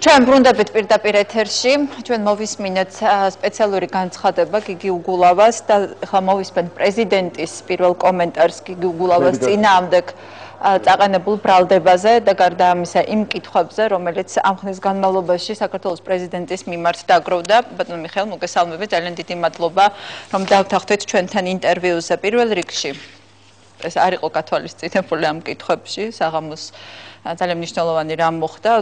ჩვენ ბრუნდებით პირდაპირ ეთერში, ჩვენ მოვისმინეთ სპეციალური განცხადება გიგი უგულავას და ხა მოვისმენთ პრეზიდენტის პირველ კომენტარს გიგი უგულავას წინააღმდეგ წაყენებულ ბრალდებაზე და გარდა ამისა იმ კითხვებზე, რომელიც ამ ხნის განმავლობაში საქართველოს პრეზიდენტის მიმართ დაგროვდა. ბატონო მიხეილ, მოგესალმებით, ძალიან დიდი მადლობა, რომ დავთანხმდით ჩვენთან ინტერვიუზე. პირველ რიგში ეს არ იყო გათვალისწინებული ამ კითხვებში, საღამოს ძალიან მნიშვნელოვანი რამ მოხდა,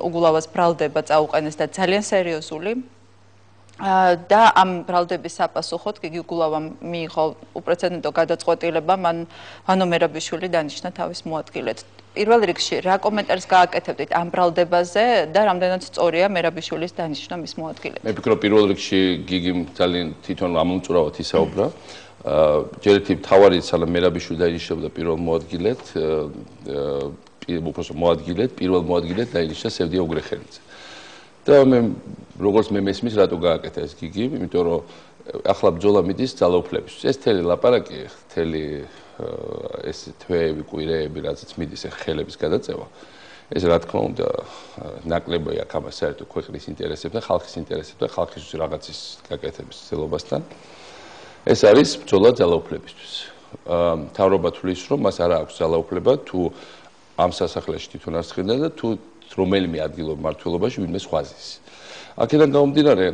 უგულავას ბრალდება წაუყენეს და ძალიან სერიოზული. და ამ ბრალდების საპასუხოდ გიგი უგულავამ მიიღო უპრეცედენტო გადაწყვეტილება, მან ვანო მერაბიშვილი დანიშნა თავის მოადგილედ. პირველ რიგში რა კომენტარს გააკეთებდით ამ ბრალდებაზე და რამდენად სწორია მერაბიშვილის დანიშნა მის მოადგილედ? მე ვფიქრობ პირველ რიგში გიგიმ ძალიან თვითონ ამომწურავად ისაუბრა. ჯერეთი მთავარი სანამ მერაბიშვილი დაინიშნებოდა პირველ მოადგილედ, პირველ მოადგილედ დაინიშნა სევდია უგრეხელიძე. და მე როგორც მე მესმის რატო გააკეთა ეს გიგი, იმიტომ რომ ახლა ბრძოლა მიდის ძალაუფლებისთვის. ეს თელი ლაპარაკი, თელი ეს თვეები, კვირეები, რაზეც მიდის ხელების გადაწევა. ეს რა თქმა უნდა ნაკლებია აქ ამას საერთოდ ქვეყნის ინტერესებთან, ხალხის ინტერესებთან, ხალხისთვის რაღაცის გაკეთების ცდილობასთან. ეს არის ბრძოლა ძალაუფლებისთვის. მთავრობა თვლის, რომ მას არ აქვს ძალაუფლება თუ ამ სასახლეში თვითონ არ სხდიდა და თუ რომელიმე ადგილობრივ მმართველობაში ვინმე სხვაზის. აქედან გამომდინარე,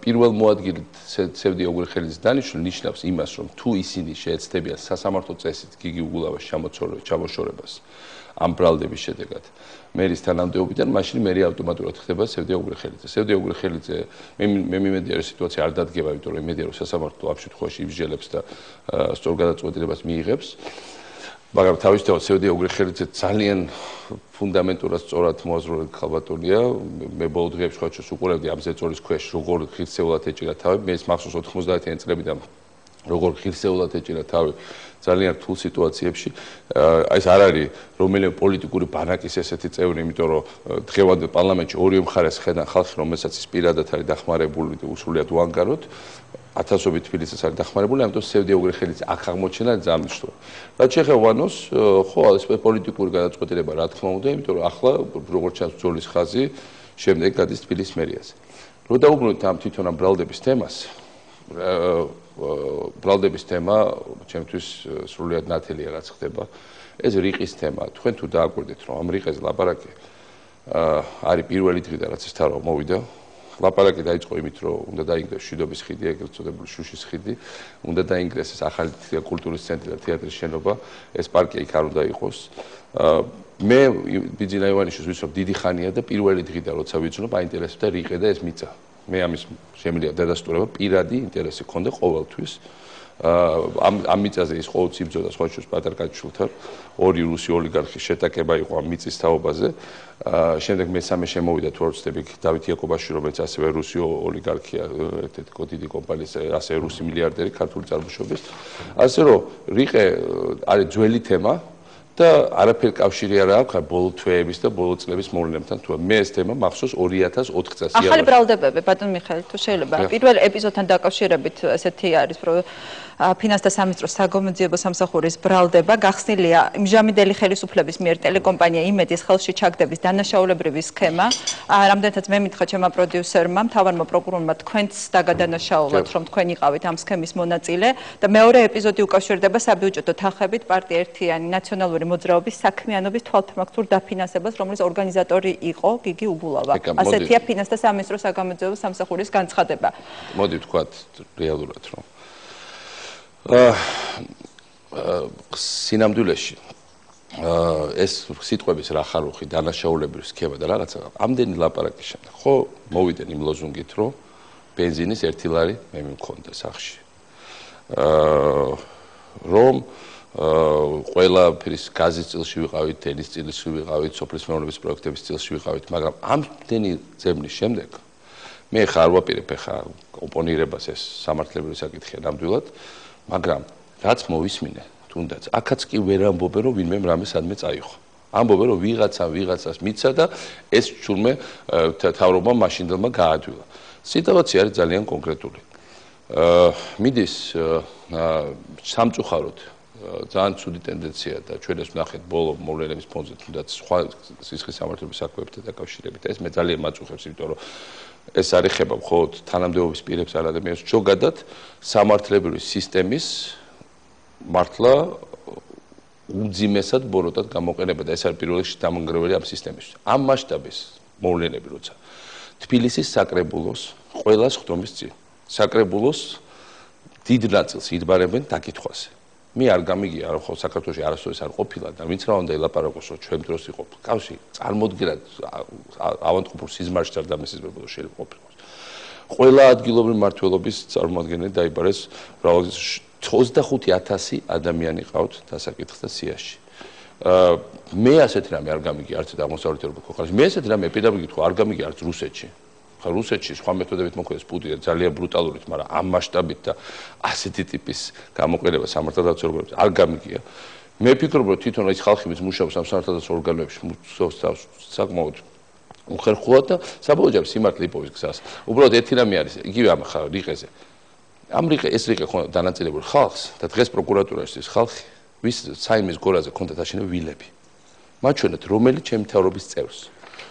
პირველ მოადგილედ სევდია უგრეხელიძის დანიშვნა ნიშნავს იმას, რომ თუ ისინი შეეცდებიან სასამართლო წესით გიგი უგულავას ჩამოშორებას ამ ბრალდების შედეგად მერის თანამდებობიდან, მაშინ მერი ავტომატურად ხდება სევდია უგრეხელიძე. სევდია უგრეხელიძე მე მიმედია რომ სიტუაცია არ დადგება, იმიტომ რომ იმედია რომ სასამართლო ამ შემთხვევაში იბრძელებს და სწორ გადაწყვეტილებას მიიღებს. მაგრამ თავისთავად სევდია უგრეხელიძე ძალიან ფუნდამენტურად სწორად მოაზროვნე ხალბატონია. მე ბოლო დღეებში ხოჩოს უყურებდი ამ ზეწოლის ქვეშ როგორ ღირსეულად ეჭირა თავი. მე ეს მახსოვს 90-იანი წლებიდან როგორ ღირსეულად ეჭირა თავი ძალიან რთულ სიტუაციებში. ეს არ არის რომელიმე პოლიტიკური ბანაკის ესეთი წევრი, იმიტომ რომ დღევანდელ პარლამენტში ორივე მხარეს ხედან ხალხი, რომელსაც ის პირადად არის დახმარებული და უსრულიად უანგაროდ. ათასობით თბილისის არის დახმარებული, ამიტომ სევდია უგრეხელიძე აქ აღმოჩენა ძალიან მნიშვნელოვანი. რაც შეეხება ვანოს, ხო, ეს პოლიტიკური გადაწყვეტილება რა თქმა უნდა, იმიტომ რომ ახლა როგორც ჩანს ბრძოლის ხაზი შემდეგ გადის თბილისის მერიაზე. რო დაუბრუნდით ამ თვითონ ამ ბრალდების თემას, ბრალდების თემა ჩემთვის სრულიად ნათელია რაც ხდება. ეს რიყის თემა. თქვენ თუ დააკვირდით, რომ ამ რიყეზე ლაპარაკი არის პირველი დღიდან რაც ეს თავი მოვიდა. ლაპარაკი დაიწყო იმით, რომ უნდა დაინგრეს შვიდობის ხიდი, ეგრეთ წოდებული შუშის ხიდი, უნდა დაინგრეს ეს ახალი კულტურის ცენტრი და თეატრის შენობა, ეს პარკი იქ არ უნდა იყოს. მე ბიძინა ივანიშვილს ვიცნობ დიდი ხანია და პირველი დღიდან როცა ვიცნობ, აინტერესებდა რიყე და ეს მიწა. მე ამის შემიძლია დადასტურება პირადი ინტერესი ქონდა ყოველთვის. ამ მიწაზე ის ყოველთვის იბრძოდა სხვაშორის პატარკაჩვილთან, ორი რუსი ოლიგარქის შეტაკება იყო ამ მიწის თაობაზე. შემდეგ მესამე შემოვიდა თუ არ ვცდები დავით იაკობაშვილი, რომელიც ასევე რუსი ოლიგარქია, ერთ-ერთი დიდი კომპანიის, ასევე რუსი მილიარდერი ქართული წარმოშობის. ასე რომ რიყე არის ძველი თემა და არაფერი კავშირი არ აქვს ბოლო თვეების და ბოლო წლების მოვლენებთან. თუ მე ეს თემა მახსოვს 2008 წელს იარაღი. ახალი ბრალდებები, ბატონ მიხეილ, თუ შეიძლება პირველ ეპიზოდთან დაკავშირებით ესეთი არის, რომ ფინანსთა სამინისტროს საგამოძიებო სამსახურის ბრალდება გახსნილია იმჟამიდელი ხელისუფლების მიერ ტელეკომპანია იმედის ხელში ჩაგდების დანაშაულებრივი სქემა. რამდენადაც მე მითხრა ჩემმა პროდიუსერმა, მთავარმა პროკურორმა თქვენც დაგადანაშაულოთ, რომ თქვენ იყავით ამ სქემის მონაწილე და მეორე ეპიზოდი უკავშირდება საბიუჯეტო თანხებით პარტია ერთიანი ნაციონალური მოძრაობის საქმიანობის თვალთმაქცურ დაფინანსებას, რომლის ორგანიზატორი იყო გიგი უგულავა. ასეთია ფინანსთა სამინისტროს საგამოძიებო სამსახურის განცხადება. მოდი ვთქვათ რეალურად, რომ სინამდვილეში ეს სიტყვების რახარუხი დანაშაულებრივი სქემა და რაღაცა ამდენი ლაპარაკის შემდეგ ხო მოვიდნენ იმ ლოზუნგით, რომ ბენზინის 1 ლარი მე მქონდა სახში. რომ ყველაფრის გაზის წილში ვიყავით, ტენის წილში ვიყავით, სოფლის მეურნეობის პროექტების წილში ვიყავით, მაგრამ ამდენი ძებნის შემდეგ მე ხარ ვაპირებ ხა ოპონირებას ეს სამართლებრივი საკითხია ნამდვილად, მაგრამ რაც მოვისმინე, თუნდაც აქაც კი ვერ ამბობენ, რომ ვინმე რამე სადმე წაიღო. ამბობენ, რომ ვიღაცას მიცა და ეს ჩურმე თავრობა მაშინდელმა გაადვილა. სიტუაცია არის ძალიან კონკრეტული. მიდის სამწუხაროდ ძალიან ცუდი ტენდენცია და ჩვენ ეს ვნახეთ ბოლო მოვლენების ფონზე თუნდაც სხვა სისხლის სამართლების საქმეებთან დაკავშირებით. ეს მე ძალიან მაწუხებს, იმიტომ რომ ეს არ ეხება მხოლოდ თანამდებობის პირებს ან ადამიანებს, ზოგადად სამართლებრივი სისტემის მართლა უმძიმესად ბოროტად გამოყენება და ეს არის პირველ რიგში დამანგრეველი ამ სისტემისთვის. ამ მასშტაბის მოვლენები როცა თბილისის საკრებულოს ყველას ხდომის წინ. საკრებულოს დიდ ნაწილს იდბარებენ დაკითხვაზე. მე არ გამიგია, რომ ხოლმე საქართველოში არასდროს არ ყოფილა და ვინც რა უნდა ელაპარაკოს, რომ ჩვენ დროს იყო კავშირი, წარმოდგენად ავანტყოფურ სიზმარში არ დამესიზმრებოდა შეიძლება ყოფილიყოს. ყველა ადგილობრივი მმართველობის წარმომადგენელი დაიბარეს მრავალგზის 25000 ადამიანი ყავთ დასაკითხთა სიაში. მე ასეთი რამე არ გამიგია არც აღმოსავლეთ ევროპის ქვეყანაში. მე ასეთი რამე პირდაპირ გითხრა არ გამიგია არც რუსეთში. ხა რუსეთში სხვა მეთოდებით მოხდეს პუტინი ძალიან ბრუტალურით, მაგრამ ამ მასშტაბით და ასეთი ტიპის გამოყენება სამართალდაცვო ორგანოებში არ გამიგია. მე ვფიქრობ, რომ თვითონ ის ხალხი, ვინც მუშაობს ამ სამართალდაცვო ორგანოებში, საკმაოდ უხერხულად და საბოლოო ჯამში სიმართლე იპოვის გზას. უბრალოდ ერთი რამე არის, იგივე ამ რიყეზე. ამ ეს რიყე ხო დანაწილებული ხალხს და დღეს პროკურატურაში ის ხალხი, ვის საიმის გორაზე ქონდათ აშენებული ვილები. მათ შენეთ რომელი ჩემი მთავრობის წევრს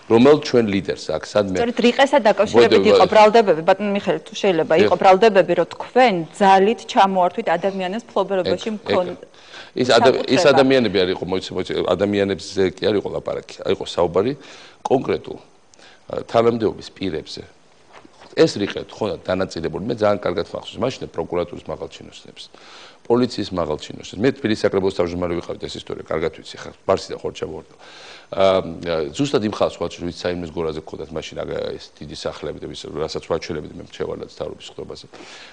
რომელ ჩვენ ლიდერს აქ სადმე სწორედ რიყესა დაკავშირებით იყო ბრალდებები ბატონ მიხეილ თუ შეიძლება იყო ბრალდებები რომ თქვენ ძალით ჩამოართვით ადამიანებს ფლობერობაში მქონდა ის ადამიანები არ იყო მოიცე ადამიანებზე კი არ იყო ლაპარაკი არ იყო საუბარი კონკრეტულ თანამდებობის პირებზე ეს რიყეთ ხო დანაწილებული მე ძალიან კარგად მახსოვს მაშინ პროკურატურის მაღალჩინოსნებს პოლიციის მაღალჩინოსნებს მე თბილისის საკრებულოს თავმჯდომარე ვიყავით ეს ისტორია კარგად ვიცი ხა ბარსი და ხორჩა ვორდა ზუსტად იმ ხალხს ვაჩვენე ვიც საიმეს გორაზე გქონდათ მაშინ ეს დიდი სახლები და რასაც ვაჩვენებდი მე მრჩევალად თავრობის ხდობაზე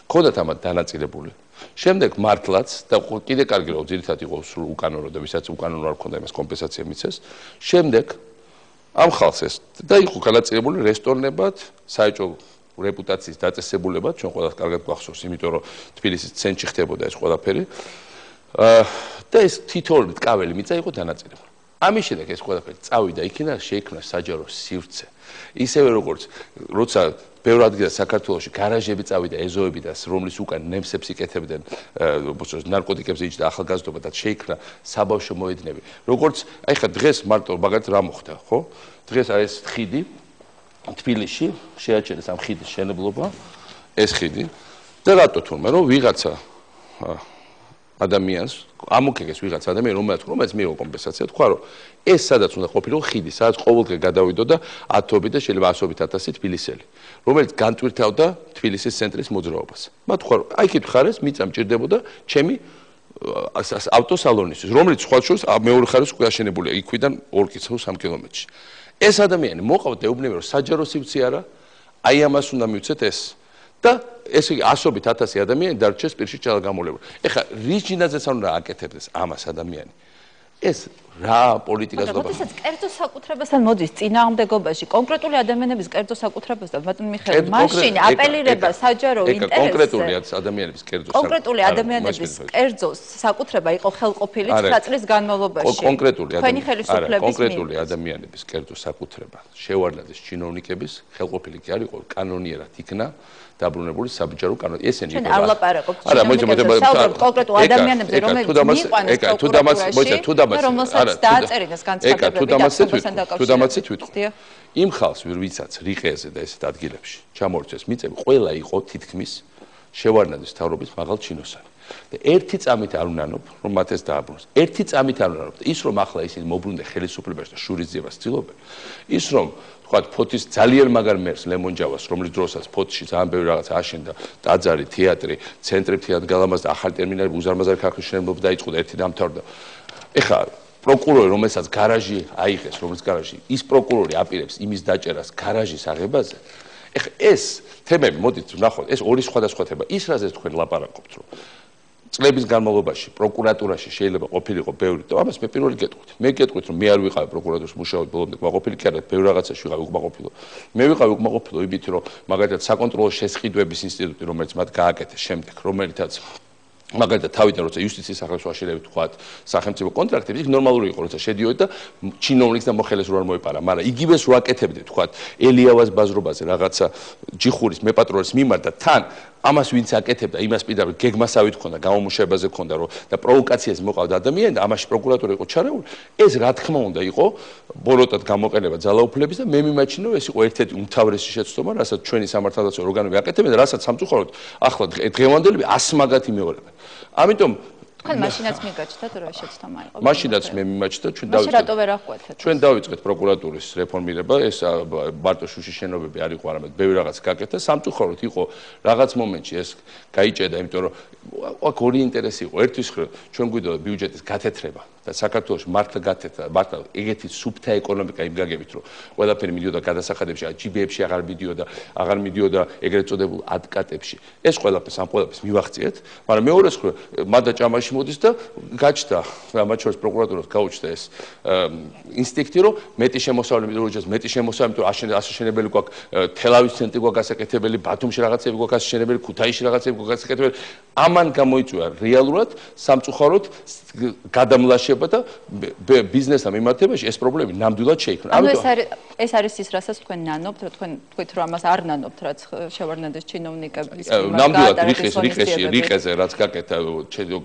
გქონდათ ამათ დანაწილებული შემდეგ მართლაც და კიდე კარგი რომ ძირითადად იყო სულ უკანონო და ვისაც უკანონო არ ქონდა იმას კომპენსაცია მიცეს შემდეგ ამ ხალხს ეს და იყო განაწილებული რესტორნებად საეჭვო რეპუტაციის დაწესებულებად ჩვენ ყველას კარგად გვახსოვს იმიტომ რომ თბილისის ცენტრში ხდებოდა ეს ყველაფერი და ეს თითოეული ტკაველი მიწა იყო დანაწილებული ამის შემდეგ ეს ყველაფერი წავიდა იქიდან შეიქმნა საჯარო სივრცე ისევე როგორც როცა ბევრ ადგილას საქართველოში გარაჟები წავიდა ეზოები და რომლის უკან ნემსებს იკეთებდნენ ნარკოტიკებს იჭდა ახალგაზრდობა და შეიქმნა საბავშვო მოედნები როგორც აი ხა დღეს მარტო მაგათ რა მოხდა ხო დღეს არის ხიდი თბილისში შეაჩერეს ამ ხიდის შენებლობა ეს ხიდი და რატო თურმე რომ ვიღაცა ადამიანს ამოქეგეს ვიღაცა ადამიანი რომელიც მიიღო კომპენსაცია თქვა რომ ეს სადაც უნდა ყოფილიყო ხიდი სადაც ყოველდღე გადავიდო და ათობით და შეიძლება 100.000 თბილისელი რომელიც განტვირთავდა თბილისის ცენტრის მოძრაობას მათ თქვა რომ აი იქით ხარეს მიწა მჭირდებოდა ჩემი ავტოსალონისთვის რომელიც სხვა შორის მეორე ხარეს უკვე აშენებულია იქვიდან 2 კილომეტრში 3 კილომეტრში ეს ადამიანი მოყავთ ეუბნება რომ საჯარო სივრცე არა აი ამას უნდა მივცეთ ეს და ესე იგი 100.000 ადამიანი დარჩეს პირში ჩალაგამოლებული ეხლა რის ჯინაზეც არ უნდა აკეთებდეს ამას ადამიანი ეს რა პოლიტიკას და როდესაც კერძო საკუთრებასთან მოდის წინააღმდეგობაში კონკრეტული ადამიანების კერძო საკუთრებასთან ბატონ მიხეილ მაშინ აპელირება საჯარო ინტერესზე კონკრეტული ადამიანების კერძო კონკრეტული ადამიანების კერძო საკუთრება იყო ხელყოფილი 9 წლის განმავლობაში კონკრეტული ადამიანების კერძო საკუთრება შევარდნაძის ჩინოვნიკების ხელყოფილი კი არ იყო კანონიერად იქნა დაბრუნებული საბჭორო კანონი ესენი იყო არ ლაპარაკობთ კონკრეტულ ადამიანებზე რომლებიც მიიყვანეს პროკურატურაში რომელსაც დააწერინა განცხადებები თუ დამაცეთ ვიტყვი იმ ხალხს ვიცაც რიყეზე და ესეთ ადგილებში ჩამორჩეს მიწები ყველა იყო თითქმის შევარდნაძის თავრობის მაღალ ჩინოსანი და ერთი წამით არ უნანობ რომ მათ ეს დააბრუნოს ერთი წამით არ უნანობ და ის რომ ახლა ისინი მოbrunდე ხელისუფლებაში და შურისძიებას ცდილობენ ის რომ თქვათ ფოთის ძალიან მაგარ მერს ლემონჯავას რომლის დროსაც ფოთში ძალიან ბევრი რაღაცა აშენდა ტაძარი თეატრი ცენტრი თეატრ გალამაზ და ახალი ტერმინალი უზარმაზარი ქარხნის შენებლობა დაიწყო და ერთი დამთავრდა ეხლა პროკურორი რომელსაც გარაჟი აიღეს რომელიც გარაჟი ის პროკურორი აპირებს იმის დაჭერას გარაჟის აღებაზე ეხლა ეს თემები მოდით ვნახოთ ეს ორი სხვადასხვა თემა ის რაზეც თქვენ ლაპარაკობთ რომ წლების განმავლობაში პროკურატურაში შეიძლება ყოფილიყო ბევრი და ამას მე პირველი გეტყვით მე გეტყვით რომ მე არ ვიყავი პროკურატურის მუშაობ ბოლომდე კმაყოფილი კი არა ბევრ რაღაცაში ვიყავი უკმაყოფილო მე ვიყავი უკმაყოფილო იმით რომ მაგალითად საკონტროლო შესყიდვების ინსტიტუტი რომელიც მათ გააკეთეს შემდეგ რომელთაც მაგალითად თავიდან როცა იუსტიციის სახელმწიფო აშენებით თქვათ სახელმწიფო კონტრაქტები იქ ნორმალური იყო როცა შედიოდი და ჩინოვნიკს და მოხელეს რო არ მოეპარა მაგრამ იგივეს რო აკეთებდი თქვათ ელიავას ბაზრობაზე რაღაცა ჯიხურის მეპატრონეს მიმართ და თან ამას ვინც აკეთებდა იმას პირდაპირ გეგმასავით ქონდა გამომუშავებაზე ქონდა რომ და პროვოკაციას მოყავდა ადამიანი და ამაში პროკურატურა იყო ჩარეული ეს რა თქმა უნდა იყო ბოროტად გამოყენება ძალაუფლების და მე მიმაჩნია რომ ეს იყო ერთ-ერთი უმთავრესი შეცდომა რასაც ჩვენი სამართალდაცვო ორგანოები აკეთებენ და რასაც სამწუხაროდ ახლა დღევანდელები ასმაგად იმეორებენ ამიტომ თქვენ მაშინაც მიგაჩნდათ რა შეცდომა იყო მაშინაც მე მიმაჩნდა ჩვენ დავიწყეთ პროკურატურის რეფორმირება ეს მარტო შუშის შენობები არ იყო არამედ ბევრი რაღაც გაკეთა სამწუხაროდ იყო რაღაც მომენტში ეს გაიჭედა იმიტომ რომ აქ ორი ინტერესი იყო ერთვის ჩვენ გვიდოდა ბიუჯეტის გათეთრება და საქართველოს მართლა გათეთრა მართლა ეგეთი სუფთა ეკონომიკა იმ გაგებით რომ ყველაფერი მიდიოდა გადასახადებში ჯიბეებში აღარ მიდიოდა ეგრეთ წოდებულ ადკატებში ეს ყველაფერს ამ ყველაფერს მივახციეთ მაგრამ მეორეს მანდა ჭამაში მოდის და გაჩნდა მათ შორის პროკურატურას გაუჩნდა ეს ინსტინქტი რომ მეტი შემოსავლები როჯას მეტი შემოსავლები თუ აშენებელი გვაქვს თელავის ცენტრი გვაქვს გასაკეთებელი ბათუმში რაღაცები გვაქვს აშენებელი ქუთაისში რაღაცები გვაქვს გასაკეთებელი ამან გამოიწვია რეალურად სამწუხაროდ გადამლაშება და ბიზნესთან მიმართებაში ეს პრობლემები ნამდვილად შეიქმნა. ამიტომ ეს არის ის, რასაც თქვენ ნანობთ, რომ თქვენ თქვით, რომ ამას არ ნანობთ, რაც შევარდნადეს ჩინოვნიკების ნამდვილად რიყეზე რაც გაკეთა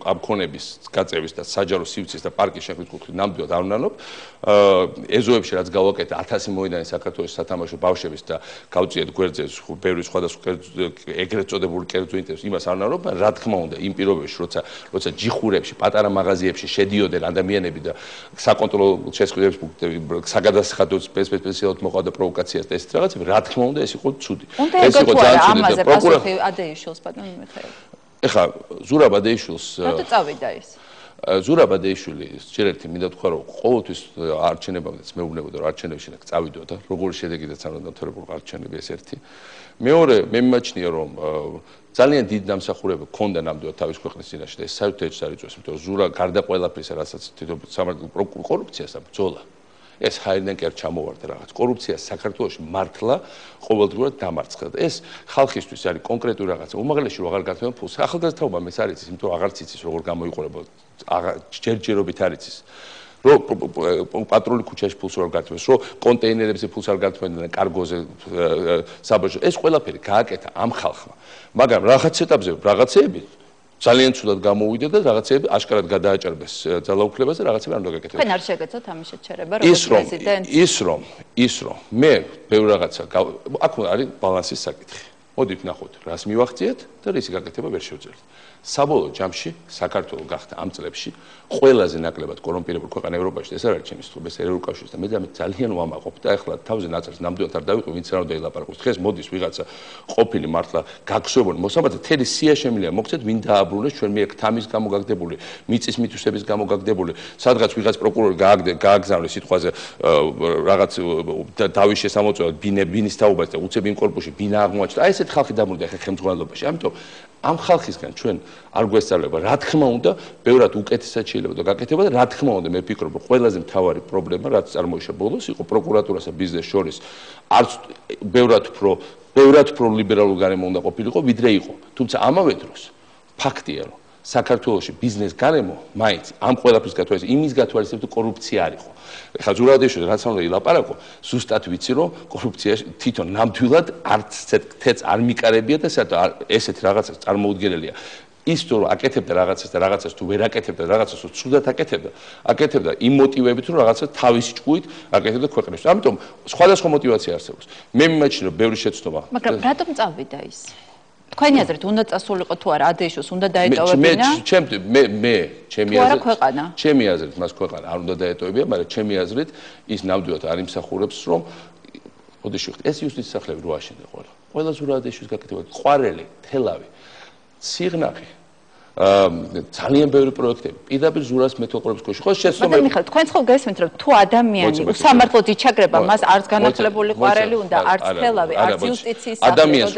ამ ქონების გაწევის და საჯარო სივრცის და პარკის შექმნის კუთხით ნამდვილად არ ნანობ. ეზოებში რაც გავაკეთა 1000 მოედანი საქართველოს სათამაშო ბავშვების და გავწიეთ გვერდზე ბევრი სხვადასხვა ეგრეთ წოდებული კერძო ინტერესს იმას არ ნანობ, რა თქმა უნდა იმ პირობებში როცა ჯიხურებში პატარა მაღაზიებში შედიოდნენ ადამიანები და საკონტროლო შესყიდვების საგადასახადო სპეციალურად მოყავდა პროვოკაციას და ესეთ რაღაცები რა თქმა უნდა ეს იყო ცუდი ეს იყო ძალიან ცუდი და პროკურორი ადეიშვილს ბატონო მიხეილ ეხლა ზურაბ ადეიშვილს რატო წავიდა ის ზურაბ ადეიშვილი შეიძლება მინდა თქვა რომ ყოველთვის არჩენებამდეც მეუბნებოდა რომ არჩენებში და წავიდოდა როგორი შედეგიდაც არ უნდა დამთავრებულიყო არჩენები ეს ერთი მეორე მე მიმაჩნია რომ ძალიან დიდ დამსახურება ქონდა ნამდვილად თავის ქვეყნის წინაშე და ეს საერთოდ არ იწვევს იმიტომ რომ ზურა გარდა ყველაფრისა რასაც თვითონ სამართლის კორუფციას და ბრძოლა ეს ჰაერიდან კი არ ჩამოვარდა რაღაც კორუფცია საქართველოში მართლა ყოველდღურად დამარცხდა და ეს ხალხისთვის არის კონკრეტული რაღაცა უმაღლესი რო აღარ გართმევენ ფულს ახალგაზრდაობა მე არ იცის იმიტომ რომ აღარც იცის როგორ გამოიყურება ჯერჯერობით არ იცის რომ პატრული ქუჩაში ფულს არ გართმევს რომ კონტეინერებზე ფულს არ გართმევენ და კარგოზე საბაჟო ეს ყველაფერი გააკეთა ამ ხალხმა მაგრამ რაღაც ეტაპზე რაღაცეები ძალიან ცუდად გამოვიდა და რაღაცეები აშკარად გადააჭარბეს ძალაუფლებას და რაღაცები არ უნდა გაკეთდეს. თქვენ არ შეგეცოთ ამის შეჩერება როგორც პრეზიდენტი? ის რომ მე ბევრი რაღაცა აქ არის ბალანსის საკითხი. მოდით ნახოთ, რას მივახციეთ და რისი გაკეთება ვერ შევძლებთ. საბოლოო ჯამში საქართველო გახდა ამ წლებში ყველაზე ნაკლებად კორუმპირებული ქვეყანა ევროპაში. ეს არ არის ჩემი სიტყვა, ეს ევროკავშირის და მე ძალიან ვამაყობ და ეხლა თავზე ნაწერს ნამდვილად არ დავიყვი, ვინც რა უნდა ელაპარაკოს. დღეს მოდის ვიღაცა ყოფილი მართლა გაგსვებული მოსამართლე თელი სია შემილია მოგცეთ ვინ დააბრუნეს ჩვენ მიერ თამის გამო გაგდებული, მიწის მითვისების გამო გაგდებული, სადღაც ვიღაც პროკურორი გააგზავნეს სიტყვაზე რაღაც დავის შესამოწმებლად ბინის თაობას და უცებ იმ კორპუსში ბინა აღმოაჩნდა. აი ესეთ ხალხი დაბრუნდა ახლა ხელმძღვანელობაში. ამიტომ ამ ხალხისგან ჩვენ არ გვესწავლება რა თქმა უნდა ბევრად უკეთესად შეიძლება და გაკეთება და რა თქმა უნდა მე ვფიქრობ რომ ყველაზე მთავარი პრობლემა რაც წარმოიშვა ბოლოს იყო პროკურატურასა ბიზნეს შორის არც ბევრად უფრო ლიბერალური გარემო უნდა ყოფილიყო ვიდრე იყო თუმცა ამავე დროს ფაქტია რომ საქართველოში ბიზნეს გარემო მაინც ამ ყველაფრის გათვალისწინებით იმის გათვალისწინებით კორუფცია არ იყო ეხლა ზურაბადეიშვილი რაც უნდა ილაპარაკო ზუსტად ვიცი რომ კორუფცია თვითონ ნამდვილად არც თეთრ არ მიკარებია და ესეთ რაღაცას წარმოუდგენელია ის თუ აკეთებდა რაღაცას და რაღაცას თუ ვერ აკეთებდა რაღაცას თუ ცუდად აკეთებდა იმ მოტივებით რომ რაღაცას თავისი ჭკუით აკეთებდა ქვეყნისთვის ამიტომ სხვადასხვა მოტივაცია არსებობს მე მიმაჩნია ბევრი შეცდომა მაგრამ რატომ წავიდა ის თქვენი აზრით უნდა წასულიყო თუ არა ადეიშოს უნდა დაეტოვებინა ჩემი აზრით მას ქვეყანა არ უნდა დაეტოვებინა მაგრამ ჩემი აზრით ის ნამდვილად არ იმსახურებს რომ ოდეში ეს იუსტიციის სახლები რო აშენდა ყველა ზურაბადეიშვილის გაკეთება ყვარელი თელავი სიღნაღი ძალიან ბევრი პროექტები პირდაპირ ზურას მეთვალყურების ქვეშ ხო შეცდომები მაგრამ თქვენ ხო გესმით რომ თუ ადამიანი უსამართლოდ იჩაგრება მას არც განათლებული ყვარელი უნდა არც თელავი არც იუსტიციის ადამიანს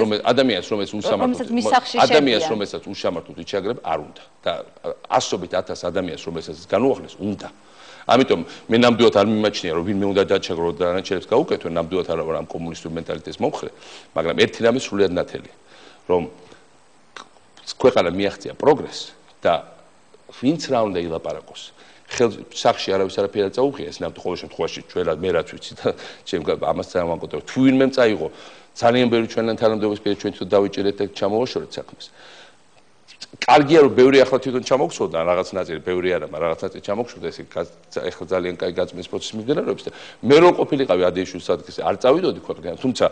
რომელიც უსამართლოდ იჩაგრება არ უნდა და ასობით 1000 ადამიანს რომელსაც განუახლეს უნდა ამიტომ მე ნამდვილად არ მიმაჩნია რომ ვინმე უნდა დაჩაგრო და არანაირებს გაუკეთო ნამდვილად არ ვარ ამ კომუნისტური მენტალიტეტის მომხრე მაგრამ ერთი რამე სრულიად ნათელი რომ ქვეყანა მიაღწია პროგრესს და ვინც რა უნდა ილაპარაკოს. სახში არავის არაფერი არ წაუღია, ეს ნამდვილ ყოველ შემთხვევაში ჩვენ მე რაც ვიცი და ჩემ ამას წარმოვაკუთვნებ. თუ ვინმე წაიღო ძალიან ბევრი ჩვენთან თანამდებობის პირი ჩვენ თვითონ დავიჭერეთ და ჩამოვაშორეთ საქმეს. კარგია რომ ბევრი ახლა თვითონ ჩამოგხსოვდა რაღაც ნაწილი, ბევრი არა, მაგრამ რაღაც ნაწილი ჩამოგხსოვდა, ეს ეხლა ძალიან კაი გაწმენდის პროცესი მიმდინარეობს და მე რო ყოფილიყავი ადეიშვილის ადგილზე არ წავიდოდი ქვეყნიდან, თუმცა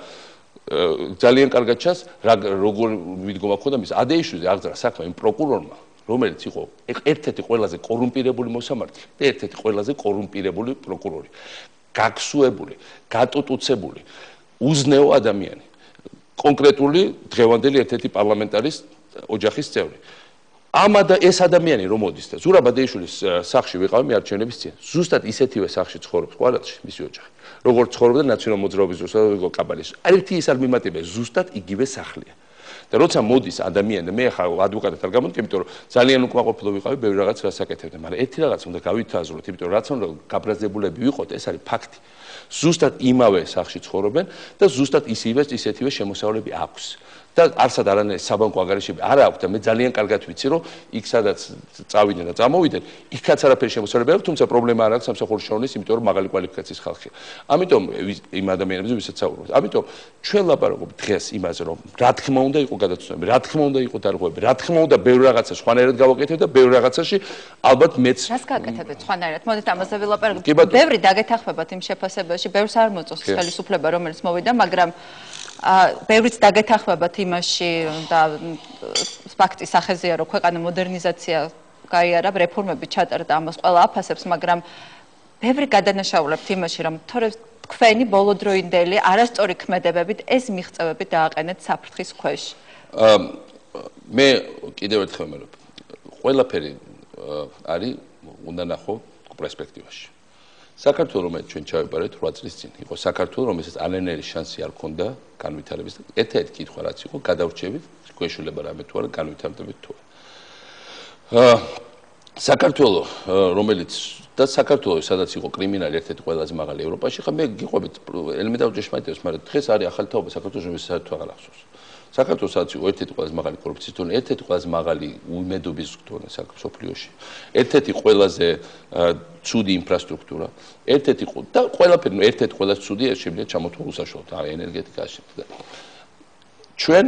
ძალიან კარგად ჩანს როგორ მიდგომა ქონდა მის ადეიშვილზე აღძრა საქმე იმ პროკურორმა, რომელიც იყო ერთ-ერთი ყველაზე კორუმპირებული მოსამართლე და ერთ-ერთი ყველაზე კორუმპირებული პროკურორი, გაგსუებული, გატუტუცებული, უზნეო ადამიანი, კონკრეტული დღევანდელი ერთ-ერთი პარლამენტარის ოჯახის წევრი. ეს ადამიანი რომ მოდის და ზურაბ ადეიშვილის სახლში ვიყავი მიარჩევნების წინ. ზუსტად ისეთივე სახლში ცხოვრობს ყვარელში მისი ოჯახი. როგორც ცხოვრობდა ნაციონალურ მოძრაობის დროს და კაბალის. ერთი ის არ მიმატებია, ზუსტად იგივე სახლია. და როცა მოდის ადამიანი, მე ახლა ადვოკატად არ გამოვიდი, იმიტომ რომ ძალიან უკმაყოფილო ვიყავი, ბევრი რაღაც რასაკეთებდა, მაგრამ ერთი რაღაც უნდა გავითაზროთ, იმიტომ რომ რაც უნდა გაბრაზებულები ვიყოთ, ეს არის ფაქტი. ზუსტად იმავე სახლში ცხოვრობენ და ზუსტად ისეთივე შემოსავლები აქვს. და არსად არანაირი საბანკო ანგარიშები არ აქვს და მე ძალიან კარგად ვიცი რომ იქ სადაც წავიდნენ და წამოვიდნენ იქაც არაფერი შემოსავლები აქვს თუმცა პრობლემა არ აქვს სამსახურის შრომის იმიტომ რომ მაღალი კვალიფიკაციის ხალხია ამიტომ იმ ადამიანებზე ვისაც საუბრობთ ამიტომ ჩვენ ლაპარაკობთ დღეს იმაზე რომ რა თქმა უნდა იყო გადაცემები რა თქმა უნდა იყო დარღვევები რა თქმა უნდა ბევრი რაღაცა სხვანაირად გავაკეთებ და ბევრი რაღაცაში ალბათ მეც რას გააკეთებთ სხვანაირად მოდით ამაზე ვილაპარაკოთ ბევრი დაგეთახმებათ იმ შეფასებაში ბევრს არ მოწონს ხელისუფლება რომელიც მოვიდა მაგრამ ბევრიც დაგეთახმებათ იმაში და ფაქტის სახეზეა რომ ქვეყანა მოდერნიზაცია გაიარა რეფორმები ჩატარდა ამას ყველა აფასებს მაგრამ ბევრი გადანაშაულებთ იმაში რომ თქვენი ბოლოდროინდელი არასწორი ქმედებებით ეს მიღწევები დააყენეთ საფრთხის ქვეშ მე კიდევ ერთხელ ვიმეორებ ყველაფერი არის უნდა ნახო პერსპექტივაში საქართველოს რომელიც ჩვენ ჩავიბარეთ 8 წლის წინ იყო საქართველოს რომელსაც არანაირი შანსი არ ჰქონდა განვითარების და ერთ-ერთი კითხვა რაც იყო გადავრჩებით გვეშულება რამე თუ არა განვითარდებით თუ არა საქართველოს რომელიც და საქართველოს სადაც იყო კრიმინალი ერთ-ერთი ყველაზე მაღალი ევროპაში ხა მე გიყვებით ელემენტარული ჭეშმარიტებას მაგრამ დღეს არის ახალი თაობა საქართველოს რომელიც საერთოდ აღარ ახსოვს საქართველოს სადაც იყო ერთ-ერთი ყველაზე მაღალი კორუფციის დონე, ერთ-ერთი ყველაზე მაღალი უიმედობის დონე საქართველოში. ერთ-ერთი ყველაზე ცუდი ინფრასტრუქტურა, ერთ-ერთი და ყველაფერი, ერთ-ერთი ყველაზე ცუდი შეიძლება ჩამოთვალ უსაშუალოდ, ენერგეტიკაში. ჩვენ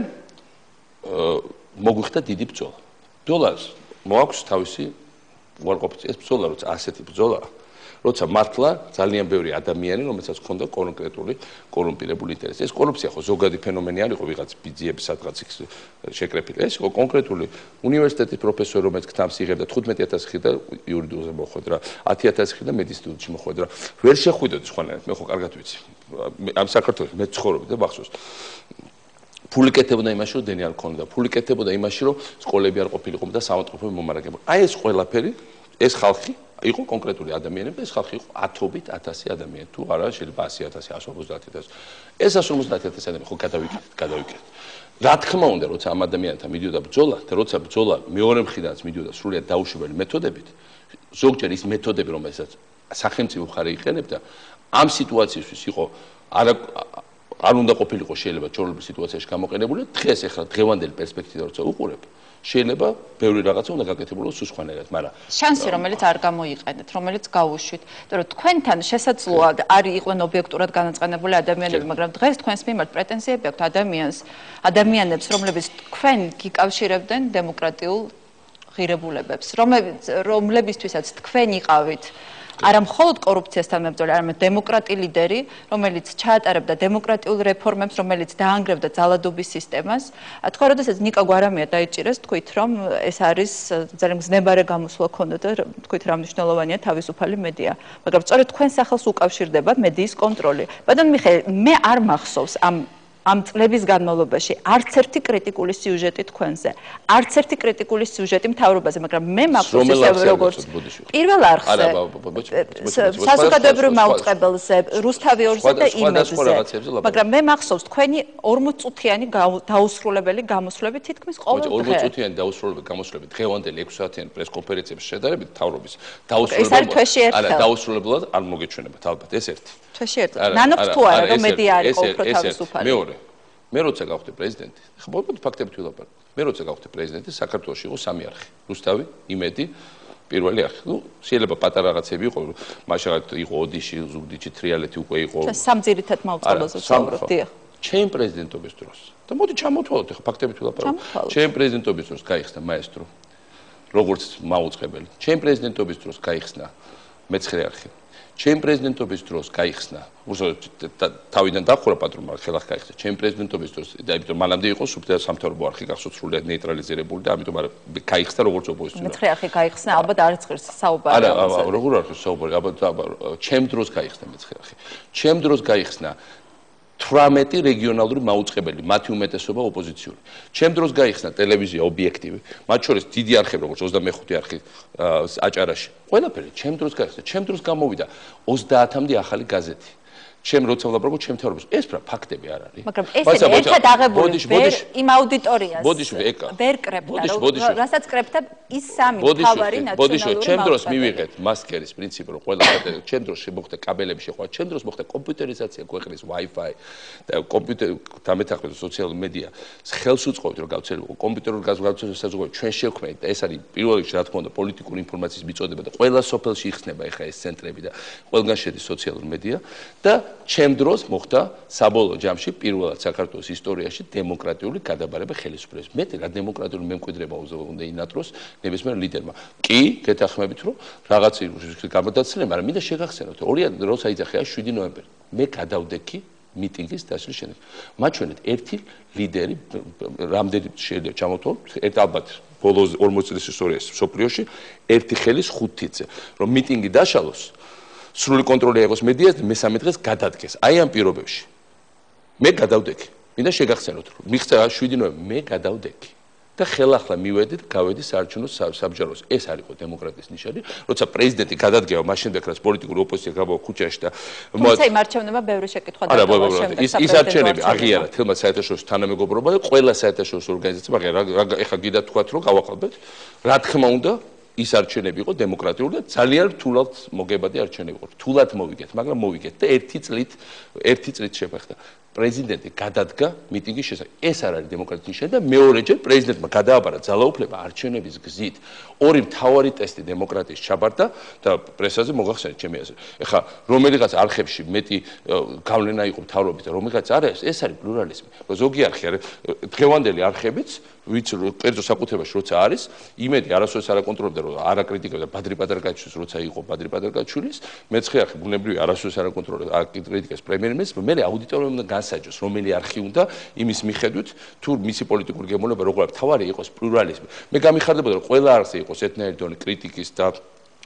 მოგვიხდა დიდი ბრძოლა. ბრძოლას მოაქვს თავისი უარყოფითი ეს ბრძოლა, როცა ასეთი ბრძოლა როცა მართლა ძალიან ბევრი ადამიანი, რომელსაც ჰქონდა კონკრეტული კორუმპირებული ინტერესი. ეს კორუფცია ხო ზოგადი ფენომენი არ იყო ვიღაც ბიძიების სადღაც შეკრეფილი. ეს იყო კონკრეტული უნივერსიტეტის პროფესორი, რომელიც გთამს იღებდა 15000 ხი და იურიდიულზე მოხვედრა, 10000 ხი და მედიცინაში მოხვედრა. ვერ შეხვიდოდი სხვანაირად, მე ხო კარგად ვიცი. ამ საქართველოს მე ცხოვრობდი და მახსოვს. ფული კეთებოდა იმაში, რომ დენი არ ქონდა. ფული კეთებოდა იმაში, რომ სკოლები არ ყოფილიყო და სამართლებრივი მომარაგება. აი ეს ყველაფერი, ეს ხალხი იყო კონკრეტული ადამიანები და ეს ხალხი იყო 10,000 ადამიანი თუ არა შეიძლება 100,000 150,000 ეს 150,000 ადამიანი ხო გადავიკეთეთ რა თქმა უნდა როცა ამ ადამიანთან მიდიოდა ბრძოლა და როცა ბრძოლა მეორე მხრიდანაც მიდიოდა სრულიად დაუშვებელი მეთოდებით ზოგჯერ ის მეთოდები რომელსაც სახელმწიფო მხარე იყენებდა ამ სიტუაციისთვის იყო არ უნდა ყოფილიყო შეიძლება ჩვეულებრივ სიტუაციაში გამოყენებული დღეს ახლა დღევანდელი პერსპექტივა როცა უყურებ შეიძლება ბევრი რაღაცა უნდა გაკეთებულოს სხვანაირად, მაგრამ შანსი რომელიც არ გამოიყენეთ, რომელიც გაუშვით, იმიტომ რომ თქვენთან შესაძლოა არის იყვნენ ობიექტურად განაწყენებული ადამიანები, მაგრამ დღეს თქვენს მიმართ პრეტენზიები აქვთ ადამიანებს, რომლებიც თქვენ გიკავშირებდნენ დემოკრატიულ ღირებულებებს, რომლებისთვისაც თქვენ იყავით არა მხოლოდ კორუფციასთან მებრძოლი, არამედ დემოკრატი ლიდერი, რომელიც ჩაატარებდა დემოკრატიულ რეფორმებს, რომელიც დაანგრევდა ძალადობის სისტემას. თქვა, როდესაც ნიკა გვარამია დაიჭირეს, თქვით, რომ ეს არის ძალიან მგზნებარე გამოსვლა ქონდა და თქვით, რა მნიშვნელოვანია თავისუფალი მედია. მაგრამ სწორედ თქვენ სახელს უკავშირდება მედიის კონტროლი. ბატონ მიხეილ, მე არ მახსოვს ამ წლების განმავლობაში არც ერთი კრიტიკული სიუჟეტი თქვენზე, არც ერთი კრიტიკული სიუჟეტი მთავრობაზე, მაგრამ მე მახსოვს ისე როგორც პირველ არხზე, საზოგადოებრივ მაუწყებელზე, რუსთავი 2-ზე და იმედზე, მაგრამ მე მახსოვს თქვენი 40-წუთიანი დაუსრულებელი გამოსვლები თითქმის ყოველ დღე. 40-წუთიანი დაუსრულებელი გამოსვლები დღევანდელი 6 საათიანი პრესკონფერენციების შედარებით მთავრობის დაუსრულებლად არ მოგეჩვენებათ ალბათ ეს ერთი. თვეში ერთ. ნანობთ თუ არა რომ მედია არის უფრო თავისუფალი. მეორე მე როცა გავხდი პრეზიდენტი, ხო მოკლედ ფაქტებით ვილაპარაკე. მე როცა გავხდე პრეზიდენტი, საქართველოში იყო 3 არხი. რუსთავი, იმედი, პირველი არხი. შეიძლება პატარა რაღაცები იყო, მაშინ იყო ოდიში, ზუგდიდში, თრიალეთი უკვე იყო. სამ ძირითად მაუწყებელზე ვსაუბრობ, დიახ. ჩემ პრეზიდენტობის დროს. და მოდი ჩამოთვალოთ, ახლა ფაქტებით ვილაპარაკოთ. ჩემ პრეზიდენტობის დროს გაიხსნა მაესტრო, როგორც მაუწყებელი. ჩემ პრეზიდენტობის დროს გაიხსნა მე-9 არხი. ჩემ პრეზიდენტობის დროს გაიხსნა, თავიდან დახურა პატრონმა ხელახ გაიხსნა. ჩემ პრეზიდენტობის დროს და იმიტომ მანამდე იყო სუბტიტრი სამთავრობო არხი გახსოვთ სრულიად ნეიტრალიზირებული და ამიტომ გაიხსნა როგორც ოპოზიციური. მე-9 არხი გაიხსნა, ალბათ არც ღირს საუბარი. არა, როგორ არის საუბარი? ალბათ ჩემ დროს გაიხსნა მე-9 არხი. ჩემ დროს გაიხსნა 18 რეგიონალური მაუწყებელი, მათი უმეტესობა ოპოზიციური. ჩემ დროს გაიხსნა ტელევიზია ობიექტივი, მათ შორის დიდი არხები როგორც 25 არხი აჭარაში. ყველაფერი ჩემ დროს გაიხსნა. ჩემ დროს გამოვიდა 30-მდე ახალი გაზეთი. ჩემ როცა ვლაპარაკობ ჩემ თეორიებს, ეს ფაქტები არ არის. მაგრამ ეს ერთად აღებული იმ აუდიტორიას ვერ კრებდა, რასაც კრებდა ის სამი თავარი ნაციონალური ჩემ დროს მივიღეთ მასკერის პრინციპი, რომ ყველა ჩემ დროს მოხდა კაბელების შეხვედრა, ჩემ დროს მოხდა კომპიუტერიზაცია ქვეყნის Wi-Fi და კომპიუტერი დამეთანხმება სოციალური მედია. ხელს უწყობთ რომ გავცელებო კომპიუტერულ გაზრდასაძღვევ საზოგადოება ჩვენ შევქმნით და ეს არის პირველ რიგში რა თქმა უნდა პოლიტიკური ინფორმაციის მიწოდება და ყველა სოფელში იხსნება ეხა ეს ცენტრები და ყველგან შედის სოციალური მედია და ჩემ დროს მოხდა საბოლოო ჯამში პირველად საქართველოს ისტორიაში დემოკრატიული გადაბარება ხელისუფლების. მე რა დემოკრატიული მემკვიდრეობა უნდა ინატროს ნებისმიერ ლიდერმა. კი, გეთანხმებით რომ რაღაც გამოდაცილება, მაგრამ მინდა შეგახსენოთ, როცა იძახია 7 ნოემბერი. მე გადავდექი მიტინგის დასვლის შემდეგ. მათ შორის ერთი ლიდერი რამდენი შეიძლება ჩამოთვალოთ, ალბათ ბოლო 40 წლის ისტორიაში სოფლიოში ერთი ხელის 5 თითზე, რომ მიტინგი დაშალოს. სრული კონტროლი აიღოს მედიას და მესამე დღეს გადადგეს. აი ამ პირობებში მე გადავდექი. მინდა შეგახსენოთ, რომ მიღწევა 7 ნოემბერს მე გადავდექი და ხელახლა მივედი და გავედი საარჩევნო საბჭოს. ეს არის დემოკრატიის ნიშანი, როცა პრეზიდენტი გადადგება, მაშინ ბეკრას პოლიტიკური ოპოზიცია გამოვა ქუჩაში და თუმცა იმ არჩევნებმა ბევრი შეკითხვა დატოვა შემდეგ. ის არჩევნები აღიარა თელმა საერთაშორისო თანამეგობრობა და ყველა საერთაშორისო ორგანიზაცია, მაგრამ ეხლა გიდა თქვათ რომ გავაყალბეთ, რა თქმა უნდა ის არჩევნები იყო დემოკრატიული და ძალიან რთულად მოგებადი არჩევნები იყო. რთულად მოვიგეთ, მაგრამ მოვიგეთ და ერთი წლით შეფეხდა. პრეზიდენტი გადადგა მიტინგის შესახებ. ეს არ არის დემოკრატიის ნიშანი და მეორეჯერ პრეზიდენტმა გადააბარა ძალაუფლება არჩევნების გზით. ორი მთავარი ტესტი დემოკრატიის ჩაბარდა და პრესაზე მოგახსენეთ ჩემი აზრით. ეხლა რომელიღაც არხებში მეტი გავლენა იყო მთავრობის და რომელიღაც არ არის, ეს არის პლურალიზმი. ზოგი არხი არის დღევანდელი არხებიც ვიც კერძო საკუთრებაში როცა არის, იმედი არასოდეს არ აკონტროლებდა რომ არ აკრიტიკებდა ბადრი პატარკაჩვილის როცა იყო ბადრი პატარკაჩვილის, მე-9 არხი ბუნებრივი არასოდეს არ აკონტროლებდა აკრიტიკებს პრემიერ-მინისტრს, მე აუდიტორიამ უნდა განსაჯოს, რომელი არხი უნდა იმის მიხედვით თუ მისი პოლიტიკური გემოვნება როგორ არის, თავარი იყოს პლურალიზმი. მე გამიხარდებოდა რომ ყველა არხზე იყოს ერთნაირი დონე კრიტიკის და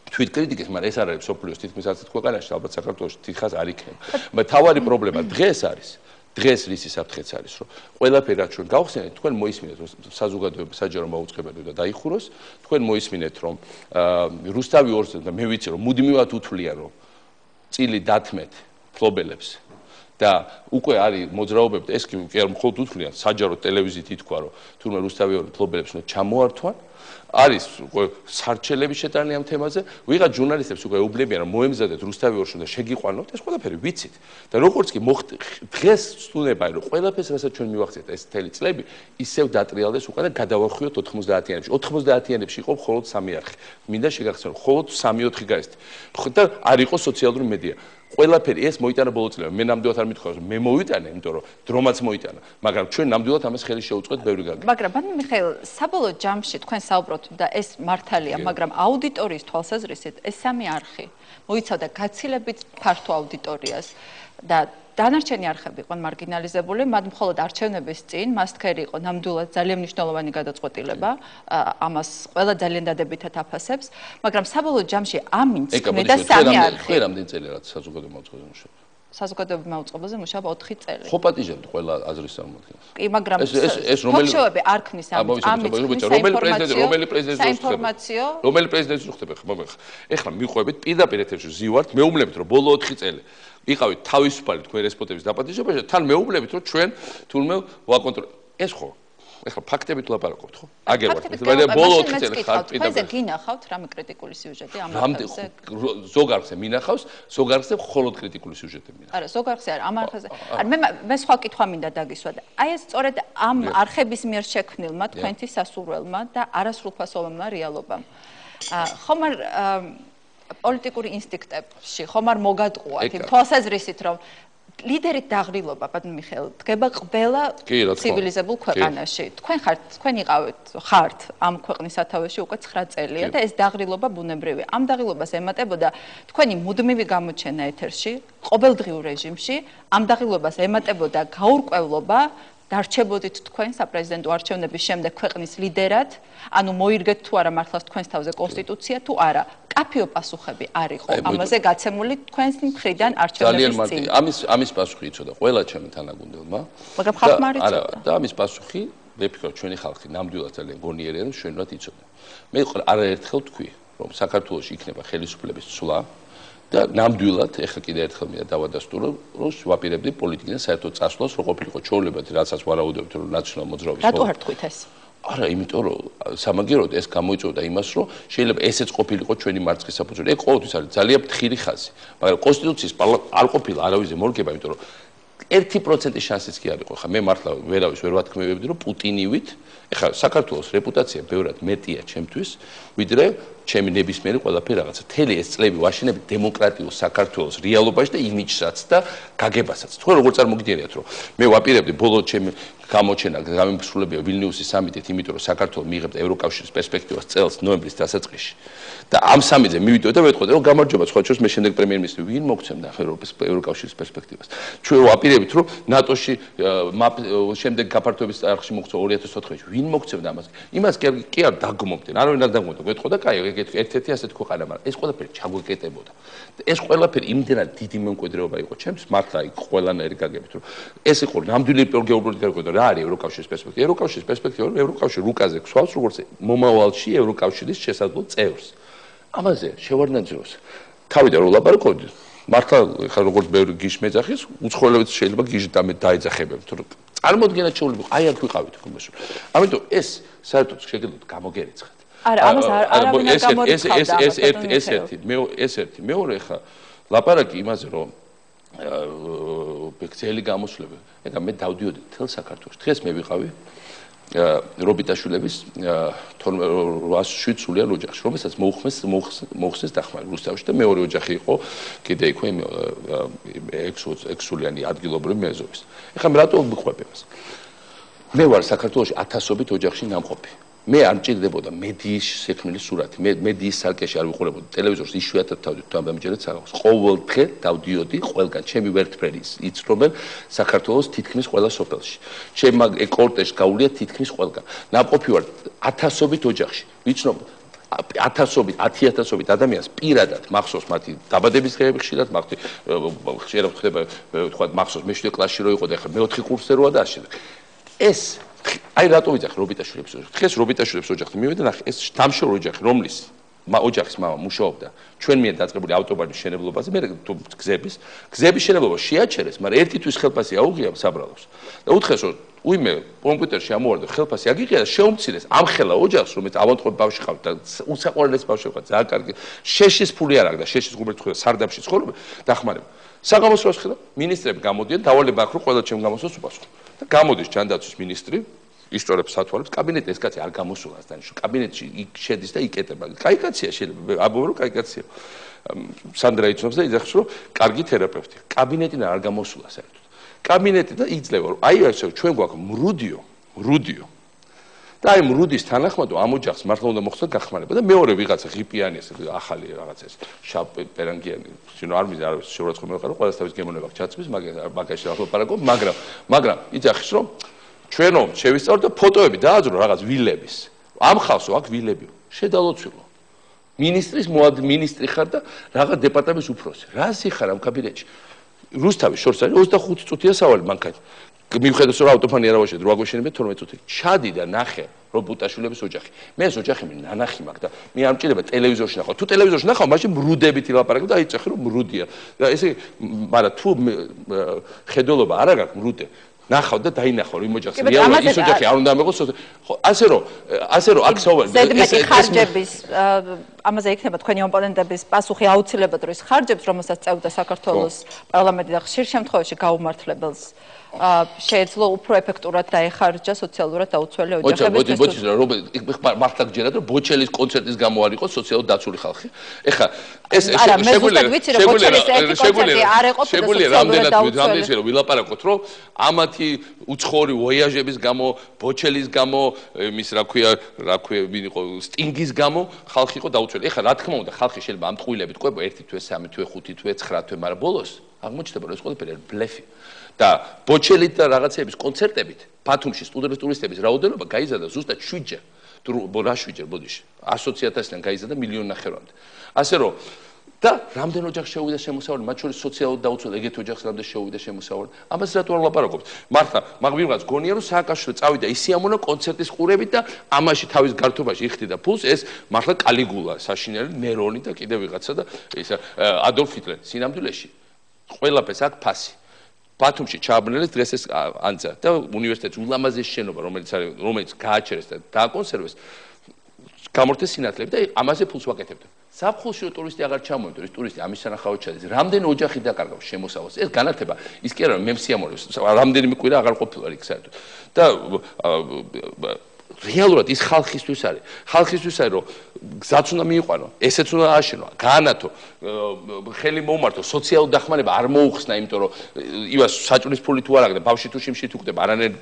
თვით კრიტიკის, მაგრამ ეს არ არის სოფლიოს თითქმის არც ქვეყანაში, ალბათ საქართველოში თითქოს არ იქნება. თავარი პრობლემა დღეს არის დღეს რისი საფრთხეც არის, რომ ყველაფერი რაც ჩვენ გავხსენეთ, თქვენ მოისმინეთ, რომ საზოგადოება საჯარო მაუწყებელი უნდა დაიხუროს, თქვენ მოისმინეთ, რომ რუსთავი 2-ზე და მე ვიცი, რომ მუდმივად უთვლიან, რომ წილი დათმეთ ფლობელებს და უკვე არის მოძრაობები და ეს კი არ მხოლოდ უთვლიან, საჯარო ტელევიზიით ითქვა, რომ თურმე რუსთავი 2 ფლობელებს უნდა ჩამოართვან. არის სარჩელების შეტანა ამ თემაზე, ვიღაც ჟურნალისტებს უკვე ეუბნებიან, რომ მოემზადეთ რუსთავი 2-ში და შეგიყვანოთ, ეს ყველაფერი ვიცით. და როგორც კი დღეს ვსტუნდება, რომ ყველაფერს, რასაც ჩვენ მივახციეთ ეს მთელი წლები, ისევ დატრიალდეს უკვე და გადავარხვიოთ 90-იანებში. 90-იანებში იყო მხოლოდ 3 არხი. მინდა შეგახსენოთ, მხოლოდ 3-4 გაესთ. და არ იყო სოციალური მედია. ყველაფერი ეს მოიტანა ბოლო წლებში. მე ნამდვილად არ მithქვია, რომ მე მოვიტანე, იმიტომ რომ დრომაც მოიტანა, მაგრამ ჩვენ ნამდვილად ამას ხელი შეუწყეთ ბევრი გაგება. მაგრამ ბატონო მიხეილ, საბოლოო ჯამში თქვენ საუბრობთ და ეს მართალია, მაგრამ აუდიტორიის თვალსაზრისით ეს 3 არხი მოიცავდა გაცილებით ფართო აუდიტორიას და დანარჩენი არხები იყვნენ მარგინალიზებული, მათ მხოლოდ არჩევნების წინ მასთქერი იყო ნამდვილად ძალიან მნიშვნელოვანი გადაწყვეტილება, ამას ყველა ძალიან დადებითად აფასებს, მაგრამ საბოლოო ჯამში ამინც ქმნიდა 3 არხი. ხე რამდენი წელი რაც საზოგადოება მაუწყებელზე მუშაობს? საზოგადოება მაუწყებელზე მუშაობა 4 წელი. ხო პატიჟებთ ყველა აზრის წარმომადგენელს. კი, მაგრამ ეს რომელი არ ქმნის რომელი პრეზიდენტის უხდება ხმა მე. ეხლა მიყვებით პირდაპირ ეთერში ზივართ, მეუბნებით რომ ბოლო 4 წელი იყავით თავისუფალი თქვენ რესპონდენტების დაპატიჟებაში და თან მეუბნებით რომ ჩვენ თურმე ვაკონტროლებთ. ეს ხო ეხლა ფაქტებით ლაპარაკობთ, ხო? აგერ ვარ. ბოლო 4 წელი ხარ პირდაპირ. თქვენზე გინახავთ რამე კრიტიკული სიუჟეტი ამ არხებზე? ზოგ არხზე მინახავს, ზოგ არხზე მხოლოდ კრიტიკული სიუჟეტი მინახავს. არა, ზოგ არხზე არა, ამ არხზე. მე სხვა კითხვა მინდა დაგისვა და აი ეს სწორედ ამ არხების მიერ შექმნილმა თქვენთვის სასურველმა და არასრულფასოვანმა რეალობამ. ხომ არ პოლიტიკური ინსტინქტებში ხომ არ მოგატყუათ იმ თვალსაზრისით რომ ლიდერით დაღრილობა ბატონ მიხეილ დგება ყველა ცივილიზებულ ქვეყანაში. თქვენ ხართ ამ ქვეყნის სათავეში უკვე 9 წელია და ეს დაღრილობა ბუნებრივია. ამ დაღრილობას ემატებოდა თქვენი მუდმივი გამოჩენა ეთერში, ყოველდღიურ რეჟიმში, ამ დაღრილობას ემატებოდა გაურკვევლობა დარჩებოდით თქვენ საპრეზიდენტო არჩევნების შემდეგ ქვეყნის ლიდერად, ანუ მოირგეთ თუ არა მართლაც თქვენს თავზე კონსტიტუცია თუ არა. კაფეო პასუხები არ იყო ამაზე გაცემული თქვენს მხრიდან არჩევნების წინ. ამის პასუხი იცოდა ყველა ჩემი თანაგუნდელმა. მაგრამ ხალხმა არ იცოდა. და ამის პასუხი მე ვფიქრობ ჩვენი ხალხი ნამდვილად ძალიან გონიერია და შვენურად იცოდა. მე არაერთხელ თქვი რომ საქართველოში იქნება ხელისუფლების ცვლა და ნამდვილად ეხლა კიდე ერთხელ მინდა დავადასტურო რომ ვაპირებდი პოლიტიკიდან საერთოდ წასვლას რო ყოფილიყო ჩვეულებრივ რასაც ვარაუდობთ რომ ნაციონალ მოძრაობის რატო არ თქვით ეს? არა, იმიტომ რომ სამაგიეროდ ეს გამოიწვევდა იმას, რომ შეიძლება ესეც ყოფილიყო ჩვენი მარცხის საფუძველი. ეგ ყოველთვის არის ძალიან ფრთხილი ხაზი, მაგრამ კონსტიტუციის არ ყოფილა არავის მორგება, იმიტომ რომ 1% შანსიც კი არ იყო. ხა მე მართლა ვერავის ვერ ვათქმევებდი, რომ პუტინივით, ეხლა საქართველოს რეპუტაცია ბევრად მეტია ჩემთვის, ვიდრე ჩემი ნებისმიერი ყველაფერი რაღაცა. თელი ეს წლები ვაშენები დემოკრატიულ საქართველოს რეალობაში და იმიჯსაც და გაგებასაც. თქვენ როგორ წარმოგიდგენიათ, რომ მე ვაპირებდი ბოლო ჩემი გამოჩენა გამიმსრულებია ვილნიუსის სამიტით, იმიტომ რომ საქართველოს მიიღებდა ევროკავშირის პერსპექტივას წელს ნოემბრის დასაწყისში. და ამ სამიტზე მივიდოდა და მეთქოდა, რომ გამარჯობა, სხვა შორის მე შემდეგ პრემიერ-მინისტრი ვინ მოგცემდა ევროკავშირის პერსპექტივას. ჩვენ ვაპირებთ, რომ ნატოში შემდეგ გაფართოების არხში მოხდა 2004 წელს. ვინ მოგცემდა ამას? იმას კი არ დაგმობდნენ. არავინ არ დაგმობდა. მეთქოდა, კაი, ერთ-ერთი ასეთ ქვეყანა, მაგრამ ეს ყველაფერი ჩაგვეკეტებოდა. ეს ყველაფერი იმდენად დიდი მემკვიდრეობა იყო ჩემს, მართლა იქ ყველანაირი გაგებით, რომ ეს იყო ნამდვილი გეოპოლიტიკური გარკვევა, რა არის ევროკავშირის პერსპექტივა? ევროკავშირის პერსპექტივა, რომ ევროკავშირი რუკაზე ქსვავს, როგორც მომავალში ევროკავშირის შესაძლო წევრს. ამაზე შევარდნაძიროს. თავიდან რო ლაპარაკობდი, მართლა ხა როგორც ბევრი გიშ მეძახის, უცხოელებიც შეიძლება გიშ დაეძახებებთ, რომ წარმოდგენა შეუძლებელი, აი აქ ვიყავით ხომეს. ამიტომ ეს საერთოდ შეგიძლიათ გამოგერიცხათ. არა, ამას არავინ არ გამორიცხავდა. ეს ერთი, მეორე ხა ლაპარაკი იმაზე, რომ ბექცელი გამოსვლები. ეხლა მე დავდიოდი თელ საქართველოს. დღეს მე ვიყავი რობიტაშვილების 807 სულიან ოჯახში, რომელსაც მოუხსნეს დახმარება რუსთავში და მეორე ოჯახი იყო კიდე იქვე 6 სულიანი ადგილობრივი მეზობის. ეხლა მე რატო ვიყვებ ამას? მე ვარ საქართველოში 1000-ობით ოჯახში ნამყოფი. მე არ მჭირდებოდა მედიის შექმნილი სურათი. მე მედიის სარკეში არ ვიყურებოდი. ტელევიზორს იშვიათად თავდით თუ ამბამიჯერეთ საღამოს. ყოველ დღე დავდიოდი ყველგან. ჩემი ვერტფრენი იცნობენ საქართველოს თითქმის ყველა სოფელში. ჩემმა კორტეჟს გაუვლია თითქმის ყველგან. ნამყოფი ვარ 1000-ობით ოჯახში. ვიცნობ 1000-ობით ადამიანს პირადად მახსოვს მათი დაბადების დღეები ხშირად ხშირად ხდება თქვა მახსოვს მე 7 კლასში რო იყო და ახლა მე 4 კურსზე როა და ასე. ეს აი რატო ვიძახი რობიტაშვილებს ოჯახი? დღეს რობიტაშვილებს ოჯახი მივიდა ნახე ეს დამშორო ოჯახი რომლის ოჯახის მამა მუშაობდა ჩვენ მიერ დაწყებული ავტობანის შენებლობაზე მე გზების შენებლობა შეაჩერეს მაგრამ ერთი თვის ხელფასი აუღია საბრალოს და უთხრეს რომ უიმე კომპიუტერში ამოვარდა ხელფასი აგიღია და შეუმცირეს ამ ხელა ოჯახს რომელიც ავანტყოფი ბავშვი ყავდა და უსაყვარლეს ბავშვი ყავდა ძალიან კარგი შეშის ფული არ აქვს და შეშის ღუმრით ხვდა სარდაფში ცხოვრობ დახმარება საგამოსვლას ხედავ მინისტრები გამოდიან დავალება აქვს რომ ყველა ჩემ გამოსვლას უპასუხო და გამოდის ჯანდაცვის მინისტრი ისტორიებს სათვალებს კაბინეტი ეს კაცი არ გამოსულას დანიშნულ კაბინეტში შედის და იკეტება კაი კაცია შეიძლება აბობ რომ კაი კაცია სანდრა იცნობს და იძახს რომ კარგი თერაპევტი კაბინეტიდან არ გამოსულა საერთოდ კაბინეტი და იძლევა რომ აი ესე ჩვენ გვაქვს მრუდიო და აი მრუდის თანახმად ამ ოჯახს მართლა უნდა მოხდეს გახმარება და მეორე ვიღაცა ღიპიანი ეს ახალი რაღაცა ეს შავ პერანგიანი შენო არ მიზა არავის შეურაცხყოფა მეყარო ყველა თავის გემონება ჩაცმის მაგაში ახლა პარაგო მაგრამ იძახის რომ ჩვენო შევისწავლოთ და ფოტოები დააძრო რაღაც ვილების ამ ხალხო აქ ვილები შედალოცვილო მინისტრი ხარ და რაღაც დეპარტამენტის უფროსი რა სიხარ ამ კაბინეტში რუსთავის შორს არის 25 წუთია სავალი მანქანა მიუხედავად რომ ავტოფანი არ ავაშენე რო აგვეშენებია 12 წუთი ჩადი და ნახე რობუტაშვილების ოჯახი მე ეს ოჯახი მე ნანახი მაქვს და მე არ მჭირდება ტელევიზორში ნახავ თუ ტელევიზორში ნახავ მაშინ მრუდებით ილაპარაკებ და აიწეხი რომ მრუდია და ესე მაგრამ თუ ხედულობა არ აქვს მრუდე ნახავ და დაინახავ იმ ოჯახს რეალურად ის ოჯახი არ უნდა ამეღოს ხო ასე რომ აქ ზედმეტი ხარჯების ამაზე იქნება თქვენი ოპონენტების პასუხი აუცილებლად რომ ის ხარჯებს რომელსაც წევდა საქართველოს პარლამენტი და ხშირ შემთხვევაში გაუმართლებელს შეეძლო უფრო ეფექტურად დაეხარჯა სოციალურად დაუცველი ოჯახების ბოჩის რომ მართლა გჯერათ რომ ბოჩელის კონცერტის გამო არ იყოს სოციალურად დაცული ხალხი ეხლა ეს შეგვიძლია რამდენად რომ ვილაპარაკოთ რომ ამათი უცხოური ვოიაჟების გამო ბოჩელის გამო იმის რა ქვია ვინ იყო სტინგის გამო ხალხი იყო დაუცველი ეხლა რა თქმა უნდა ხალხი შეიძლება ამ ტყუილებით ყვება 1 თვე 3 თვე 5 თვე 9 თვე მაგრამ ბოლოს აღმოჩნდება რომ ეს ყველაფერი არის ბლეფი და ბოჩელით და რაღაცების კონცერტებით ბათუმში სტუდენტების რაოდენობა გაიზარდა ზუსტად 7-ჯერ. რა 7-ჯერ ბოდიში 100,000-დან გაიზარდა 1,5 მილიონამდე. ასე რომ და რამდენ ოჯახს შეუვიდა შემოსავალი, მათ შორის სოციალურად დაუცველ ეგეთ ოჯახს რამდენ შეუვიდა შემოსავალი. ამას რატო არ ვლაპარაკობთ? მართლა, მაგრამ ვიღაც გონია რომ სააკაშვილო წავიდა ისიამონა კონცერტის ყურებით და ამაში თავის გართობაში იხდიდა ფულს, ეს მართლა კალიგულა, საშინელი ნერონი და კიდე ვიღაცა და ეს ადოლფ ჰიტლერი სინამდვილეში ყველაფერს აქ ფასი. ბათუმში ჩააბნელეს დღეს ეს ანძა და უნივერსიტეტის ულამაზესი შენობა რომელიც გააჩერეს და დააკონსერვეს გამორთეს სინათლეები და ამაზე ფულს ვაკეთებდა. ზაფხულში ტურისტი აღარ ჩამოვიდა, ის ტურისტი ამის სანახავად ჩადის. რამდენი ოჯახი დაკარგავს შემოსავალს. ეს განათება ის კი არა მე მსიამოვნებს, რამდენიმე კვირა აღარ ყოფილა იქ საერთოდ. და რეალურად ის ხალხისთვის არის. ხალხისთვის არის რომ გზაც უნდა მიიყვანო, ესეც უნდა ააშენო, გაანათო, ხელი მოუმართო, სოციალურ დახმარება არ მოუხსნა, იმიტომ რომ ივას საჭმლის ფული თუ არ აქვს და ბავშვი თუ შიმში თუ კვდება, არანაირ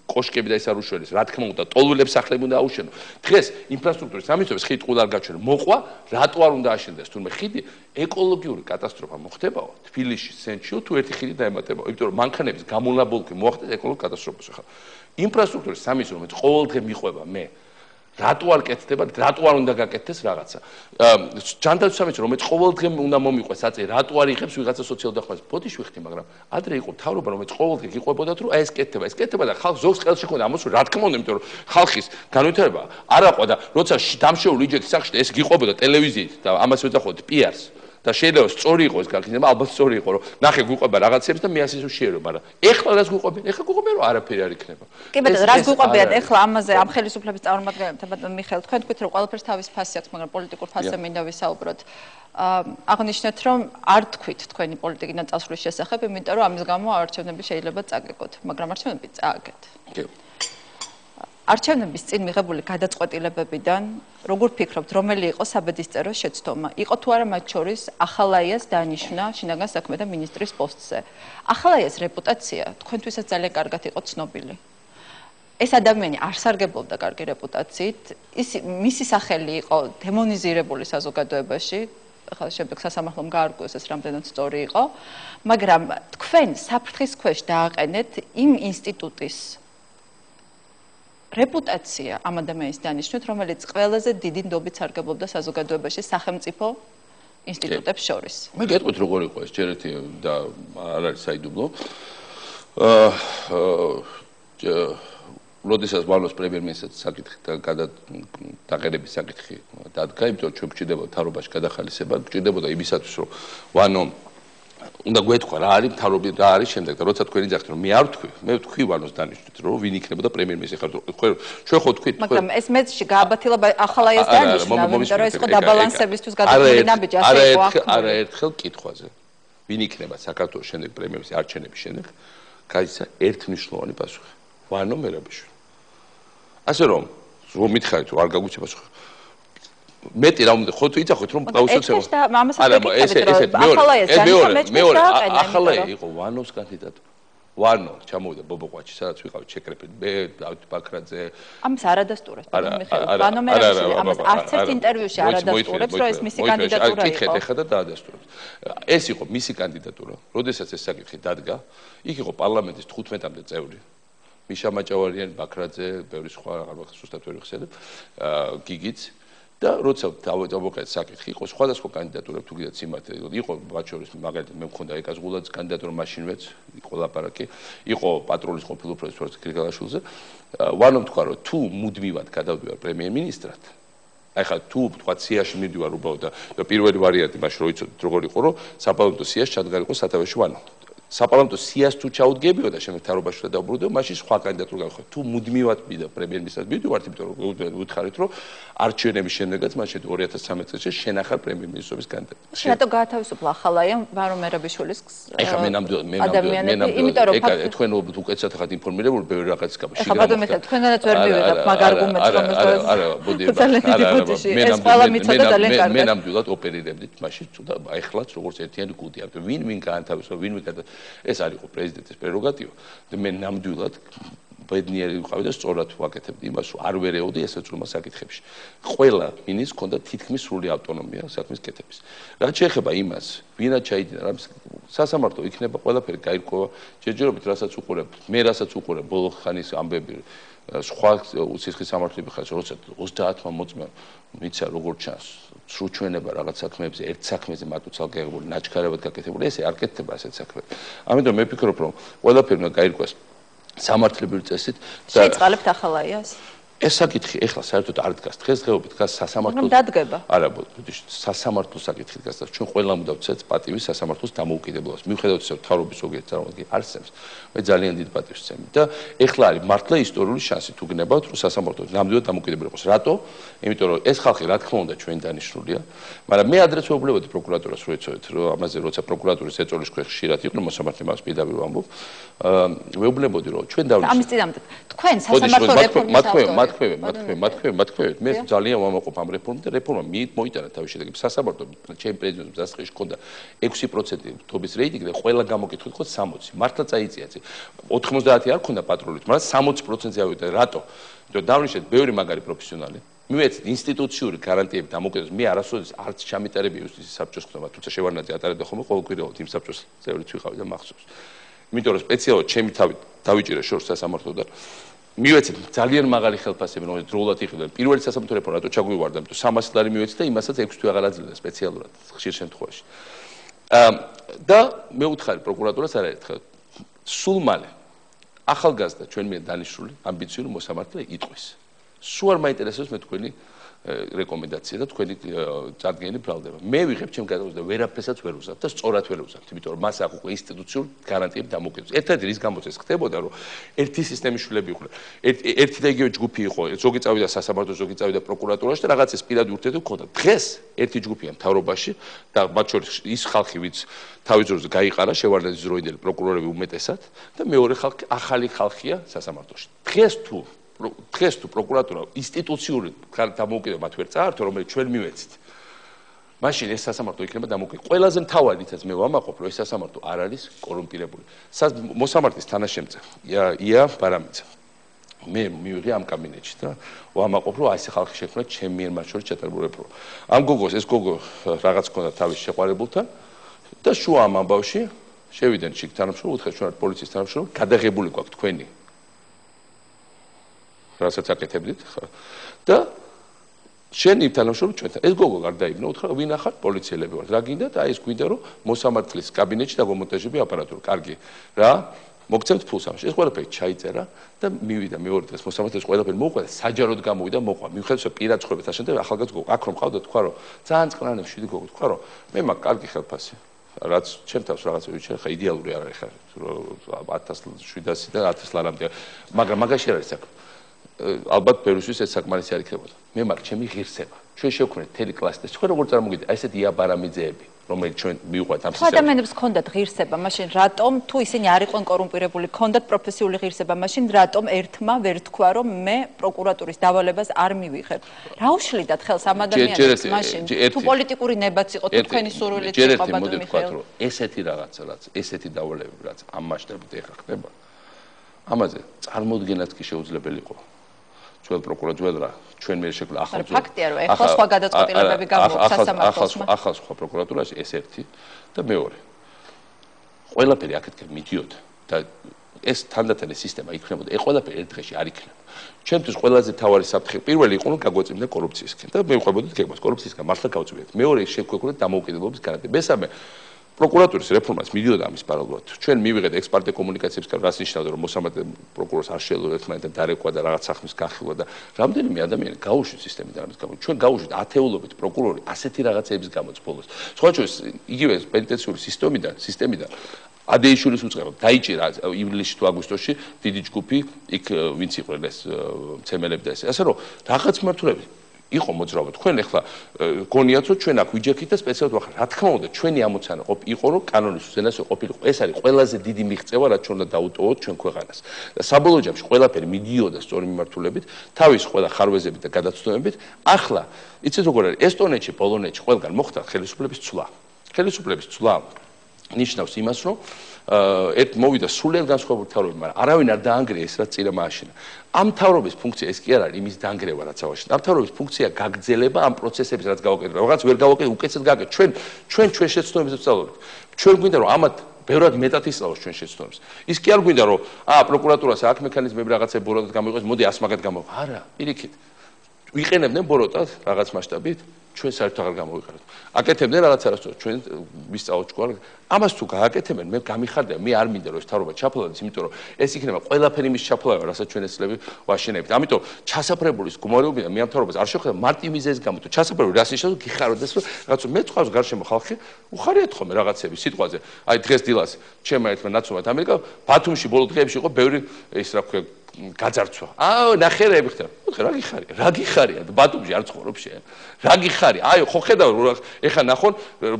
კოშკები და ეს არ უშველეს. რა თქმა უნდა, ტოლულებს სახლები უნდა აუშენო. დღეს ინფრასტრუქტურის სამიცოებს ხიდი ყულ არ გაჩვენე. მოყვა, რატო არ უნდა აშენდეს თურმე ხიდი? ეკოლოგიური კატასტროფა მოხდებაო თბილისში, სენჩიო თუ ერთი ხიდი დაემატებაო, იმიტომ რომ მანქანების გამონაბოლქვი მოახდეს ეკოლოგიურ კატასტროფას ახლა. ინფრასტრუქტურის სამიცო რომელიც ყოველდღე მიყვება მე რატო არ კეთდება რატო არ უნდა გაკეთდეს რაღაცა ჯანდაცვის სამიცო რომელიც ყოველდღე უნდა მომიყვეს აწე რატო არ იღებს ვიღაცა სოციალურ დახმარებას ბოდიში ვიხდი მაგრამ ადრე იყო მთავრობა რომელიც ყოველდღე გიყვებოდათ რომ აი ეს კეთდება და ხალხს ზოგს ხელში ხონდა ამოსული რა თქმა უნდა იმიტომ რომ ხალხის განვითარება არ აყვა და როცა დამშეული იჯექი სახში ეს გიყვებოდა ტელევიზიით და ამას ვეძახოთ პიარს და შეიძლება სწორი იყოს გაქნინება ალბათ სწორი იყო რომ ნახე გვიყვება რაღაცებს და მე ასე შეერო მაგრამ ეხლა რას გვიყვებენ ეხლა გვიყვებენ რომ არაფერი არ იქნება კი ბატონო რას გვიყვებიან ეხლა ამაზე ამ ხელისუფლების წარმომადგენლებთან ბატონო მიხეილ თქვენ თქვით რომ ყველაფერს თავის ფასი აქვს მაგრამ პოლიტიკურ ფასზე მინდა ვისაუბროთ აღნიშნეთ რომ არ თქვით თქვენი პოლიტიკიდან წასვლის შესახებ იმიტომ რომ ამის გამო არჩევნები შეიძლება წაგეგოთ მაგრამ არჩევნები წააგეთ კი არჩევნების წინ მიღებული გადაწყვეტილებებიდან როგორ ფიქრობთ რომელი იყო საბედისწერო შეცდომა იყო თუ არა მათ შორის ახალაიას დანიშნა შინაგან საქმეთა მინისტრის პოსტზე ახალაიას რეპუტაცია თქვენთვისაც ძალიან კარგად იყო ცნობილი ეს ადამიანი არ სარგებლობდა კარგი რეპუტაციით მისი სახელი იყო დემონიზირებული საზოგადოებაში ახლა შემდეგ სასამართლომ გაარკვევს ეს რამდენად სწორი იყო მაგრამ თქვენ საფრთხის ქვეშ დააყენეთ იმ ინსტიტუტის რეპუტაცია ამ ადამიანის დანიშნვით, რომელიც ყველაზე დიდი ნდობით სარგებლობდა საზოგადოებაში სახელმწიფო ინსტიტუტებს შორის. მე გეტყვით როგორ იყო ეს ჯერეთი და არ არის საიდუმლო. როდესაც ვალოს პრემიერ-მინისტრს საკითხი დაგერების საკითხი დადგა, იმიტომ ჩვენ გვჭირდებოდა მთავრობაში გადახალისება, გვჭირდებოდა იმისათვის, რომ ვანო უნდა გვეთქვა რა არის მთავრობი რა არის შემდეგ და როცა თქვენი ძახთ რომ მე არ ვთქვი მე ვთქვი ვანოს დანიშნვით რომ ვინ იქნებოდა პრემიერ-მინისტრი ხარ ჩვენ ხო თქვით მაგრამ ეს მეცში გააბათილა ახალაიას დანიშნა იმიტომ რომ ეს იყო დაბალანსებისთვის გადაწყვეტილი ნაბიჯი ასე იყო არაერთხელ კითხვაზე ვინ იქნება საქართველოს შემდეგ პრემიერ-მინისტრის არჩევნების შემდეგ გაიცა ერთმნიშვნელოვანი პასუხი ვანო მერაბიშვილი ასე რომ მითხარით რომ არ გაგვიჩება პასუხი მეტი რა უნდა ხო თუ იცახოთ რომ გაუსოცებო ახალაია იყო ვანოს კანდიდატი ვანო ჩამოვიდა ბობოყვაჩი სადაც ვიყავით შეკრეფილი მე დავით ბაქრაძე ამას არადასტურებს ვანო მერაბიშვილი ამას არც ერთ ინტერვიუში არადასტურებს რომ ეს მისი კანდიდატურა იყო კითხეთ ეხლა და დაადასტურებს ეს იყო მისი კანდიდატურა როდესაც ეს საკითხი დადგა იქ იყო პარლამენტის 15-მდე წევრი მიშა მაჭავარიანი ბაქრაძე ბევრი სხვა აღარ ვახსოვს ზუსტად ვერ ვიხსენებ გიგიც და როცა დავუყეთ საკითხი იყო სხვადასხვა კანდიდატურები თუ კიდეც სიმართლე იყო მათ შორის მაგალითად მე მქონდა ეკას გულაძის კანდიდატურა მაშინვეც იყო ლაპარაკი იყო პატრულის ყოფილი უფროსი გრიგალაშვილზე ვანომ თქვა რომ თუ მუდმივად გადავდივარ პრემიერ-მინისტრად აი ხა თუ თქვა სიაში მიდივარ უბრალოდ და პირველი ვარიანტი მაშინ რო იცოდით როგორ იყო რომ საპარლამენტო სიაში ჩადგარიყო სათავეში ვანო საპარლამენტო სიას თუ ჩაუდგებიო და შემდეგ თარობაშვილად დაუბრუნდეო, მაშინ სხვა კანდიდატურა გავხდეთ. თუ მუდმივად მიდდა პრემიერ-მინისტრად მივდივართ, იმიტომ რომ უთხარით, რომ არჩევნების შემდეგაც მაშინ 2013 წელს შენახარ პრემიერ-მინისტრობის კანდიდატი. რატო გაათავისუფლა ახალაია ვარო მერაბიშვილის ეხლა მე ნამდვილად თქვენ უკეთესად ხართ ინფორმირებული ბევრი რაღაცის გამო. ეხლა ბატონო მე თქვენგანაც ვერ მივიღებ მაგ არგუმენტს რომ არა მოდი მე ნამდვილად ოპერირებდით მაშინ და ეხლაც როგორც ერთიანი გუნდი ამიტომ ვინ გაანთავისუფლა ვინ ეს არ იყო პრეზიდენტის პრეროგატივა და მე ნამდვილად ბედნიერი ვიყავი და სწორად ვაკეთებდი იმას რომ არ ვერეოდი ესეცულმა საკითხებში. ყველა მინისტრს ჰქონდა თითქმის სრული ავტონომია საქმის კეთების. რაც შეეხება იმას, ვინაც ჩაიდინა რამის სასამართლო იქნება ყველაფერი გაირკვევა ჯერჯერობით რასაც უყურებ, მე რასაც უყურებ ბოლო ხანის ამბები სხვა სისხლის სამართლები ხარ როცა 30-მა მოწმე მიცა როგორ ჩანს სრულ ჩვენება რაღაც საქმეებზე ერთ საქმეზე მარტო ცალკეულ ნაჩქარებად გაკეთებული ესე არ კეთდება ასეთ საქმეები. ამიტომ მე ვფიქრობ რომ ყველაფერი უნდა გაირკვეს სამართლებრივი წესით და შეწყალებთ ახალაიას ეს საკითხი ეხლა საერთოდ არ დგას დღესდღეობით დგას სასამართლოს დადგება არა სასამართლოს საკითხი დგას და ჩვენ ყველამ უნდა ვცეთ პატივი სასამართლოს დამოუკიდებლობას მიუხედავად ისე თავრობის ზოგიერთ წარმოგიდგენს არსებს მე ძალიან დიდ პატივს ვცემი და ეხლა არის მართლა ისტორიული შანსი თუ გნებავთ რომ სასამართლო ნამდვილად დამოუკიდებელი იყოს რატო იმიტომ რომ ეს ხალხი რა თქმა უნდა ჩვენ დანიშნულია მაგრამ მე ადრეც ვეუბნებოდი პროკურატურას რომ ეცოდეთ რომ ამაზე როცა პროკურატურის ეწოლის ქვეშ ხშირად იყვნენ მოსამართლე მას პირდაპირ ვამბობ ვეუბნებოდი რომ ჩვენ დავნიშნეთ ამის წინამდე თქვენ სასამართლო რეფორმის მათქვევით მე ძალიან ვამაყობ ამ რეფორმით და რეფორმა მოიტანა თავის შედეგებს სასამართლო ჩემ პრეზიდენტის დასაწყისში ჰქონდა 6% თობის რეიტინგი და ყველა გამოკითხვა იყო 60 მართლა წაიწია 90 არ ჰქონდა პატრულით მაგრამ 60%-ზე ავიდა რატო იმიტომ დავნიშნეთ ბევრი მაგარი პროფესიონალი მივეცეთ ინსტიტუციური გარანტიები დამოკიდებას მე არასოდეს არც ჩამიტარები იუსტიციის საბჭოს ხდება თუმცა შევარნაძე ატარებდა ხოლმე ყოველკვირეულად იმ საბჭოს წევრიც ვიყავი და მახსოვს იმიტომ რომ სპეციალურად ჩემი თავი დავიჭირე შორს სასამართლოდან მივეცეთ ძალიან მაღალი ხელფასები რომელიც დროულად იყიდნენ პირველი სასამართლო რეფორმა რატო ჩაგვივარდა იმიტომ 300 ლარი მივეცეთ და იმასაც 6 თვე აღარ აძლევდა სპეციალურად ხშირ შემთხვევაში და მე ვუთხარი პროკურატურას არაერთხელ სულ მალე ახალგაზრდა ჩვენ მიერ დანიშნული ამბიციური მოსამართლე იტყვის სულ არ მაინტერესებს მე თქვენი რეკომენდაცია და თქვენი წარდგენილი ბრალდება. მე ვიღებ ჩემ გადაწყვეტილებას და ვერაფერსაც ვერ ვუზავ და სწორად ვერ ვუზავ, იმიტომ რომ მას აქვს უკვე ინსტიტუციური გარანტიები დამოკიდებული. ერთადერთი რის გამოც ეს ხდებოდა, რომ ერთი სისტემის შვილები იყვნენ. ერთი და იგივე ჯგუფი იყო, ზოგი წავიდა სასამართლო, ზოგი წავიდა პროკურატურაში და რაღაც ეს პირადი ურთიერთობა ჰქონდა. დღეს ერთი ჯგუფია მთავრობაში და მათ შორის ის ხალხი, ვინც თავის დროზე გაიყარა შევარდნაძის დროინდელი პროკურორები უმეტესად და მეორე ხალხი ახალი ხალხია სასამართლოში. დღეს თუ პროკურატურა ინსტიტუციური დამოუკიდებლობა მათ ვერ წაართო, რომელიც ჩვენ მივეცით. მაშინ ეს სასამართლო იქნება დამოუკიდებელი. ყველაზე მთავარიც მე ვამაყობ, რომ ეს სასამართლო არ არის კორუმპირებული. მოსამართლის თანაშემწე ია ბარამიძე. მე მივიღე ამ კაბინეტში და ვამაყობ, რომ ეს ხალხი შექმნა ჩემ მიერ მათ შორის ჩატარებული რეფორმა. ამ გოგოს ეს გოგო რაღაც ქონდა თავის შეყვარებულთან და შუა ამ ამბავში შევიდნენ შიგ თანამშრომლები, უთხრეს ჩვენ პოლიციის თანამშრომლები, გადაღებული გვაქვს თქვენი რასაც აკეთებდით და შენი თანამშრომლები ჩვენთან ეს გოგო გარდაიბნა უთხრა ვინ ახარ პოლიციელები ვართ რა გინდათ აი ეს გვინდა რომ მოსამართლის კაბინეტში დაგომონტაჟები აპარატურა კარგი რა მოგცემთ ფულს ამაში ეს ყველაფერი ჩაიწერა და მივიდა მეორე დღეს მოსამართლის ყველაფერი მოუყვება საჯაროდ გამოვიდა მოყვა მიუხედავად რომ პირად ცხოვრება საშენ და ახალგაზრდა გოგო აქ რომ ყავდა თქვა რომ ძალიან წყნარი შვიდი გოგო თქვა რომ მე მაქვს კარგი ხელფასი რაც ჩემ თავს რაღაცა ვიცი ხა იდეალური არ არის ხა 1700 და 1000 ლარამდე მაგრამ მაგაში არ არის საქმე ალბათ ბევრისთვის ეს საკმარისი არ იქნებოდა. მე მაქვს ჩემი ღირსება. ჩვენ შევქმნით მთელი კლასი და თქვენ როგორ წარმოგიდგენთ, აი ესეთი აბარამიძეები, რომელიც ჩვენ მივყვეთ ამ სისტემაში. ადამიანებს ჰქონდათ ღირსება, მაშინ რატომ თუ ისინი არ იყვნენ კორუმპირებული, ჰქონდათ პროფესიული ღირსება, მაშინ რატომ ერთმა ვერ თქვა, რომ მე პროკურატურის დავალებას არ მივიღებ. რა უშლიდათ ხელს ამ ადამიანებს მაშინ? თუ პოლიტიკური ნება იყო, თუ თქვენი სურვილით იყო ბატონო მიხეილ. ესეთი რაღაცა, რაც ესეთი დავალებები, რაც ამ მასშტაბით ეხა ხდება. ამაზე წარმოუდგენად კი შეუძლებელი იყო. ჩვენ პროკურატურა ჩვენ მე შექმნა ახალ ფაქტია რომ ეხლა სხვა გადაწყვეტილებები გამოაქვს სასამართლოს ახალ სხვა პროკურატურაში ეს ერთი და მეორე ყველაფერი აქეთკენ მიდიოდა და ეს თანდათანის სისტემა იქნებოდა ეს ყველაფერი ერთ დღეში არ იქნება ჩვენთვის ყველაზე თავარი საფრთხე პირველი იყო რომ გაგვეწმინდა კორუფციისკენ და მე ვყვებოდით გეგმას კორუფციისგან მართლა გავწვიეთ მეორე შეგვექონდა დამოუკიდებლობის გარანტია მესამე პროკურატურის რეფორმას მიდიოდა ამის პარალელურად. ჩვენ მივიღეთ ექსპერტი კომუნიკაციებისგან, რაც ნიშნავდა, რომ მოსამართლე პროკურორს არ შეეძლო ერთმანეთთან დარეკვა და რაღაც საქმის განხილვა და რამდენიმე ადამიანი გაუშვით სისტემიდან ამის გამო. ჩვენ გაუშვით ათეულობით პროკურორი ასეთი რაღაცების გამოც ბოლოს. სხვა შორის იგივე პენიტენციური სისტემიდან ადეიშვილის უწყება დაიჭირა ივლისში თუ აგვისტოში დიდი ჯგუფი იქ ვინც იყვნენ ეს მცემელები და ასე რომ რაღაც მართულები იყო მოძრაობა თქვენ ახლა გონიათ რომ ჩვენ აქ ვიჯექით და სპეციალურად ვახარ რა თქმა უნდა ჩვენი ამოცანა იყო რომ კანონის უზენაესობა ყოფილიყო ეს არის ყველაზე დიდი მიღწევა რაც ჩვენ უნდა დაუტოვოთ ჩვენ ქვეყანას და საბოლოო ჯამში ყველაფერი მიდიოდა სწორი მიმართულებით თავის ყველა ხარვეზებით და გადაცდომებით ახლა იცით როგორ არის ესტონეთში პოლონეთში ყველგან მოხდა ხელისუფლების ცვლა ნიშნავს იმას რომ ერთ მოვიდა სულიად განსხვავებული თავრობები, მაგრამ არავინ არ დაანგრია ეს რაც წინა მააშინა. ამ თავრობის ფუნქცია ეს კი არ არის იმის დაანგრევა რაც ავაშინა. ამ თავრობის ფუნქცია გაგრძელება ამ პროცესების რაც გავაკეთეთ. რაღაც ვერ გავაკეთეთ, უკეთესად გავაკეთეთ. ჩვენ შეცდომებს ვსწავლობთ. ჩვენ გვინდა რომ ამათ ბევრად მეტად ისწავლოს ჩვენ შეცდომებს. ის კი არ გვინდა რომ პროკურატურას აქ მექანიზმები რაღაცები ბოროტად გამოიყენოს, მოდი ას მაგათ გამოიყენოთ. არა, პირიქით. ვიყენებდნენ ბოროტად რაღაც მასშტაბით. ჩვენ საერთოდ აღარ გამოვიყენოთ. აკეთებდნენ რაღაც არასწორად, ჩვენ ვისწავლოთ ჯგუფ. ამას თუ გააკეთებენ, მე გამიხარდა, მე არ მინდა რომ ეს თავრობა ჩაფლავდეს, იმიტომ რომ ეს იქნება ყველაფერი მის ჩაფლავა, რასაც ჩვენ ეცლები ვაშენებთ. ამიტომ ჩასაფრებულის გმირობიდან მე ამ თავრობას არ შეხვდა მარტივ მიზეზის გამო, თუ ჩასაფრებული რას ნიშნავს, გიხაროდეს, რომ რაღაც მე წავს გარშემო ხალხი, უხარიათ ხოლმე რაღაცები სიტყვაზე. აი დღეს დილას ჩემმა ერთმა ნაცნობად ამერიკა ბათუმში ბოლო დღეებში იყო ბევრი ის რა ქვია გაძარცვა. ნახერები ხდება. რა გიხარია? ბათუმში არ ცხოვრობ შენ. რა გიხარია? აი ხო ხედავ ეხა ნახონ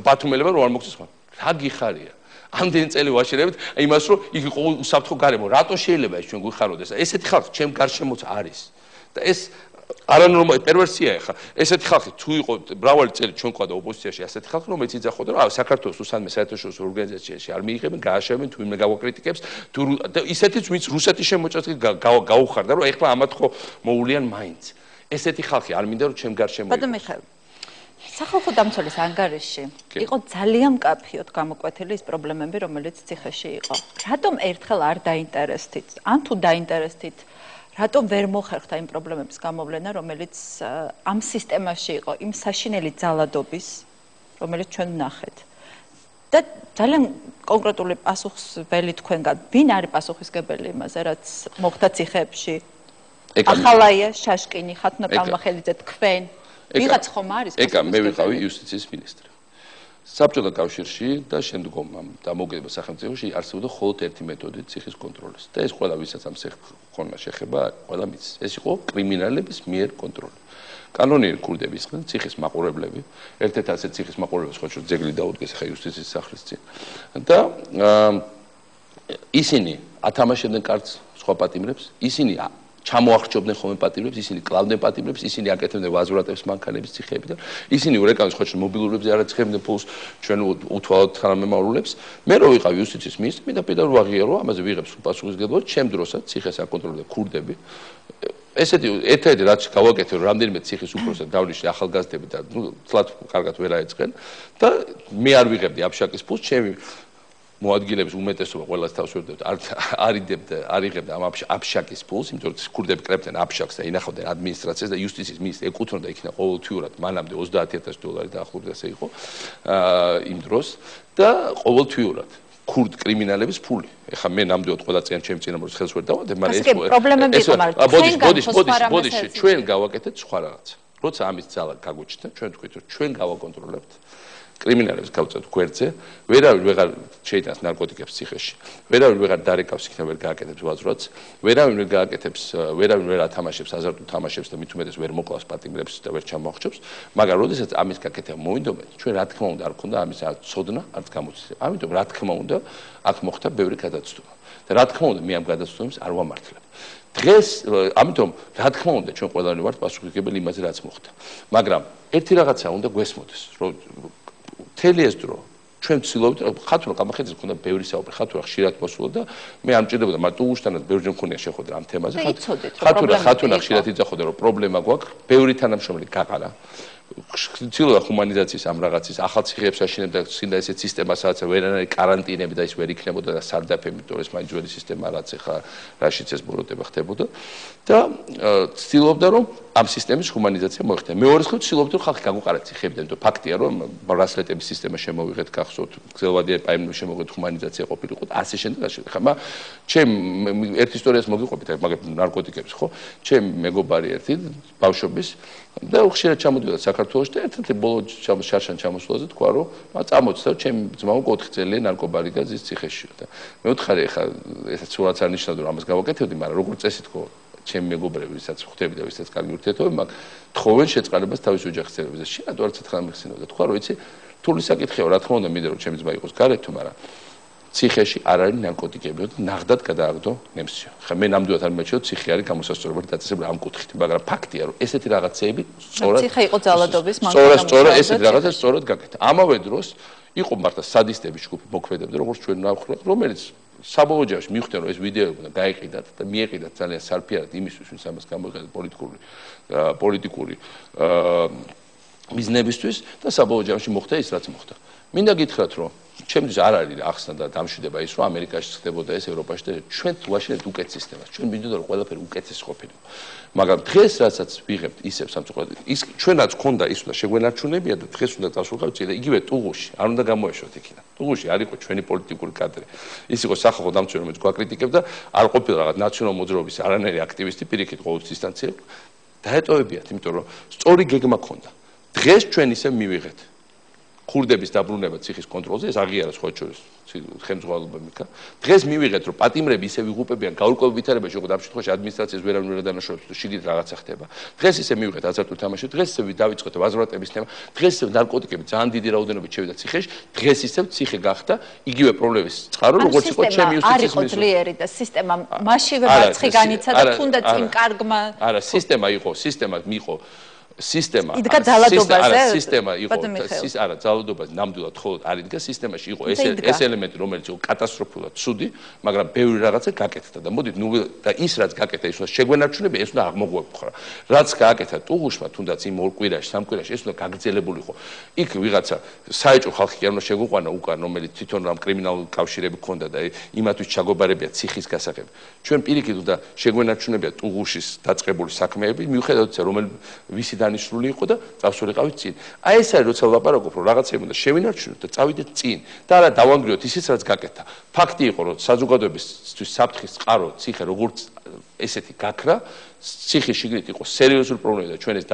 ბათუმელებმა რომ არ მოგწეს ხარ. რა გიხარია? ამდენი წელი ვაშენებთ იმას რომ იქ იყო უსაფრთხო გარემო. რატო შეიძლება ეს ჩვენ გვიხაროდეს? ესეთი ხალხი ჩემ გარშემოც არის. და ეს არანორმალური პერვერსია ეხა. ესეთი ხალხი თუ იყო მრავალი წელი ჩვენ ყავდა ოპოზიციაში ასეთი ხალხი რომელიც იძახოდა რომ საქართველოს უსამე საერთაშორისო ორგანიზაციაში არ მიიღებენ, გააშევენ თუ იმ გავაკრიტიკებს თუ ისეთიც ვინც რუსეთის შემოჭრით გაუხარდა რომ ეხლა ამათ ხო მოულიან მაინც. ესეთი ხალხი არ მინდა რომ ჩემ გარშემო ბატონ მიხეილ სახალხო დამცველის ანგარიში იყო ძალიან მკაფიოდ გამოკვეთილი ის პრობლემები რომელიც ციხეში იყო. რატომ ერთხელ არ დაინტერესდით? ან თუ დაინტერესდით რატომ ვერ მოხერხდა იმ პრობლემების გამოვლენა, რომელიც ამ სისტემაში იყო, იმ საშინელი ძალადობის, რომელიც ჩვენ ვნახეთ. და ძალიან კონკრეტული პასუხსველი თქვენგან, ვინ არის პასუხისმგებელი იმაზე, რაც მოხდა ციხეებში? ახალაია, შაშკინი, ხათუნა კალმახელიძე, თქვენ. ვიღაც ხომ არის? ეკა, მე ვიყავი იუსტიციის მინისტრი. საბჭოთა კავშირში და შემდგომ ამ დამოუკიდებელ სახელმწიფოში არსებობდა მხოლოდ ერთი მეთოდი ციხის კონტროლის. და ეს ყველა ვისაც ამ ხონმა შეხება, ყველა მის. ეს იყო კრიმინალების მიერ კონტროლი. კანონიერი ქურდები იყვნენ ციხის მაყურებლები, ერთ-ერთი ასეთ ციხის მაყურებლებს ხო ძეგლი დაუდგეს ახლა იუსტიციის სახლის წინ. და ისინი ათამაშებდნენ კარტს სხვა პატიმრებს, ისინი ჩამოახრჩობდნენ ხოლმე პატიმრებს, ისინი კლავდნენ პატიმრებს, ისინი აკეთებდნენ ვაზურატებს მანქანების ციხეებიდან, ისინი ურეკავენ ხო მობილურებზე არ აცხებდნენ ფულს ჩვენ უთვალოთ თანამემამულებს. მე რო ვიყავ იუსტიციის მინისტრი, მინდა პირდაპირ ვაღიარო, ამაზე ვიღებ პასუხისმგებლობა, ჩემ დროსაც ციხეს აკონტროლებდა ქურდები. ესეთი ერთ-ერთი რაც გავაკეთე, რომ რამდენიმე ციხის უფროსად დავნიშნე ახალგაზრდები და თლად კარგად ვერ აეწყენ და მე არ ვიღებდი აბშაკის ფულს, ჩემი მოადგილების უმეტესობა ყველას თავს ვერდებდა არ იღებდა ამ აბშაკის ფულს, იმიტომ რომ ქურდები კრებდნენ აბშაკს და ინახავდნენ ადმინისტრაციას და იუსტიციის მინისტრს ეკუთვნოდა იქნა ყოველთვიურად მანამდე $30,000 დაახლოებით ასე იყო იმ დროს და ყოველთვიურად ქურდ კრიმინალების ფული. ეხლა მე ნამდვილად ყველა ჩემ წინამორბედს ხელს ვერ დავადებ, მაგრამ ბოდის ჩვენ გავაკეთეთ სხვა რაღაცა. როცა ამის ძალა გაგვიჩნდა, ჩვენ თქვით რომ ჩვენ გავაკონტროლებთ კრიმინალებს გავწევთ გვერდზე, ვერავინ ვეღარ შეიტანს ნარკოტიკებს ციხეში, ვერავინ ვეღარ დარეკავს იქნა ვერ გააკეთებს ვაზრats, ვერავინ ვერ გააკეთებს, ვერავინ ვერ ათამაშებს აზარტულ თამაშებს და მით უმეტეს ვერ მოკლავს პატიმრებს და ვერ ჩამოახჭობს, მაგრამ როდესაც ამის გაკეთება მოვინდომენ, ჩვენ რა თქმა უნდა არ გქონდა ამის ცოდნა, არც გამოცდილება. ამიტომ რა თქმა უნდა აქ მოხდა ბევრი გადაცდომა. და რა თქმა უნდა მე ამ გადაცდომებს არ ვამართლებ. დღეს ამიტომ რა თქმა უნდა ჩვენ ყველანი ვართ პასუხისმგებელი იმაზე რაც მოხდა. მაგრამ ერთი რაღაცა უნდა გვესმოდეს, რომ მთელი ეს დრო ჩვენ ვცდილობთ ხათუნა კალმახელიძეს მქონდა ბევრი საუბარი ხათუნა ხშირად მოსულა და მე არ მჭირდებოდა მაგრამ უშტანაც ბევრჯერ მქონია შეხვედრა ამ თემაზე ხათუნა ხშირად იძახოდა რომ პრობლემა გვაქვს ბევრი თანამშრომელი გაყარა ცდილობდა ჰუმანიზაციის ამ რაღაცის ახალ ციხეებს აშენებდა სინდა ესეთ სისტემას სადაც ვერანაირი კარანტინები და ის ვერ იქნებოდა და სარდაფები იმიტომ ეს მაინც ძველი სისტემა რაც ახლა რაშიც ეს ბოროტება ხდებოდა და ცდილობდა რომ ამ სისტემის ჰუმანიზაცია მოეხდინა. მეორე მხრივ ცდილობდა რომ ხალხი გაგვყარა ციხეებიდან, იმიტომ ფაქტია რომ ბრასლეტების სისტემა შემოვიღეთ გახსოვთ, გზელვადიან პაემნებს შემოვიღეთ ჰუმანიზაცია ყოფილიყო, ასე შემდეგ. ხა ჩემ ერთ ისტორიას მოგიყვებით, მაგრამ ნარკოტიკების ხო? ჩემ მეგობარი ერთი ბავშვობის და ხშირად ჩამოდიოდა საქართველოს საქართველოში და ერთ-ერთი ბოლო შარშან ჩამოსვლაზე თქვა რომ წამოწდა ჩემი ძმა 4 წელი ნარკობარიგა ზის ციხეშია და მე ვთხარი ხა ესეც სულაც არ ნიშნავდა რომ ამას გავაკეთებდი მაგრამ როგორც წესი თქო ჩემი მეგობრები ვისაც ხვდები და ვისაც კარგი ურთიერთობები მაგ თხოვენ შეწყალებას თავის ოჯახის წევრებზე შენ რატო არც ერთხელ მიხსენებდა თქვა რომ იცი რთული საკითხია რა თქმა უნდა მინდა რომ ჩემი ძმა იყოს გარეთ თუ მაგრამ ციხეში არ არის ნარკოტიკები და ნახდად გადააგდო ნემსიო. ხა მე ნამდვილად არ მეჩვეო ციხე არის გამოსასწორებელი დაწესებული ამ კუთხით, მაგრამ ფაქტია რომ ესეთი რაღაცეები სწორად ციხე იყო ძალადობის სწორად ესეთი რაღაცა სწორად გაკეთა. ამავე დროს იყო მართლა სადისტების ჯგუფი მოქმედებდა როგორც ჩვენ ნახეთ, რომელიც საბოლოო ჯამში მიხვდნენ რომ ეს ვიდეოები უნდა გაიყიდათ და მიეყიდათ ძალიან სარფიარად იმისთვის ვინც ამას გამოიყენებს პოლიტიკური მიზნებისთვის და საბოლოო ჯამში მოხდა ის რაც მოხდა. მინდა გითხრათ რომ ჩემთვის არ არის ახსნა და დამშვიდება ის რომ ამერიკაში ხდებოდა ეს ევროპაში და ჩვენ ვაშინეთ უკეთ სისტემას ჩვენ მინდოდა რომ ყველაფერი უკეთეს ყოფილიყო მაგრამ დღეს რასაც ვიღებთ ისევ სამწუხაროდ ის ჩვენაც ქონდა ის უნდა შეგვენარჩუნებია და დღეს უნდა წავსულიყავთ და იგივე ტუღუში არ უნდა გამოეშვათ იქიდან ტუღუში არ იყო ჩვენი პოლიტიკური კადრი ის იყო სახალხო დამცველი რომელიც გვაკრიტიკებდა არ ყოფილა რაღაც ნაციონალ მოძრაობის არანაირი აქტივისტი პირიქით ყოველთვის დისტანციებ დაეტოვებიათ იმიტომ რომ სწორი გეგმა ქონდა დღეს ჩვენ ისე მივიღეთ ქურდების დაბრუნება ციხის კონტროლზე ეს აღიარა სხვა შორის ხელმძღვანელობამ იქა დღეს მივიღეთ რომ პატიმრები ისე ვიღუპებიან გაურკვეველ ვითარებაში როგორც ამ შემთხვევაში ადმინისტრაციას ვერავინ ვერ დანაშაულებს თუ შიგნით რაღაცა ხდება დღეს ისე მივიღეთ აზარტულ თამაში დღეს ისე დავიწყეთ ვაზრატების თემა დღეს ისე ნარკოტიკები ძალიან დიდი რაოდენობით შევიდა ციხეში დღეს ისე ციხე გახდა იგივე პრობლემის წყარო როგორც იყო ჩემი იუსტიციის მინისტრი არის ძლიერი და სისტემა მასშივე მარცხი განიცა და თუნდაც იმ კარგმა არა სისტემა იყო სისტემა მიყო სისტემა სისტემა იყო არა ძალადობაზე ნამდვილად ხოლოდ არ იდგა სისტემაში იყო ეს ელემენტი რომელიც იყო კატასტროფულად ცუდი მაგრამ ბევრი რაღაცა გაკეთდა და მოდით ნუ და ის რაც გაკეთდა ის უნდა შეგვენარჩუნებია ეს უნდა აღმოგვეპყრა რაც გააკეთა ტუღუშმა თუნდაც იმ 2 კვირაში 3 კვირაში ეს უნდა გაგრძელებულიყო იქ ვიღაცა საეჭვო ხალხი კი არ უნდა შეგვიყვანა უკან რომელიც თვითონ რამ კრიმინალური კავშირები ქონდა და იმათვის ჩაგობარებია ციხის გასაღები ჩვენ პირიქით უნდა შეგვენარჩუნებია ტუღუშის დაწყებული საქმეები მიუხედავად ისა რომელი ვისი დანიშნული იყო და წავსულიყავით წინ. აი ეს არის როცა ვლაპარაკობ რომ რაღაცები უნდა შევინარჩუნოთ და წავიდეთ წინ და არა დავანგრიოთ ისიც რაც გაკეთა. ფაქტი იყო რომ საზოგადოებისთვის საფრთხის წყარო ციხე როგორც ესეთი გაქრა ციხის შიგნით იყო სერიოზული პრობლემა და ჩვენ ეს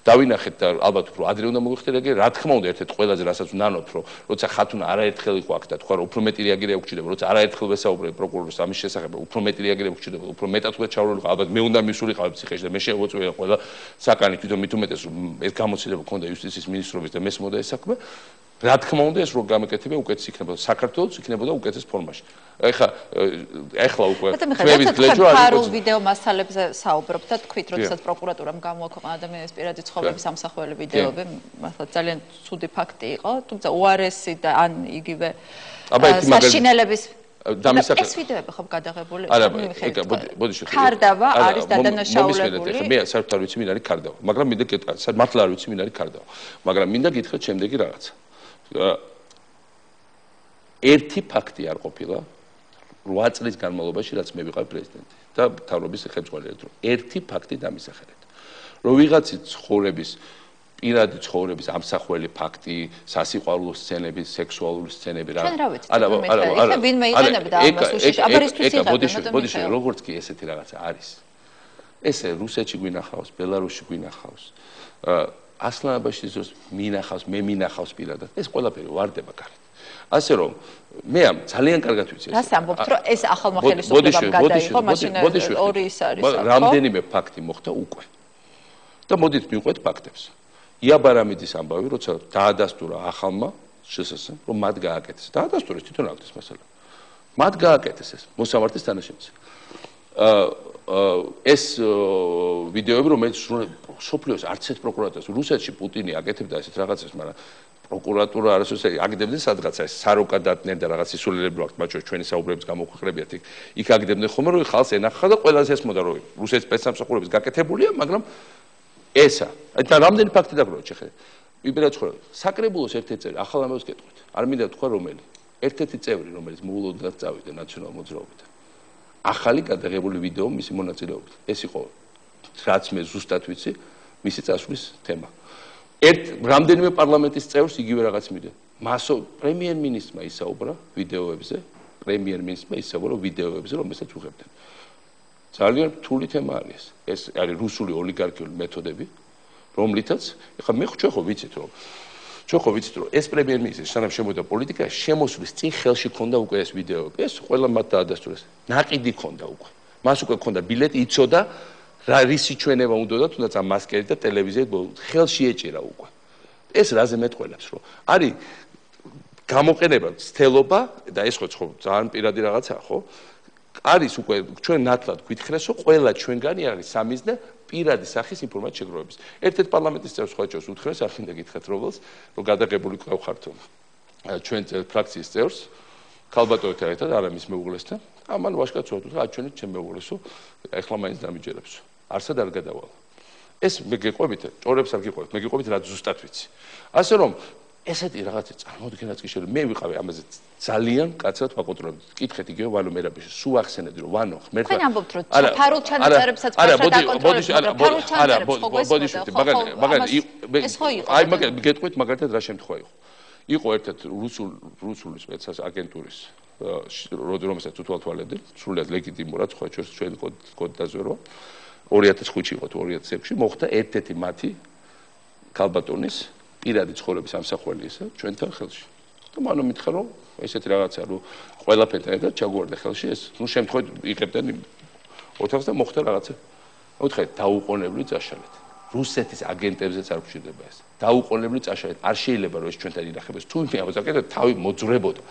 დავინახეთ და ალბათ უფრო ადრე უნდა მოიხდეთ რა თქმა უნდა ერთ-ერთ ყველაზე რასაც ვნანოთ რომ როცა ხათუნა არაერთხელ იყო აქ და თქვა რომ უფრო მეტი რეაგირება გვჭირდება როცა არაერთხელ ვესაუბრებ პროკურორს ამის შესახებ უფრო მეტი რეაგირება გვჭირდება უფრო მეტად უნდა ჩავრილიყო ალბათ მე უნდა მისულიყავ ციხეში და მე შეგვეწყვია ყველა საკანი თვითონ მით უმეტეს რომ ეს გამოცდილება ქონდა იუსტიციის მინისტრობის და მესმოდა ეს საქმე რა თქმა უნდა ეს რო გამეკეთებია უკეთეს იქნებოდა საქართველოს იქნებოდა უკეთეს ფორმაში ეხლა უკვე ჩვევის გლეჯო არის ფარულ ვიდეო მასალებზე საუბრობთ და თქვით როდესაც პროკურატურამ გამოაქვეყნა ადამიანის პირადი ცხოვრების ამსახველი ვიდეოები მართლა ძალიან ცუდი ფაქტი იყო თუმცა უარესი და ან იგივე საშინელების ეს ვიდეოები ხომ გადაღებული არა ბოდიში ქარდავა არის დადანაშაულებული მე საერთოდ არ ვიცი ვინ არის ქარდავა მაგრამ მინდა გეტყვი მართლა არ ვიცი ვინ არის ქარდავა მაგრამ მინდა გითხრათ შემდეგი რაღაცა ერთი ფაქტი არ ყოფილა 8 წლის განმავლობაში რაც მე ვიყავ პრეზიდენტი და მთავრობის ხელმძღვანელი რომ ერთი ფაქტი დამისახელეთ რომ ვიღაცის ცხოვრების პირადი ცხოვრების ამსახველი ფაქტი, სასიყვარულო სცენები, სექსუალური სცენები რა. არა, ვინმე იყენებდა ამას უშიშ, აბარისთვის იღებდა, ბოდიში, როგორც კი ესეთი რაღაცა არის. ესე რუსეთში გვინახავს, ბელარუსში გვინახავს. ასლანაბაში ზოს მინახავს, მე მინახავს პირადად. ეს ყველაფერი ვარდება კარგად. ასე რომ მე ამ ძალიან კარგად ვიცი ეს. რას ამბობთ, რომ ეს ახალმოხელისუფლებამ გადაიღო, მაშინ ორი ის არის, ხო? რამდენიმე ფაქტი მოხდა უკვე. და მოდით მივყვეთ ფაქტებს. იაბარამიძის ამბავი, როცა დაადასტურა ახალმა შსს-ს, რომ მათ გააკეთეს. დაადასტურეს თვითონ აქ ეს მასალა. მათ გააკეთეს ეს მოსამართის თანაშემწე. ეს ვიდეოები, რომელიც სოფლიოს არც ერთ პროკურატურას რუსეთში პუტინი აკეთებდა ესეთ რაღაცებს, მაგრამ პროკურატურა არასოდეს აგდებდნენ სადღაცა ეს საროკა დატნენ და რაღაც ისულელები აქვს, მათ შორის ჩვენი საუბრების გამოქვეყნებიათ იქ აგდებდნენ ხოლმე, რომ ხალხს ენახა და ყველას ესმოდა, რომ რუსეთის სპეცსამსახურების გაკეთებულია, მაგრამ ესა. და რამდენი ფაქტი დაგვრჩა ხე. ვიბერა ცხოვრება. საკრებულოს ერთ-ერთი წევრი, ახალ ამბავს გეტყვით. არ მინდა თქვა რომელი. ერთ-ერთი წევრი, რომელიც მოულოდნელად წავიდა ნაციონალ მოძრაობიდან. ახალი გადაღებული ვიდეო მისი მონაწილეობით. ეს იყო რაც მე ზუსტად ვიცი, მისი წასვლის თემა. რამდენიმე პარლამენტის წევრს იგივე რაღაც მიდე. მასო პრემიერ-მინისტრმა ისაუბრა ვიდეოებზე, პრემიერ-მინისტრმა ისაუბრა ვიდეოებზე, რომელსაც უღებდნენ. ძალიან რთული თემა არის ეს არის რუსული ოლიგარქიული მეთოდები რომლითაც ეხლა მე ჩვენ ხო ვიცით რომ ეს პრემიერ-მინისტრი სანამ შემოვიდა პოლიტიკაში შემოსვლის წინ ხელში ქონდა უკვე ეს ვიდეო ეს ყველა მათ დაადასტურეს ნაყიდი ქონდა უკვე მას უკვე ქონდა ბილეტი იცოდა რა რისი ჩვენება უნდა თუნდაც ამ მასკერით და ტელევიზიით ხელში ეჭირა უკვე ეს რაზე მეტყველებს რომ არის გამოყენება ცდელობა და ეს ხო ძალიან პირადი რაღაცაა ხო არის უკვე ჩვენ ნათლად გვითხრეს რომ ყველა ჩვენგანი არის სამიზნე პირადი სახის ინფორმაციის შეგროვების. ერთ-ერთ პარლამენტის წევრს ხოჭოს უთხრეს, არ მინდა გითხრათ რომელს, რომ გადაღებული ყავხართო ჩვენ ფრაქციის წევრს, ქალბატონთან ერთად არამის მეუღლესთან, ამან ვაშკაც უთხრა, ჩვენი ჩემ მეუღლესო, ეხლა მაინც დამიჯერებს. არსად არ გადავალ. ეს მე გეყვებით, ჭორებს არ გიყვებით, მე გიყვებით რა ზუსტად ვიცი. ასე რომ ესეთი რაღაცა წარმოუდგენლად კი შეიძლება მე ვიყავი ამაზე ძალიან კაცად ვაკონტროლებდი. კითხეთ იგივე ვანო მერაბიშვილი, სულ ახსენებდი რომ ვანო ღმერთმა თქვენ ამბობთ რომ ფარულ ჩანაწერებსაც კარგად აკონტროლებთ, ფარულ ჩანაწერებს ხო გესმოდა, მაგალითად გეტყვით მაგალითად რა შემთხვევა იყო. იყო ერთ-ერთ რუსული სპეცას აგენტურის რომელსაც უთვალთვალებდი, სრულიად ლეგიტიმურად ხო ჩვენ კოდ დაზვერვა 2005-ში იყო თუ 2006-ში მოხდა ერთ-ერთი მათი ქალბატონის პირადი ცხოვრების ამსახველი ისე ჩვენთან ხელში. და მანო მითხრა რომ ესეთი რაღაცა რომ ყველაფერთან ერთად ჩაგვარდა ხელში ეს ნუ შემთხვევით იღებდნენ ოთახს და მოხდა რაღაცა. უთხრეთ დაუყოვნებლივ წაშალეთ. რუსეთის აგენტებზეც არ გვჭირდება ეს. დაუყოვნებლივ წაშალეთ. არ შეიძლება რომ ეს ჩვენთან ინახებდეს. თუ მე ამბობ თავი მოძრებოდა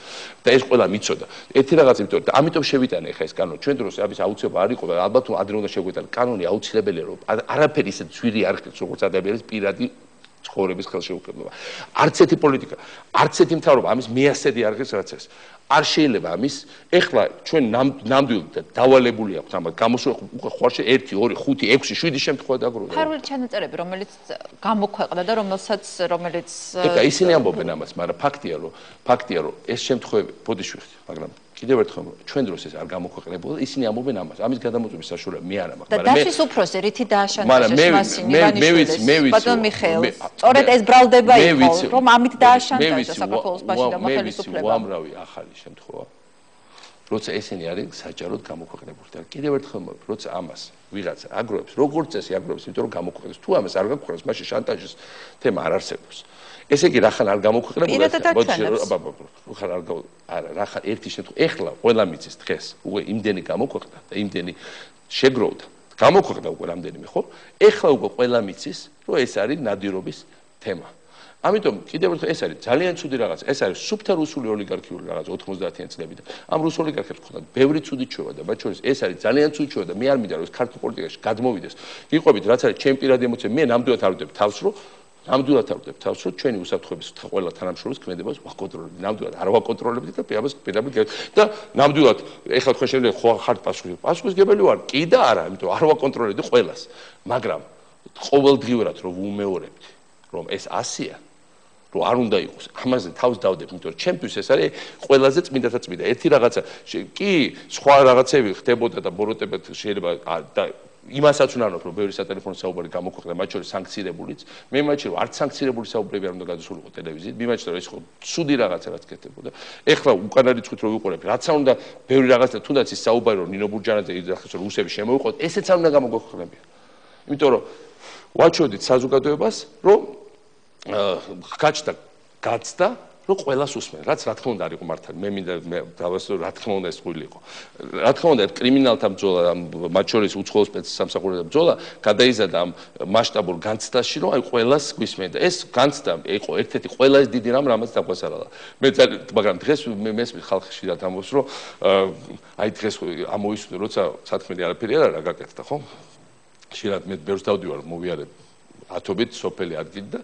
და ეს ყველა მიცოდა. ერთი რაღაც იმიტომ და ამიტომ შევიტანე ხა ეს კანონი. ჩვენ დროს ამის აუცილებლობა არ იყო და ალბათ ადრე უნდა შეგვიტანო. კანონი აუცილებელია რომ არაფერი ისე ძვირი არ ხდეს როგორც ადამიანის პირადი ცხოვრების ხელშეუხებლობა. არც ერთი პოლიტიკა, არც ერთი მთავრობა ამის მეასედი არ ღირს რაც ეს. არ შეიძლება ამის ეხლა ჩვენ ნამდვილად დავალებული აქვს ამას გამოსულ უკვე ხوارში 1 2 5 6 7 შემთხვევა დაგროვდა. ფარული ჩანაწერები რომელიც გამოქვეყნდა და რომელიც ეკა ისინი ამბობენ ამას, მაგრამ ფაქტია რომ ეს შემთხვევები ბოდიშვიხთ, მაგრამ კიდევ ერთხელ ჩვენ დროს ეს არ გამოქვეყნებულა, ისინი ამბობენ ამას. ამის გადამოწმების საშუალება მე არ მაქვს, მაგრამ მე დაშის უფროსი რითი დააშანტაჟეს მასინი ივანიშვილის ბატონ მიხეილს. სწორედ ეს ბრალდება იყო, რომ ამით დააშანტაჟა საქართველოს ბაში და ხელისუფლება. უამრავი ახალი შემთხვევა. როცა ესენი არის საჯაროდ გამოქვეყნებული და კიდევ ერთხელ როცა ამას ვიღაცა აგროვებს, როგორც წესი აგროვებს, იმიტომ რომ გამოქვეყნებს. თუ ამას არ გაქვეყნებს, მაშინ შანტაჟის თემა არ არსებობს. ესე იგი რახან არ გამოქვეყნებულა რახან ერთი შემთხვევა ეხლა ყველა მიცის დღეს უკვე იმდენი გამოქვეყნდა და იმდენი შეგროვდა გამოქვეყნდა უკვე რამდენიმე ხო ეხლა უკვე ყველა მიცის რომ ეს არის ნადირობის თემა ამიტომ კიდევ ერთხელ ეს არის ძალიან ცუდი რაღაცა ეს არის სუფთა რუსული ოლიგარქიული რაღაცა 90-იან წლებიდან ამ რუს ოლიგარქებს ხონდათ ბევრი ცუდი ჩვევა და მათ შორის ეს არის ძალიან ცუდი ჩვევა და მე არ მინდა რომ ეს ქართულ პოლიტიკაში გადმოვიდეს გიყვებით რაც არის ჩემი პირადი ემოცია მე ნამდვილად არ ვდებ თავს რომ ნამდვილად არ ვდებ თავს, რომ ჩვენი უსაფრთხოების ყველა თანამშრომლის ქმედებას ვაკონტროლებთ. ნამდვილად არ ვაკონტროლებთ და პირდაპირ და ნამდვილად ეხლა თქვენ შეიძლება ხო ხართ პასუხისგებელი ვარ? კი და არა, იმიტომ არ ვაკონტროლებდი ყველას. მაგრამ ყოველდღიურად რომ ვუმეორებდი, რომ ეს 100-ია, რომ არ უნდა იყოს. ამაზე თავს დავდებ, იმიტომ რომ ჩემთვის ეს არის ყველაზე წმინდათა წმინდა. ერთი რაღაცა კი სხვა რაღაცები ხდებოდა და ბოროტებად შეიძლება და იმასაც ვნანობ, რომ ბევრი სატელეფონო საუბარი გამოქვეყნდა, მათ შორის სანქცირებულიც. მე მაჩი რომ არც სანქცირებული საუბრები არ უნდა გადასულიყო ტელევიზიით. მე მაჩი რომ ეს ხო ცუდი რაღაცა რაც კეთდებოდა. ეხლა უკანა რიცხვით რო ვიყურებ, რაც არ უნდა ბევრი რაღაცა თუნდაც ის საუბარი რომ ნინო ბურჯანაძე იძახეს რომ რუსები შემოიყვოთ, ესეც არ უნდა გამოგვექვეყნებია. იმიტომ რომ ვაჩვდით საზოგადოებას, რომ გაცდა რომ ყველას უსმენ, რაც რა თქმა უნდა არ იყო მართალი. მე მინდა დავასწრო რა თქმა უნდა ეს ღვილი იყო. რა თქმა უნდა კრიმინალთა ბრძოლა, მათ შორის უცხოელ სპეცსამსახურეთა ბრძოლა გადაიზარდა ამ მასშტაბურ განცდაში, რომ აი ყველას გვისმენ და ეს განცდა იყო ერთ-ერთი ყველაზე დიდი რამ, რამაც დაგვასარალა. მაგრამ დღეს მე მესმის ხალხში და ამბობს, რომ აი დღეს ამოისმინე, როცა სათქმელი არაფერი არ არის გაკეთდა, ხო? შეიძლება მე ბევრს დავდივარ, მოვიარებ ათობით სოფელი ადგილი და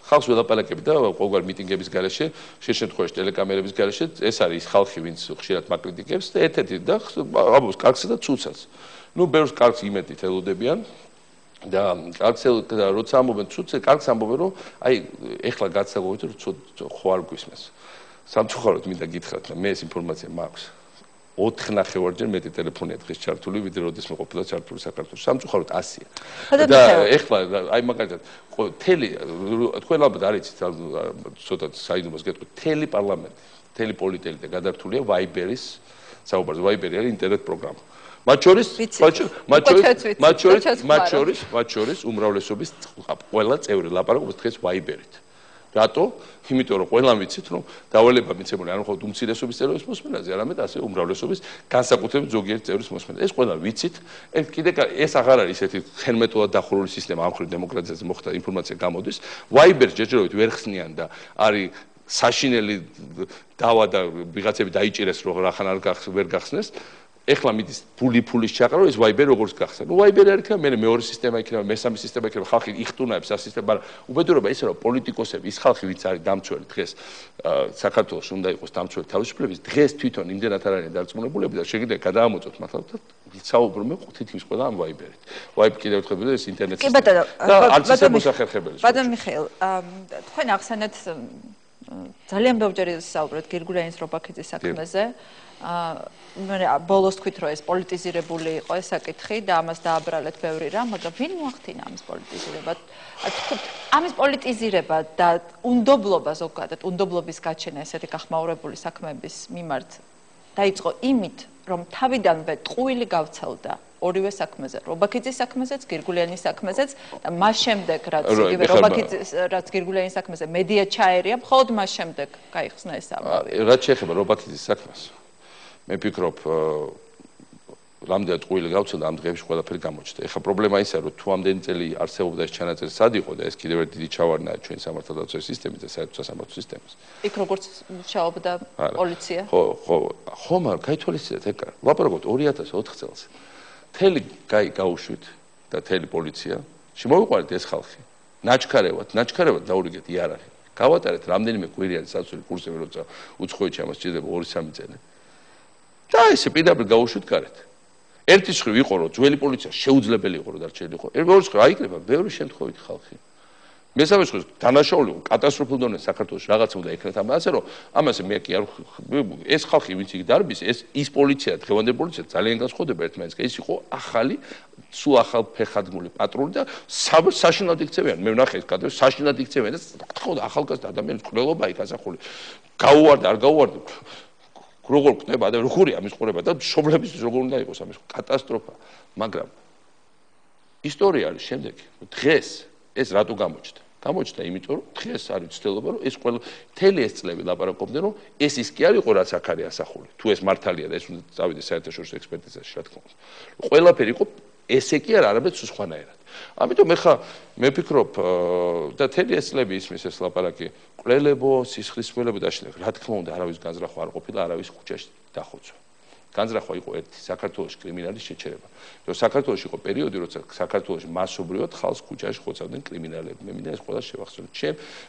ხალხს ველაპარაკები და ყოველ მიტინგების გარეშე, შემთხვევაში ტელეკამერების გარეშე, ეს არის ხალხი, ვინც ხშირად მაკრიტიკებს და ერთ-ერთი და ამბობს კარგსა და ცუცას. ნუ ბევრს კარგს იმედით ელოდებიან და კარგს როცა ამბობენ ცუცს, კარგს ამბობენ რომ აი ეხლა გაცაგოვით რომ ხო არ გვისმენს. სამწუხაროდ მინდა გითხრათ, მე ეს ინფორმაცია მაქვს. 4-9-ჯერ მეტი ტელეფონია დღეს ჩართული, ვიდრე როდესაც ყოფილა ჩართული საქართველოს. სამწუხაროდ 100-ია. და ეხლა აი მაგალითად თელი თქვენ ალბათ არ იცით, ცოტა საიდუმლოს გეტყვით, თელი პარლამენტი, თელი პოლიტელი და გადართულია Viber-ის საუბარზე. Viber-ი არის ინტერნეტ პროგრამა. მათ შორის უმრავლესობის ყველა წევრი ლაპარაკობს დღეს ვაიბერით. რატო? იმიტომ რომ ყველამ ვიცით რომ დავალება მიცემული არ მხოლოდ უმცირესობის წევრის მოსმენაზე, არამედ ასე უმრავლესობის განსაკუთრებით ზოგიერთი წევრის მოსმენაზე. ეს ყველა ვიცით. კიდე ეს აღარ არის ესეთი ხელმეტოდად დახურული სისტემა, ამ ხრივ დემოკრატიაზე მოხდა ინფორმაცია გამოდის. ვაიბერს ჯერჯერობით ვერ ხსნიან და არის საშინელი დავა და ვიღაცები დაიჭირეს რომ რახან ვერ გახსნეს. ეხლა მიდის ფულის ჩაყრა, ეს ვაიბერი როგორც გახსნა. ნუ ვაიბერი არ იქნება, მე მეორე სისტემა იქნება, მესამე სისტემა იქნება, ხალხი იხტუნაებს ამ სისტემას, მაგრამ უბედურება ისე რომ პოლიტიკოსები, ის ხალხი ვინც არის დამცველი დღეს საქართველოს უნდა იყოს დამცველი თავისუფლების, დღეს თვითონ იმდენად არ არის დარწმუნებულები და შეგიძლია გადაამოწოთ მართლა და ვიცაუბრობ თითქმის ყველა ამ ვაიბერით. ვაიბ კიდევ ერთხელ ეს ინტერნეტ სისტემა. და არც ისე მოსახერხებელი. ბატონ მიხეილ, თქვენ ახსენეთ ძალიან ბევრჯერ ისაუბრეთ გირგულიანის რობაქიძის საქმეზე. მე ბოლოს თქვით რომ ეს პოლიტიზირებული იყო ეს საკითხი და ამას დააბრალეთ ბევრი რამ, მაგრამ ვინ მოახდინა ამის პოლიტიზირება? ამის პოლიტიზირება და უნდობლობა ზოგადად, უნდობლობის გაჩენა ესეთი გახმაურებული საქმეების მიმართ დაიწყო იმით, რომ თავიდანვე ტყუილი გავცელდა ორივე საქმეზე, რობაქიძის საქმეზეც, გირგულიანის საქმეზეც და მას შემდეგ რაც იგივე რობაქიძის რაც გირგულიანის საქმეზე მედია ჩაერია, მხოლოდ მას შემდეგ გაიხსნა ეს ამბავი. რაც შეეხება რობაქიძის საქმეს მე ვფიქრობ რამდენად ტყუილი გავცელდა ამ დღეებში ყველაფერი გამოჩნდა. ეხლა პრობლემა ისაა რომ თუ ამდენი წელი არსებობდა ეს ჩანაწერი სად იყო და ეს კიდევ ერთი დიდი ჩავარდნაა ჩვენ სამართალდაცვის სისტემის და საერთო სასამართლო სისტემის. იქ როგორც მუშაობდა პოლიცია? ხო, მაგრამ გაითვალისწინეთ ეგ ლაპარაკობთ 2004 წელს. მთელი გაუშვით და მთელი პოლიცია შემოვიყვანეთ ეს ხალხი. ნაჩქარევად დაურიგეთ იარაღი. გავატარეთ რამდენიმე კვირიანი საცული კურსები როცა უცხოეთში ამას სჭირდება 2-3 წელი. და ესე პირდაპირ გაუშვით გარეთ. ერთი მხრივ იყო რომ ძველი პოლიცია შეუძლებელი იყო რომ დარჩენილიყო. მეორე მხრივ აიკრება ბევრი შემთხვევით ხალხი. მესამე მხრივ დანაშაული იყო კატასტროფულ დონეზე საქართველოს რაღაცა უნდა ეკრეთ ამაზე რომ ამაზე მე კი არ ეს ხალხი ვინც იქ დარბის ის პოლიცია დღევანდელი პოლიცია ძალიან განსხვავდება ერთმანეთისგან. ეს იყო ახალი სულ ახალ ფეხადგმული პატრული და საშინლად იქცევიან. მე ვნახე ეს კადრები საშინლად იქცევიან და თქო ახალგაზრდა ადამიანის ყრელობა იქ ასახული. გაუვარდა არ გაუვარდა როგორ ხდება და როგორია ამის ყურება და მშობლების როგორ უნდა იყოს ამის კატასტროფა. მაგრამ ისტორია არის შემდეგი. დღეს ეს რატო გამოჩნდა? გამოჩნდა იმიტომ რომ დღეს არის ცდილობა რომ ეს ყველა მთელი ეს წლები ლაპარაკობდნენ რომ ეს ის კი არ იყო რაც აქ არის ასახული. თუ ეს მართალია და ეს უნდა წავიდეს საერთაშორისო ექსპერტიზაში რა თქმა უნდა. ყველაფერი იყო ესე კი არ არამედ სულ სხვანაირად. ამიტომ ეხა მე ვფიქრობ და მთელი ეს წლები ისმის ეს ლაპარაკი ყრელებო, სისხლისმღერლებო და შენ რა თქმა უნდა არავის განზრახვა არ ყოფილა, არავის ქუჩაში დახოცვა. განზრახვა იყო ერთი საქართველოს კრიმინალის შეჩერება. რომ საქართველოში იყო პერიოდი, როცა საქართველოში მასობრივად ხალხს ქუჩაში ხოცავდნენ კრიმინალები. მე მინდა ეს ყველა შევახსენოთ.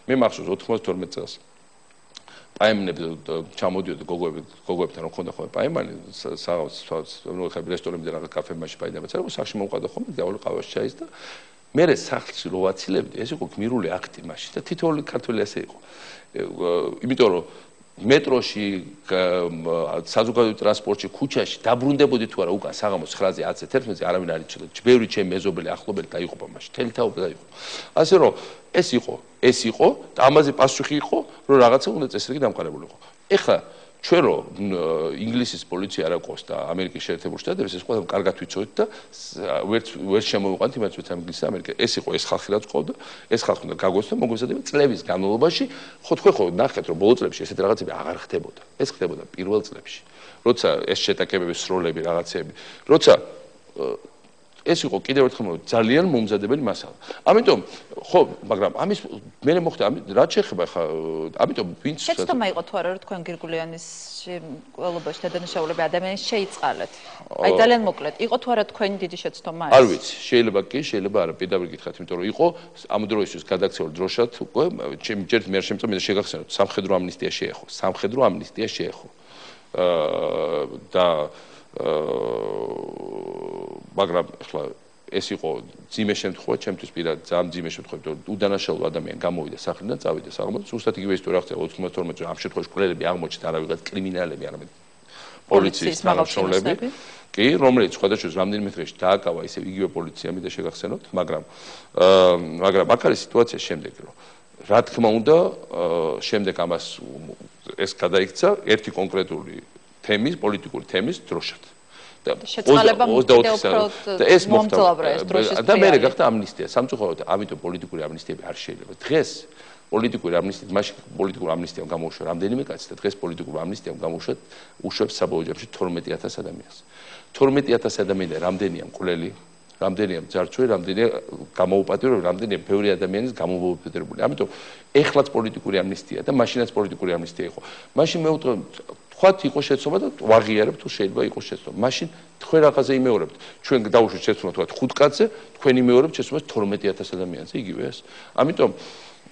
მე მახსოვს 92 წელს პაემნები ჩამოდიოდა გოგოებთან რომ ხონდა ხოლმე პაემანი ნუ ხა რესტორნებიდან რაღაც კაფემაში პაემანი წერო სახში მომყავდა ხოლმე დავალ ყავას ჩაის და მე სახლში რო ვაცილებდი ეს იყო გმირული აქტი მაშინ და თითოეული ქართველი ასე იყო იმიტომ რომ მეტროში საზოგადოებრივ ტრანსპორტში ქუჩაში დაბრუნდებოდი თუ არა უკან საღამოს 9-ზე 10-ზე 11-ზე არავინ არ იცოდა ჯბევრი ჩემი მეზობელი ახლობელი დაიღუპა მაშინ თელი თაობა დაიღუპა ასე რომ ეს იყო და ამაზე პასუხი იყო რომ რაღაცა უნდა წესრიგი დამყარებულიყო ეხლა ჩვენ რომ ინგლისის პოლიცია არ აქვს და ამერიკის შეერთებული შტატების ეს ყველამ კარგად ვიცოდით და ვერ შემოვიყვანთ იმას რომ ინგლისი და ამერიკა ეს იყო ეს ხალხი რაც ყავდა ეს ხალხი უნდა გაგოსდა მოგვიზადება წლების განმავლობაში ხო ნახეთ რომ ბოლო წლებში ესეთ რაღაცები აღარ ხდებოდა ეს ხდებოდა პირველ წლებში როცა ეს შეტაკებების სროლები რაღაცები როცა ეს იყო კიდევ ერთხელ ძალიან მომზადებელი მასალა. ამიტომ ხო, მაგრამ ამის მე მოხდა რა შეეხება ხა ამიტომ ვინც შეცდომა იყო თუ არა რომ თქვენ გირგულიანის ყველობაში დადანაშაულები ადამიანის შეიწყალეთ. აი ძალიან მოკლედ, იყო თუ არა თქვენი დიდი შეცდომა ეს? არ ვიცი, შეიძლება კი, შეიძლება არა, პირდაპირ გითხრათ, იმიტომ რომ იყო ამ დროისთვის გადაქცეულ დროშად უკვე ჯერ მე შემწო მე შეგახსენოთ სამხედრო ამნისტია შეეხო, სამხედრო ამნისტია შეეხო. და მაგრამ ახლა ეს იყო ძიმე შემთხვევა ჩემთვის პირად ძალიან ძიმე შემთხვევა რომ უდანაშაულო ადამიანი გამოვიდა სახლიდან წავიდა საღამოს ზუსტად იგივე ისტორია ხდება 92 წელს ამ შემთხვევაში ყრელები აღმოჩნდა არა ვიღაც კრიმინალები არამედ პოლიციის თანამშრომლები კი რომელიც სხვადასხვა რამდენიმე დღეში დააკავა ისე იგივე პოლიცია მინდა შეგახსენოთ მაგრამ აქ არის სიტუაცია შემდეგი რომ რა თქმა უნდა შემდეგ ამას ეს გადაიქცა ერთი კონკრეტული თემის პოლიტიკური თემის დროშად შეწყალება კიდევ უფრო მომძლავრა ეს დროშის და მე გახდა ამნისტია სამწუხაროდ ამიტომ პოლიტიკური ამნისტიები არ შეიძლება დღეს პოლიტიკური ამნისტია მაშინ პოლიტიკური ამნისტიამ გამოუშვა რამდენიმე კაცი და დღეს პოლიტიკური ამნისტიამ გამოუშვა უშვებს საბოლოო ჯამში 12000 ადამიანს 12000 ადამიანიდან რამდენია მკვლელი რამდენია მძარცველი რამდენია გამოუპატიურებელი რამდენია ბევრი ადამიანის გამომოუპატიურებელი ამიტომ ეხლაც პოლიტიკური ამნისტია და მაშინაც პოლიტიკური ამნისტია იყო მაშინ მე ვუტყვი თქვათ იყო შეცდომა და ვაღიარებ თუ შეიძლება იყოს შეცდომა მაშინ თქვენ რაღაცა იმეორებთ ჩვენ დავუშვით შეცდომა თქვათ 5 კაცზე თქვენ იმეორებთ შეცდომას 12000 ადამიანზე იგივე ეს ამიტომ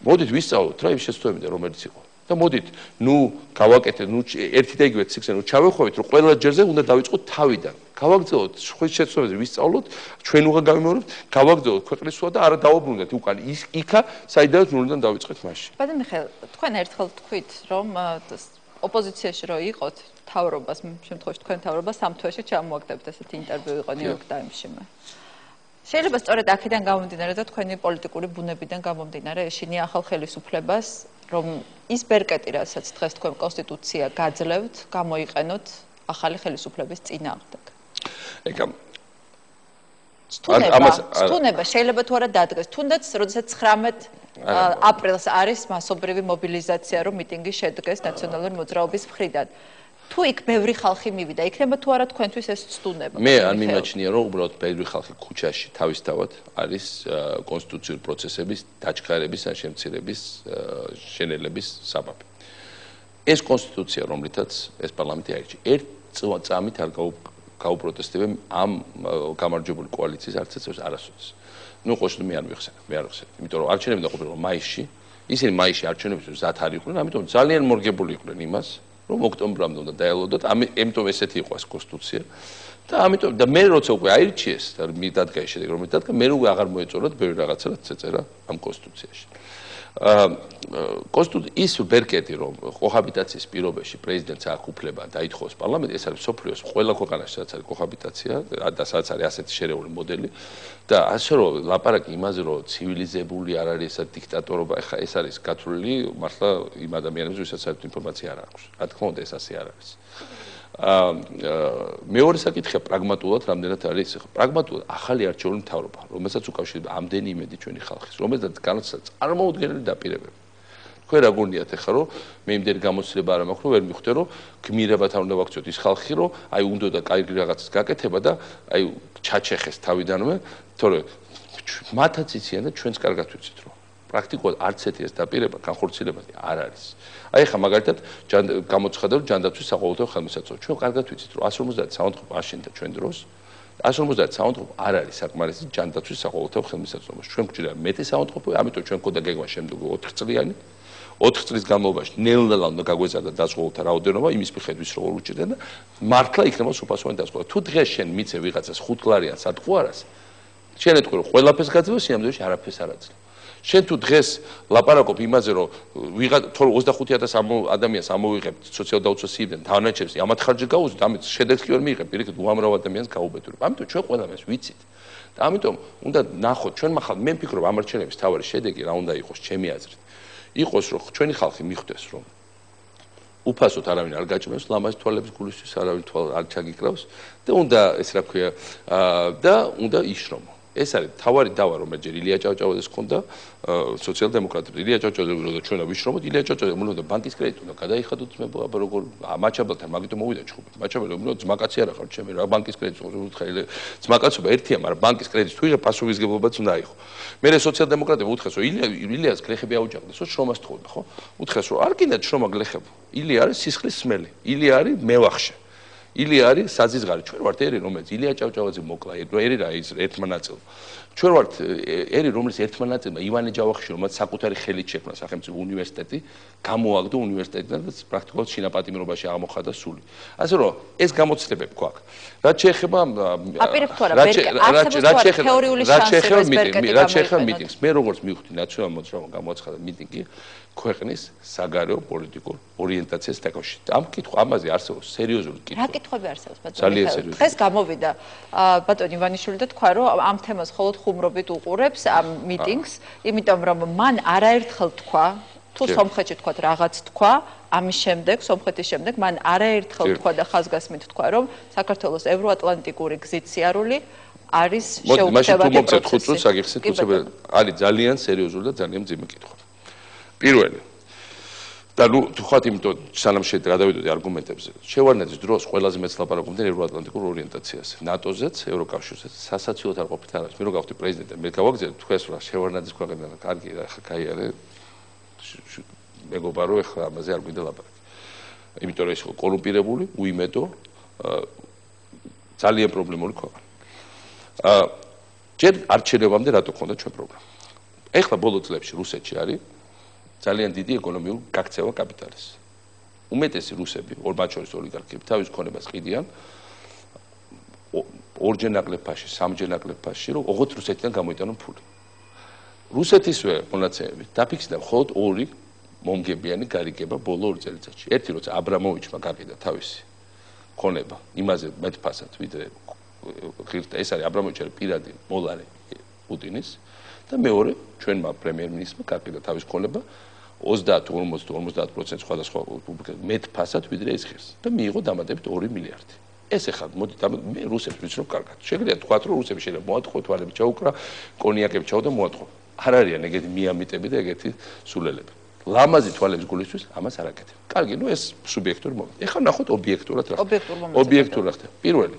მოდით ვისწავლოთ რა იმ შეცდომებიდან რომელიც იყო და მოდით ნუ გავაკეთეთ ნუ ერთი და იგივე ციკლზე ნუ ჩავეხვევით რომ ყველა ჯერზე უნდა დავიწყოთ თავიდან გავაგრძელოთ სხვის შეცდომებზე ვისწავლოთ ჩვენ უღა გავიმეორებთ გავაგრძელოთ ქვეყნის სვა და არა დავაბრუნდეთ უკან იქა საიდანაც ნულიდან დავიწყეთ მაშინ ბატონ მიხეილ თქვენ ერთხელ თქვით რომ ოპოზიციაში რო იყოთ თავრობას შემთხვევაში თქვენ თავრობას სამ თვეში ჩამოაგდებთ ესეთი ინტერვიუ იყო ნიუ-იორკ ტაიმსში შეიძლება სწორედ აქედან გამომდინარე და თქვენი პოლიტიკური ბუნებიდან გამომდინარე ეშინია ახალ ხელისუფლებას რომ ის ბერკეტი რასაც დღეს თქვენ კონსტიტუცია გაძლევთ გამოიყენოთ ახალი ხელისუფლების წინააღმდეგ ეკა სტუნება შეიძლება თუ არა დადგეს თუნდაც როდესაც 19 აპრილს არის მასობრივი მობილიზაცია რომ მიტინგი შედგეს ნაციონალური მოძრაობის მხრიდან თუ იქ ბევრი ხალხი მივიდა იქნება თუ არა თქვენთვის ეს სტუნება მე არ მიმაჩნია რომ უბრალოდ ბევრი ხალხი ქუჩაში თავისთავად არის კონსტიტუციური პროცესების დაჩქარების ან შემცირების შენელების საბაბი ეს კონსტიტუცია რომლითაც ეს პარლამენტი აირჩი ერთ წამით არ გაუპროტესტებენ ამ გამარჯვებული კოალიციის არც ერთ არასოდეს ნუ ყოშტ მე არ მიხსენებ იმიტომ რომ არჩევნები დაყოფილიყო მაისში ისინი მაისში არჩევნებს მზად არ იყვნენ ამიტომ ძალიან მორგებული იყვნენ იმას რომ ოქტომბრამდე უნდა დაელოდოთ ამიტომ ესეთი იყო ეს კონსტიტუცია და ამიტომ და მე როცა უკვე აირჩიეს და მიდადგა ეს შედეგი რომ მიდადგა მე უკვე აღარ მოეწონათ ბევრი რაღაცა რაც ეწერა ამ კონსტიტუციაში ის ბერკეტი რომ კოჰაბიტაციის პირობებში პრეზიდენტს აქვს უფლება დაითხოვოს პარლამენტი ეს არის სოფლიოს ყველა ქვეყანაში სადაც არის კოჰაბიტაცია და სადაც არის ასეთი შერეული მოდელი და ასე რომ ლაპარაკი იმაზე რომ ცივილიზებული არ არის ესა დიქტატორობა ეხა ეს არის გათვლილი მართლა იმ ადამიანებს ვისაც საერთოდ ინფორმაცია არ აქვს რა თქმა უნდა ეს ასე არ არის მეორე საკითხია პრაგმატულად რამდენად არის პრაგმატულად ახალი არჩეული მთავრობა რომელსაც უკავშირდება ამდენი იმედი ჩვენი ხალხის რომელსაც განაცხადა წარმოუდგენელი დაპირებები თქვენ რა გონიათ ახლა რომ მე იმდენი გამოცდილება არ მაქვს რომ ვერ მივხვდე რომ გმირებად არ უნდა ვაქციოთ ის ხალხი რომ აი უნდა და კაი რაღაცას გაკეთება და აი ჩაჩეხეს თავიდანვე თორე მათაც იციან და ჩვენც კარგად ვიცით რომ პრაქტიკულად არც ერთი ეს დაპირება განხორციელება არ არის აი ხა მაგალითად გამოცხადდა რომ ჯანდაცვის საყოველთაო ხელმისაწვდომი ჩვენ კარგად ვიცით რომ 150 საავადმყოფო აშენდა ჩვენ დროს 150 საავადმყოფო არ არის საკმარისი ჯანდაცვის საყოველთაო ხელმისაწვდომში ჩვენ გვჭირდა მეტი საავადმყოფო ამიტომ ჩვენ ქონდა გეგმა შემდეგ 4 წლიანი 4 წლის განმავლობაში ნელ-ნელა უნდა გაგვეზარდა დაზღვეულთა რაოდენობა იმის მიხედვით რომ უჭირდა და მართლა იქნება სუფასოვანი დაზღვევა თუ დღეს შენ მიცე ვიღაცას 5 კლარიან სატყუარას შენ ეთქვი რომ ყველაფერს გაძლევს სიამოვნებაში არაფერს არ აძლევ შენ თუ დღეს ლაპარაკობ იმაზე რომ ვიღაც 25000 ადამიანს ამოვიღებთ სოციალ-დაუცველ თანაჩებს ამათ ხარჯი გაუზვით ამით შედეგს კი ვერ მიიღებ პირიქით უამრავ ადამიანს გაუბედურებ ამიტომ ჩვენ ყველამ ეს ვიცით და ამიტომ უნდა ნახოთ ჩვენ ახლა მე ვფიქრობ ამ არჩევნების თავარი შედეგი რა უნდა იყოს ჩემი აზრით იყოს რომ ჩვენი ხალხი მიხვდეს რომ უფასოდ არავინ არ გაჭმევს ლამაზ თვალებს გულისთვის არავინ თვალ არ ჩაგიკრავს და უნდა ეს რა ქვია და უნდა იშრომო ეს არის თავარი დავა რომელიც ჯერ ილია ჭავჭავაძეს ჰქონდა სოციალ-დემოკრატები ილია ჭავჭავაძე და ჩვენა ვიშრომოთ ილია ჭავჭავაძე უნდა ბანკის კრედიტი უნდა გადაიხადოთ მე აბა როგორ მაჩაბელთან მაგიტომ მოვიდა ჩხუბი მაჩაბელი უნდა ძმაკაცი არ ახარ ჩემი რა ბანკის კრედიტს უთხელი ძმაკაცობა ერთია მაგრამ ბანკის კრედიტს თუ იღებ პასუხისგებლობაც უნდა იყო მე სოციალ-დემოკრატები უთხრეს რომ ილიას გლეხები აუჯანყდეს რომ შრომას თხოვდა ხო უთხრეს რომ არ კიდე შრომა გლეხები ილია არის სისხლის სმელი ილია არის მევახშე ილია არის საზიზღარი ჩვენ ვართ ერი რომელიც ილია ჭავჭავაძე მოკლა ერი რა ის ერთმა ნაწილმა ჩვენ ვართ ერი რომელიც ერთმა ნაწილმა ივანე ჯავახიშვილი რომელიც საკუთარი ხელით შექმნა სახელმწიფო უნივერსიტეტი გამოაგდო უნივერსიტეტიდან და პრაქტიკულად შინაპატიმრობაში აღმოხატა სული ასე რომ ეს გამოცდილებები გვაქვს რაც შეეხება აპირებ თუ არა თეორიული შანსები რაც შეეხება მიტინგს მე როგორც მივხვდი ნაციონალურ მოძრაობამ გამოაცხადა მიტინგი ქვეყნის საგარეო პოლიტიკურ ორიენტაციას დაკავშირებით. ამ კითხვა ამაზე არსებობს სერიოზული კითხვა. რა კითხვები არსებობს ბატონო? დღეს გამოვიდა ბატონი ივანიშვილი და თქვა რომ ამ თემას მხოლოდ ხუმრობით უყურებს ამ მიტინგს, იმიტომ რომ მან არაერთხელ თქვა თუ სომხეთში თქვა რაღაც თქვა, ამის შემდეგ, სომხეთის შემდეგ, მან არაერთხელ თქვა და ხაზგასმით თქვა, რომ საქართველოს ევროატლანტიკური გზით სიარული არის შეუქმნელად პროცესი. არის ძალიან სერიოზული და ძალიან მძიმე კითხვა. პირველი და ნუ თქვათ იმიტომ სანამ გადავიდოდი არგუმენტებზე. შევარდნაძის დროს ყველაზე მეც ლაპარაკობდნენ ევროატლანტიკურ ორიენტაციაზე. ნატოზეც, ევროკავშირზეც, სასაცილოდ არ ყოფით არის. მე რო გავხდი პრეზიდენტი, მე გავაგზავნე თქვენს რა შევარდნაძის ქვეყანიდან კარგი რა ხა გაიარე. მეგობრებო, რო ეხლა ამაზე არ გვინდა ლაპარაკი. იმიტომ რომ ის იყო კორუმპირებული, უიმედო, ძალიან პრობლემური ქვეყანა. ჯერ არჩევნებამდე რატო ქონდა ჩვენ პრობლემა? ეხლა ბოლო წლებში რუსეთში არის ძალიან დიდი ეკონომიური გაქცევა კაპიტალის. უმეტესი რუსები, მათ შორის ოლიგარქები, თავის ქონებას ყიდიან ორჯერ ნაკლებ ფასში, სამჯერ ნაკლებ ფასში, რომ ოღონდ რუსეთიდან გამოიტანონ ფული. რუსეთისვე მონაცემებით დაფიქსირდა მხოლოდ ორი მომგებიანი გარიგება ბოლო 2 წელიწადში. ერთი როცა აბრამოვიჩმა გაყიდა თავისი ქონება იმაზე მეტ ფასად, ვიდრე ღირდა ეს არის აბრამოვიჩი პირადი მოლარე პუტინის და მეორე ჩვენმა პრემიერ-მინისტრმა გაყიდა თავის ქონება 30-50% სხვადასხვა მეტ ფასად ვიდრე ეს ღირს და მიიღო დამატებით 2 მილიარდი. ეს ახლა მოდი მე რუსებს ვიცნობ კარგად. შეგვიძლია თქვათ რომ რუსები შეიძლება მოატყუოთ თვალები ჩაუკრა, კონიაკები ჩაუდა მოატყუო. არ არიან ეგეთი მიამიტები და ეგეთი სულელები. ლამაზი თვალების გულისთვის ამას არ აკეთებ. კარგი, ნუ ეს სუბიექტური მომენტი. ეხლა ნახოთ ობიექტურად რა. ობიექტურად ხდება. პირველი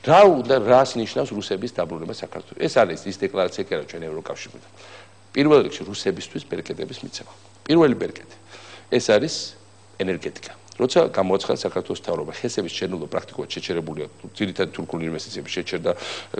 რას ნიშნავს რუსების დაბრუნება საქართველოს? ეს არის ის დეკლარაცია კი არა ჩვენ ევროკავშირიდან. პირველ რიგში რუსებისთვის ბერკეტების მიცემა. პირველი ბერკეტი. ეს არის ენერგეტიკა. როცა გამოაცხადა საქართველოს მთავრობა, ხესების შენობა პრაქტიკულად შეჩერებულია, ძირითადად თურქული ინვესტიციები შეჩერდა,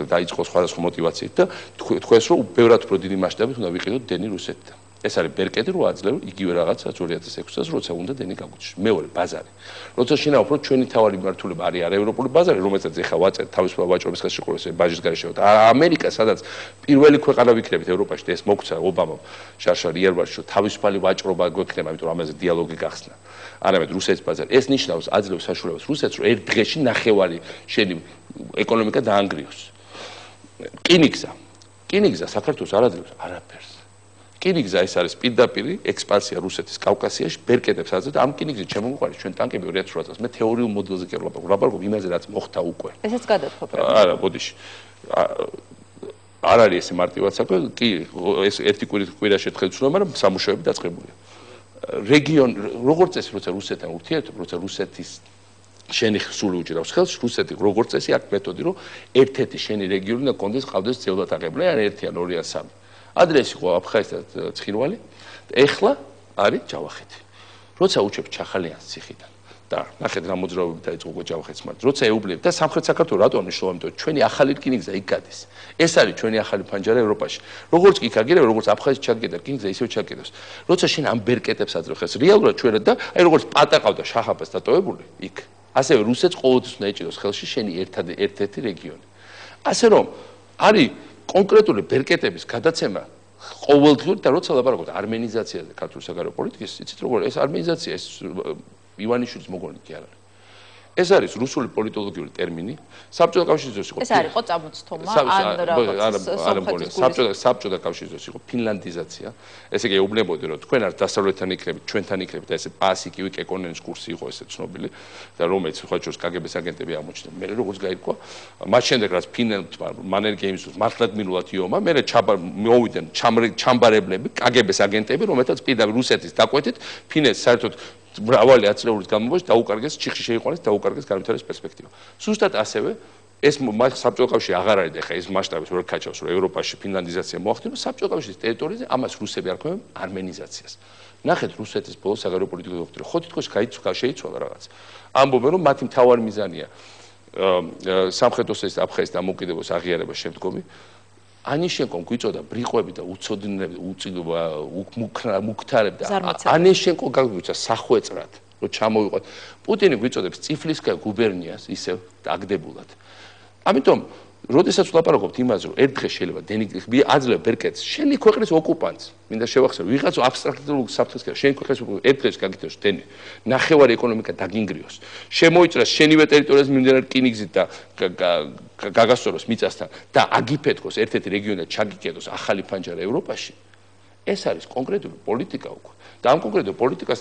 დაიწყო სხვადასხვა მოტივაციით და თქვენს რომ ბევრად უფრო დიდი მასშტაბით უნდა ვიყიდოთ დენი რუსეთთან. ეს არის ბერკეტი რო აძლევ იგივე რაღაცა 2006 წელს როცა უნდა დენი გაგვიჩნდეს. მეორე ბაზარი. როცა შინაო უფრო ჩვენი თავარი მმართველობა არის არაევროპული ბაზარი, რომელსაც ეხა ვაწერთ თავისუფალ ვაჭრობის ხელშეკრულებაზე ბაჟის გარეშე. ამერიკა სადაც პირველი ქვეყანა ვიქნებით ევროპაში და ეს მოგცა ობამამ შარშალი ერბაშო თავისუფალი ვაჭრობა გვექნება, იმიტომ რომ ამაზე დიალოგი გახსნა. არამედ რუსეთის ბაზარი. ეს ნიშნავს აძლევს საშუალებას რუსეთს რომ ერთ დღეში ნახევარი შენი ეკონომიკა დაანგრიოს. რკინიგზა საქართველოს არ აძლევს არაფერს. რკინიგზა ეს არის პირდაპირი ექსპანსია რუსეთის კავკასიაში, ბერკეტებს აძლევს და ამ რკინიგზით შემოგვიყარეს ჩვენ ტანკები 2008 წელს. მე თეორიულ მოდელზე კი ვლაპარაკობ იმაზე რაც მოხდა უკვე. ესეც გადათხო პრობლემა. არა, ბოდიში. არ არის ესე მარტივად საქმე, კი, ეს ერთი კვირაში ერთხელ ცნობა, მაგრამ სამუშაოები დაწყებულია. რეგიონ როგორც წესი როცა რუსეთთან ურთიერთობ, როცა რუსეთის შენი სული უჭირავს ხელს, რუსეთი როგორც წესი აქვს მეთოდი, რომ ერთ-ერთი შენი რეგიონი და კონდეს ყავდეს ძევლად აღებული, ან 1 ან 2 ან 3. ადრეს იყო აფხაზეთ ცხინვალი, ეხლა არის ჯავახეთი. როცა უჩებ ჩახალიანს ციხიდან და ნახეთ რა მოძრაობები დაიწყო ჯავახეთს მართ. როცა ეუბნები და სამხრეთ საქართველოს რატო მნიშვნელოვანი, იმიტომ რომ ჩვენი ახალი რკინიგზა იქ გადის. ეს არის ჩვენი ახალი ფანჯარა ევროპაში. როგორც კი გაგირებ, როგორც აფხაზეთში ჩაგკედა რკინიგზა, ისევ ჩაგკედოს. როცა შენ ამ ბერკეტებს აძლევ ხელს, რეალურად ჩვენად და აი როგორც პატაყავდა შაჰაბას დატოვებული იქ. ასევე რუსეთს ყოველთვის უნდა ეჭიროს ხელში შენი ერთ-ერთი რეგიონი. ასე რომ არის კონკრეტული ბერკეტების გადაცემა ყოველდღიური და როცა ლაპარაკობთ არმენიზაციაზე ქართული საგარეო პოლიტიკის, იცით როგორ ეს არმენიზაცია ეს ივანიშვილის მოგონი კი არ არის. ეს არის რუსული პოლიტოლოგიური ტერმინი. საბჭოთა კავშირის დროს იყო. ეს არ იყო წამოწთომა ან რაღაც საბჭოთა კავშირის დროს იყო ფინლანდიზაცია. ესე იგი ეუბნებოდი რომ თქვენ არ დასავლეთთან იქნებით, ჩვენთან იქნებით და ესე პასი კი ეკონომიკის კურსი იყო ესე ცნობილი და რომელიც სხვა შორის კგბ-ს აგენტები აღმოჩნდა. მე როგორც გაირკვა, მათ შემდეგ რაც ფინლანდმა მანერგეიმს მართლად მილულად იომა, მე მოვიდნენ ჩამბარებლები, კგბ-ს აგენტები, რომელთაც პირდაპირ რუსეთის დაკვეთით ფინეთს საერთოდ მრავალი ათწლეულის განმავლობაში დაუკარგეს ჩიხში შეიყვანეს დაუკარგეს განვითარების პერსპექტივა. სუსტად ასევე ეს საბჭოთა კავშირი აღარ არის და ხა ეს მასშტაბის ვერ ქაჩავს რომ ევროპაში ფინლანდიზაცია მოახდინოს საბჭოთა კავშირის ტერიტორიაზე ამას რუსები არ ქვემენ არმენიზაციას. ნახეთ რუსეთის ბოლო საგარეო პოლიტიკური დოქტრინა ხო თითქოს შეიცვალა რაღაც. ამბობენ რომ მათი მთავარი მიზანია სამხრეთ ოსეთის აფხაზეთის დამოუკიდებლობის აღიარება შემდგომი ანიშენკომ გვიწოდა ბრიყვები და უცოდინები მუქთარები და ანიშენკო გაგვიცა სახვეწრად რომ ჩამოვიყოთ პუტინი გვიწოდებს წიფლისკა გუბერნიას ისევ დაგდებულად ამიტომ როდესაც ვლაპარაკობთ იმაზე რომ ერთ დღეს შეიძლება აძლევ ბერკეტს შენი ქვეყნის ოკუპანტს მინდა შევახსენო ვიღაცა აბსტრაქტულ საფრთხეს კი შენი ქვეყნის ერთ დღეს გაგიტოს დენი ნახევარი ეკონომიკა დაგინგრიოს შემოიწრას შენივე ტერიტორიაზე მიმდინარე რკინიგზით და გაგასწოროს მიწასთან და აგიფეთქოს ერთ-ერთი რეგიონად ჩაგიკედოს ახალი ფანჯარა ევროპაში ეს არის კონკრეტული პოლიტიკა უკვე. და ამ კონკრეტულ პოლიტიკას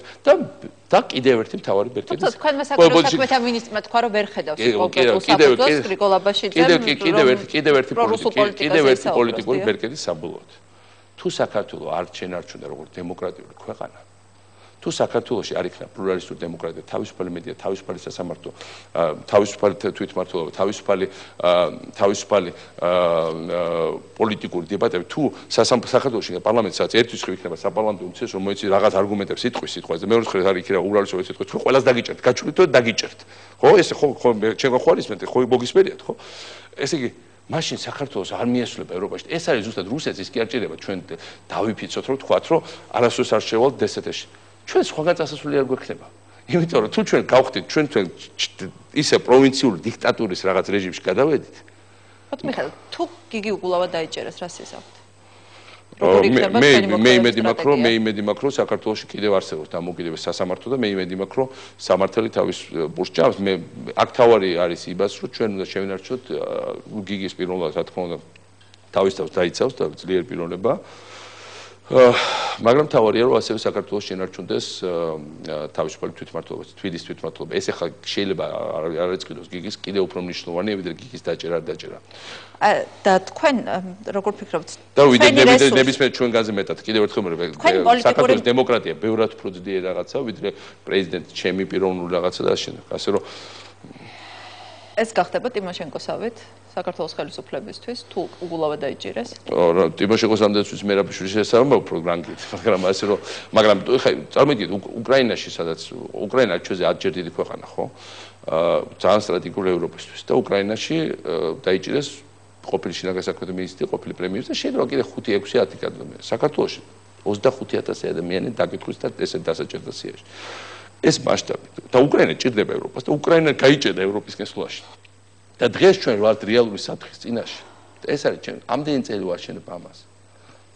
და კიდევ ერთი მთავარი ბერკეტი. თუმცა თქვენმა საკუთარ საქმეთა მინისტრმა თქვა რომ ვერ ხედავს კონკრეტულ საფუძველს გრიგოლაბაში კიდევ ერთი პოლიტიკური ბერკეტი საბოლოოდ. თუ საქართველოს არ შენარჩუნდა როგორც დემოკრატიული ქვეყანა, თუ საქართველოში არ იქნა პლურალისტური დემოკრატია, თავისუფალი მედია, თავისუფალი სასამართლო, თავისუფალი თვითმმართველობა, თავისუფალი პოლიტიკური დებატები, თუ საქართველოში პარლამენტი სადაც ერთის ხრი იქნება საპარლამენტო უმცირეს რომ მოიცი რაღაც არგუმენტებს სიტყვაზე და მეორე ხრი არ იქნება უბრალოდ სიტყვაზე, თქვენ ყველას დაგიჭერთ, გაჩვენეთ და დაგიჭერთ. ხო, ესე ხო ჩემო ხვალისმენთ, ხო მოგისმერიათ, ხო? ესე იგი მაშინ საქართველოს არ მიესწრება ევროპაში. ეს არის ზუსტად რუსეთს ის კი არ ჭირდება ჩვენ დავიფიცოთ რომ თქვათ რომ არასდროს არ შევალთ დსთ-ში. ჩვენ სხვაგან წასასვლელი არ გვექნება. იმიტომ რომ თუ ჩვენ გავხდით ჩვენ ისე პროვინციული დიქტატურის რაღაც რეჟიმში გადავედით. მიხეილ, თუ გიგი უგულავა დაიჭერეს, რა სიზავთ? მე იმედი მაქვს რომ საქართველოში კიდევ არსებობს დამოუკიდებელი სასამართლო და მე იმედი მაქვს რომ სამართალი თავის ბურთს ჭამს. მე აქ თავარი არის იმას რომ ჩვენ უნდა შევინარჩუნოთ გიგის პიროვნება, რა თქმა უნდა თავის თავს დაიცავს და ძლიერ პიროვნება. მაგრამ თავარია რომ ასევე საქართველოს შენარჩუნდეს თავისუფალი თვითმმართველობა, თბილისის თვითმმართველობა. ეს ახლა შეიძლება არ ეწყიდოს გიგის კიდევ უფრო მნიშვნელოვანია, ვიდრე გიგის დაჭერა არ დაჭერა. და თქვენ როგორ ფიქრობთ? და ნებისმიერ ჩვენგანზე მეტად კიდევ ერთხელ საქართველოს დემოკრატია ბევრად უფრო ძლიერი რაღაცა, ვიდრე პრეზიდენტი ჩემი პიროვნული რაღაცა და ასე. ასე რომ ეს გახდება ტიმოშენკოსავით საქართველოს ხელისუფლებისთვის თუ უგულავა დაიჭირეს? ტიმოშენკოს ამდენთვის მერაბიშვილის შესაძლებლობა უფრო გრანგით, მაგრამ ხა წარმოგიდგენთ უკრაინაში, სადაც უკრაინა ჩვენზე 10 ჯერ დიდი ქვეყანა, ხო? ძალიან სტრატეგიული ევროპისთვის და უკრაინაში დაიჭირეს ყოფილი შინაგან საქმეთა მინისტრი, ყოფილი პრემიერი და შეიძლება კიდე 5-6-10 ადამიანი. საქართველოში 25,000 ადამიანი დაკითხვის და ესეთ დასაჭერდა სიაში. ეს მასშტაბი და უკრაინა ჭირდება ევროპას და უკრაინა გაიჭერდა ევროპის გასვლაში. და დღეს ჩვენ ვართ რეალური საფრთხის წინაშე. და ეს არის ჩვენ ამდენი წელი ვარჩენებ ამას.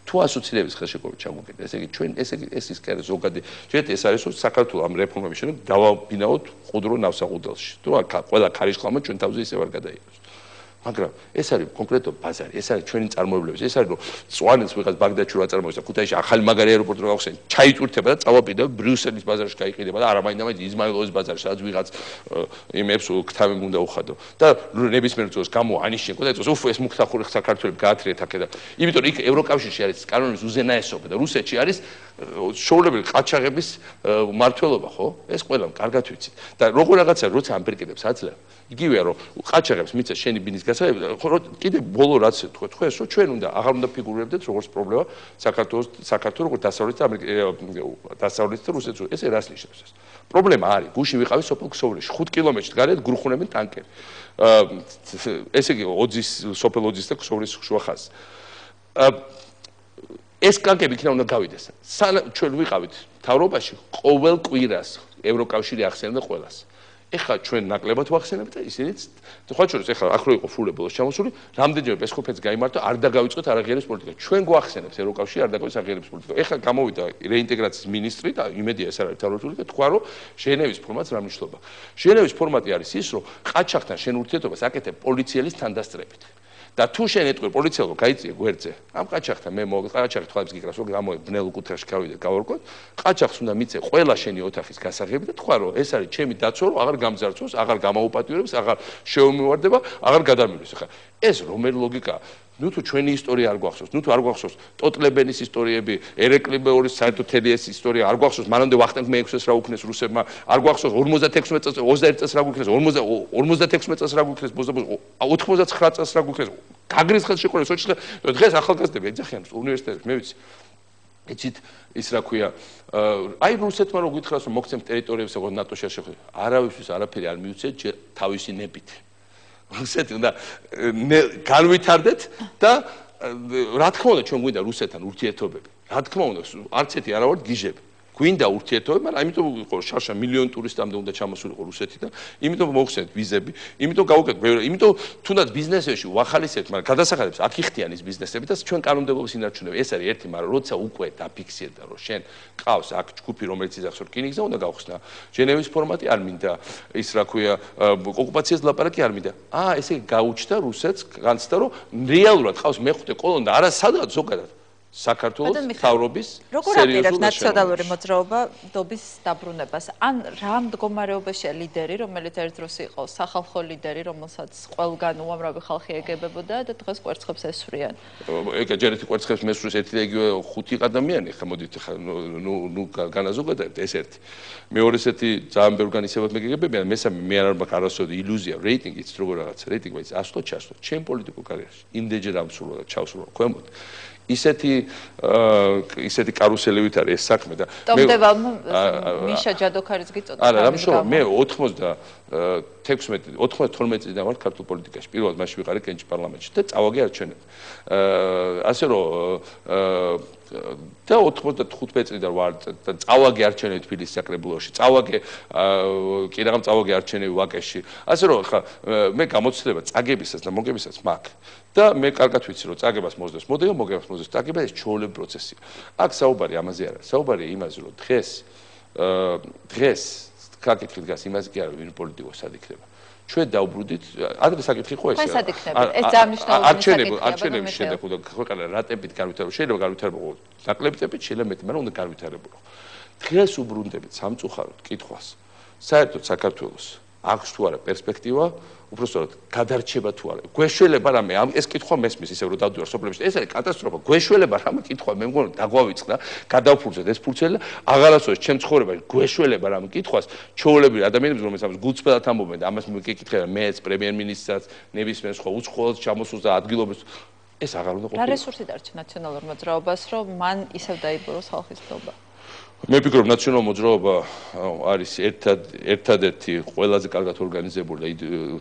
თუ ასოცირების ხელშეკრულება ჩაგვიკეთეთ, ესე იგი ჩვენ ეს ის კი არის ზოგადი. შეიძლება ეს არის რომ საქართველოს ამ რეფორმების შემდეგ დავაბინაოთ ყუდრო ნავსაყუდელში. თუ ყველა ქარიშხლამა ჩვენ თავზე ისე ვარ გადაიღოს. მაგრამ ეს არის კონკრეტო ბაზარი, ეს არის ჩვენი წარმოებლების, ეს არის რომ წვანეთს ვიღაც ბაგდადში რა წარმოებს და ქუთაისში ახალი მაგარი აეროპორტი რა გავხსენ, ჩაიწურთება და წავაპირდება ბრიუსელის ბაზარში გაიყიდება და არა მაინდა იზმაილოვის ბაზარში, სადაც ვიღაც იმებს ქთავი უნდა უხადო. და ნებისმიერ დროს გამო ანიშნიკო და ეწოს უფ ეს მუქთახური საქართველოს გაათრიეთ აქ და იმიტომ იქ ევროკავშირში არის კანონის უზენაესობა და რუსეთში არის შოულებელი ყაჩაღების მმართველობა, ხო? ეს ყველამ კარგად ვიცით. და როგორ რაღაცა როცა ამპერკეტებს აძლევ, იგივეა რომ ყაჩაღებს მიწა შენი ბინის კიდე ბოლო რაც თქვა ეს რომ ჩვენ აღარ უნდა ფიგურირებდეთ როგორც პრობლემა საქართველოს როგორც დასავლეთ და რუსეთს ესე რას ნიშნავს ეს პრობლემა არის გუში ვიყავი სოფელ ქსოვრიში 5 კილომეტრში გარეთ გრუხუნებენ ტანკები ესე იგი სოფელ ოძის და ქსოვრის შუა ხაზს ეს ტანკები იქნა უნდა გავიდეს ჩვენ ვიყავით მთავრობაში ყოველ კვირას ევროკავშირი ახსენებდა ყველას ეხლა ჩვენ ნაკლებად ვახსენებთ და ისინიც სხვა შორის ეხლა ახლა იყო ფულებულოს ჩამოსული რამდენჯერ პესკოფეც გაიმართა არ დაგავიწყოთ არაღიარების პოლიტიკა ჩვენ გვახსენებთ ევროკავშირი არ დაგავიწყოთ არაღიარების პოლიტიკა ეხლა გამოვიდა რეინტეგრაციის მინისტრი და იმედია ეს არის თავროთული და თქვა რომ ჟენევის ფორმატს რა მნიშვნელობა ჟენევის ფორმატი არის ის რომ ყაჩაღთან შენ ურთიერთობას აკეთებ პოლიციელის თანდასწრებით და თუ შენ ეტყვი პოლიციელს რომ გაიწიე გვერდზე ამ ყაჩაღთან მე ყაჩაღი თვალებს გიკრავს რომ გამოე ბნელ კუთხეში გავიდე გავარკვოთ ყაჩაღს უნდა მიწე ყველა შენი ოთახის გასაღები და თქვა რომ ეს არის ჩემი დაცვა რომ აღარ გამძარცვოს აღარ გამაუპატიურებს აღარ შეუმივარდება აღარ გადამილოს ხა ეს რომელი ლოგიკაა ნუ თუ ჩვენი ისტორია არ გვახსოვს ნუ თუ არ გვახსოვს ტოტლებენის ისტორიები ერეკლი მეორის საერთოდ თელიეს ისტორია არ გვახსოვს მანამდე ვახტანგ მე-6-ს რა უკნეს რუსებმა არ გვახსოვს 56 წელს 21 წელს რა გვიქნეს 56 წელს რა გვიქნეს 99 წელს რა გვიქნეს გაგრის ხელშეკრულება სოჭის დღეს ახალგაზრდები ეძახიან უნივერსიტეტებში მე ვიცი იცით ის რა ქვია აი რუსეთმა რო გითხრას რომ მოგცემთ ტერიტორიებს როგორც ნატოში არ შეხვდეთ არავისთვის არაფერი არ მიუცეთ თავისი ნებით რუსეთი უნდა განვითარდეთ და რა თქმა უნდა ჩვენ გვინდა რუსეთთან ურთიერთობები რა თქმა უნდა არც ერთი არა ვართ გიჟები გვინდა ურთიერთობები მაგრამ ამიტომ იყო შარშა მილიონი ტურისტამდე უნდა ჩამოსულიყო რუსეთიდან იმიტომ მოვხსენეთ ვიზები იმიტომ გავუკეთეთ ბევრი იმიტომ თუნდაც ბიზნესებში ვახალისებთ მაგრამ გადასახადებს აქ იხდიან ის ბიზნესები და ჩვენ კანონმდებლობის ინარჩუნებები ეს არის ერთი მაგრამ როცა უკვე დაფიქსირდა რომ შენ ყავს აქ ჯგუფი რომელიც იძახს რომ რკინიგზა უნდა გავხსნა ჟენევის ფორმატი არ მინდა ის რა ქვია ოკუპაციას ლაპარაკი არ მინდა ესე გაუჩნდა რუსეთს განცდა რომ რეალურად ყავს მეხუთე კოლონი და არა სადღაც ზოგადად საქართველოს მთავრობის როგორ აპირებს ნაციონალური მოძრაობა დობის დაბრუნებას? ან რა მდგომარეობაშია ლიდერი, რომელიც ერთ დროს იყო სახალხო ლიდერი, რომელსაც ყველგან უამრავი ხალხი ეგებებოდა და დღეს კვერცხებს ესვრიან? ეგ ჯერ ერთი კვერცხებს მესვრის ერთი და იგივე 5 ადამიანი ხა მოდით ხა ნუ განაზოგადეთ ეს ერთი. მეორე ესეთი ძალიან ბევრ განისებად მეგებებიან, მესამე მე არ მაქვს არასოდეს iluzia რეიტინგიც როგორ რაღაც რეიტინგი բայց ასლო ჩასვლო ჩემ პოლიტიკურ კარიერაში. იმდენჯერ ამსრულა და ჩავსრულა ქვემოთ. ისეთი კარუსელებით არის ეს საქმე და ტომდებამ მიშა ჯადოქარიც გიწოდა. არა, რამშოვა მე 92 წლიდან ვარ ქართულ პოლიტიკაში. პირველად მაშინ ვიყარე კენჭი პარლამენტში და წავაგე არჩევნები. ასე რომ და 95 წლიდან ვარ და წავაგე არჩევნები თბილისის საკრებულოში. წავაგე კი რაღაც წავაგე არჩევნები ვაკეში. ასე რომ ხა მე გამოცდილება წაგებისას და მოგებისას მაქვს. და მე კარგად ვიცი რომ წაგებას მოსდევს, მოდევ მოგებას მოსდევს, წაგება ეს ჩვეულებრივი პროცესია. აქ საუბარი ამაზე არა, საუბარია იმაზე რომ დღეს საკითხი დგას იმაზე კი არა ვინ პოლიტიკოსი სად იქნება. ჩვენ დავბრუნდით, ადრე საკითხი ხო ეს ეს სად იქნება? ეს ძალიან მნიშვნელოვანი საკითხია. არჩევნების შემდეგ უნდა ქვეყანა რა ტემპით გავითარებო, შეიძლება გავითარებო ნაკლები ტემპით, შეიძლება მეტი, მაგრამ უნდა გავითარებო. დღეს უბრუნდებით სამწუხაროდ კითხვას. საერთოდ საქართველოს აქვს თუ არა პერსპექტივა უბრალოდ გადარჩება თუ არა. გვეშველება რამე ეს კითხვა მესმის ისევ რომ დავდივარ სოფლებში. ეს არის კატასტროფა. გვეშველება რამე კითხვა მე მგონი დაგვავიწყდა, გადავფუძნეთ ეს ფურცელი და აღარასოდეს ჩემ ცხოვრებაში გვეშველება რამე კითხვას ჩვეულებრივი ადამიანებს რომელსაც ამას გულწრფელად ამბობენ და ამას მეკითხება მეც პრემიერ-მინისტრსაც, ნებისმიერ სხვა უცხოელს ჩამოსულს და ადგილობებს ეს აღარ უნდა ყოფილიყო. რა რესურსი დარჩა ნაციონალურ მოძრაობას რომ მან ისევ დაიბუროს ხალხის ნდობა? მე ვფიქრობ ნაციონალურ მოძრაობა არის ერთადერთი ყველაზე კარგად ორგანიზებული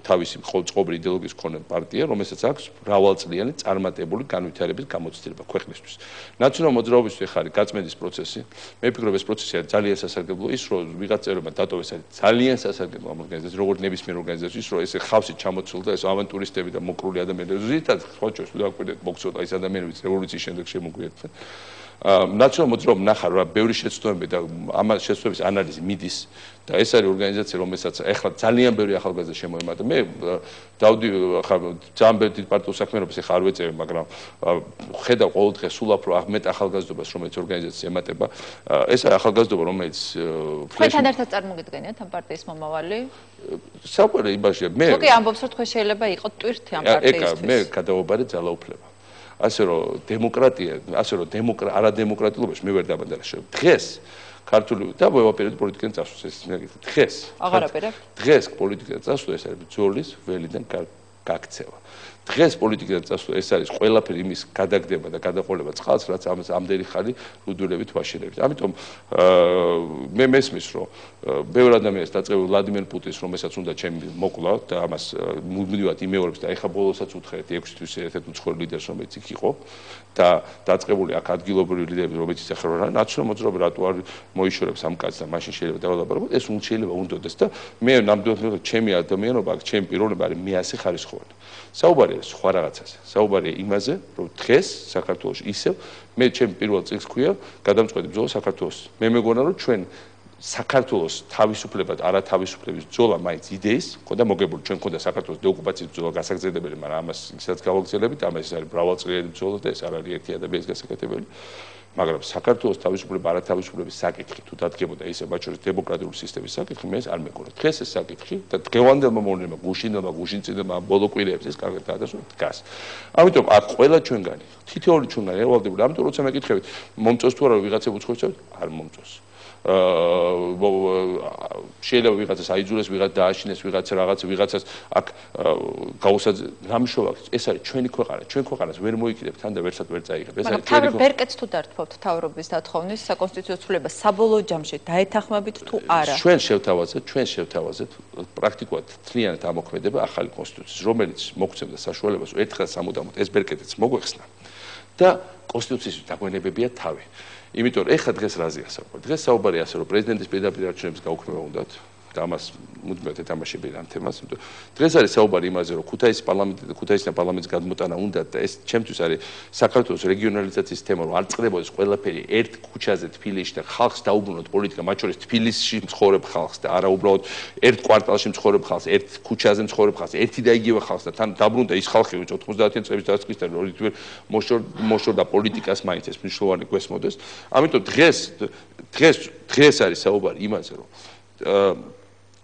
თავისი ყოველწლიური იდეოლოგიის მქონე პარტია, რომელსაც აქვს მრავალწლიანი წარმატებული განვითარების გამოცდილება ქვეყნისთვის. ნაციონალურ მოძრაობისთვის ხარ გაწმენდის პროცესი. მე ვფიქრობ ეს პროცესი არის ძალიან სასარგებლო, ის რომ ვიღაც წევრებმა დატოვეს არის ძალიან სასარგებლო ამ ორგანიზაციას, როგორც ნებისმიერ ორგანიზაციის, რომ ეს ხავსით ჩამოცულ და ეს ავანტურისტები და მოკრული ადამიანები ზუსტად სხვა ჩვენს დააკვირდეთ მოგცოდა ის ადამიანებიც რევოლუციის შემდეგ შემოგვიერთდნენ. ნაციონალურ მოძრაობამ ნახა რა ბევრი შეცდომები და ამ შეცდომების ანალიზი მიდის და ეს არის ორგანიზაცია რომელსაც ახლა ძალიან ბევრი ახალგაზრდა შემოემატა. მე დავდი ხა ძალიან ბევრი დიდ პარტიულ საქმიანობას ახლა არ ვეწევი, მაგრამ ხედავ ყოველდღე სულ უფრო მეტ ახალგაზრდობას რომელიც ორგანიზაცია ემატება. ეს არის ახალგაზრდობა რომელიც თქვენთან ერთად წარმოგიდგენიათ ამ პარტიის მომავალი? საყვარელი იმაშია მე თუკი ამბობს რომ თქვენ შეიძლება იყოთ ტვირთი ამ პარტიისთვის. მე გადავაბარე ძალაუფლება. ასე რომ დემოკრატია, ასე რომ არადემოკრატიულობაში მე ვერ დაბადარაშევ. დღეს ქართული და ვეპირებდი პოლიტიკიდან წასვლას ეს მეკითხა. დღეს აღარ აპირებ? დღეს პოლიტიკიდან წასვლა ეს არის ბრძოლის ველიდან გაქცევა. დღეს პოლიტიკიდან წასვლა ეს არის ყველაფერი იმის გადაგდება და გადაყოლება წყალს, რაც ამდენი ხანი რუდულებით ვაშენებთ. ამიტომ მე მესმის რომ ბევრ ადამიანს დაწყებული ვლადიმერ პუტინს რომელსაც უნდა ჩემი მოკლა და ამას მუდმივად იმეორებს და ეხა ბოლოსაც უთხრეთ 6 თვის ერთ-ერთ უცხოელ ლიდერს რომელიც იქ იყო და დაწყებული აქ ადგილობრივი ლიდერები რომელიც ეხლა რა ნაციონალურ მოძრაობა რატო არ მოიშორებს ამ კაცს და მაშინ შეიძლება დავალაბაროთ ეს შეიძლება უნდოდეს და მე ნამდვილად ჩემი ადამიანობა აქ ჩემი პიროვნება არის მე ასე ხარისხოვანი. საუბარია სხვა რაღაცაზე. საუბარია იმაზე, რომ დღეს საქართველოში ისევ მე ჩემი პირველ წიგნს ქვია გადამწყვეტი ბრძოლა საქართველოს. მე მეგონა რომ ჩვენ საქართველოს თავისუფლებად არათავისუფლების ბრძოლა მაინც იდეის ხოდა მოგებული ჩვენ ხოდა საქართველოს დეოკუპაციის ბრძოლა გასაგრძელებელი, მაგრამ ამას ისაც გავაგრძელებით, ამას ეს არის მრავალწლიანი ბრძოლა და ეს არ არის ერთი ადამიანის გასაკეთებელი. მაგრამ საქართველოს თავისუფლება არათავისუფლების საკითხი თუ დადგებოდა ისე მათ შორის დემოკრატიული სისტემის საკითხი, მე ეს არ მეგონა. დღეს ეს საკითხი და დღევანდელმა მოვლენებმა გუშინწინებმა ბოლო კვირებში ეს კარგად დაადასტურა დგას. ამიტომ აქ ყველა ჩვენგანი, თითოეული ჩვენგანი ერვალდებული, ამიტომ როცა მეკითხებით, მომწონს თუ არა ვიღაცებ უცხოეთს, არ მომწონს. შეიძლება ვიღაცას აიძულეს, ვიღაც დააშინეს, ვიღაცას აქ გაუსაძ რამშოვა ეს არის ჩვენი ქვეყანა, ჩვენ ქვეყანას ვერ მოიკიდებ თან და ვერცად ვერ წაიღებ. ეს არის ჩვენი ქვეყანა. ბერკეტს თუ დართვავთ თავრობის დათხოვნის საკონსტიტუციო ცვლილება საბოლოო ჯამში დაეთანხმებით თუ არა? ჩვენ შევთავაზეთ პრაქტიკულად თლიანად ამოქმედება ახალი კონსტიტუციის, რომელიც მოგცემდა საშუალებას ერთხელ სამუდამოდ ეს ბერკეტიც მოგვეხსნა და კონსტიტუციის დაგვენებებია თავი. იმიტომ ეხლა დღეს რაზეა საუბარი? დღეს საუბარია ასე რომ პრეზიდენტის პირდაპირ არჩევნების გაუქმება უნდათ. და ამას მუდმივად ეთამაშები ამ თემას. დღეს არის საუბარი იმაზე, რომ ქუთაისიდან პარლამენტის გადმოტანა უნდა და ეს ჩემთვის არის საქართველოს რეგიონალიზაციის თემა, რომ არ წყდებოდეს ყველაფერი ერთ ქუჩაზე თბილისში და ხალხს დაუბრუნოთ პოლიტიკა, მათ შორის თბილისში მცხოვრებ ხალხს და არა უბრალოდ ერთ კვარტალში მცხოვრებ ხალხს, ერთ ქუჩაზე მცხოვრებ ხალხს, ერთი და იგივე ხალხს და თან დაბრუნდა ის ხალხი, ვინც 90-იან წლების დასაწყისიდან როდესაც მოშორდა პოლიტიკას მაინც ეს მნიშვნელოვანი გვესმოდეს. ამიტომ დღეს არის საუბარი იმაზე, რომ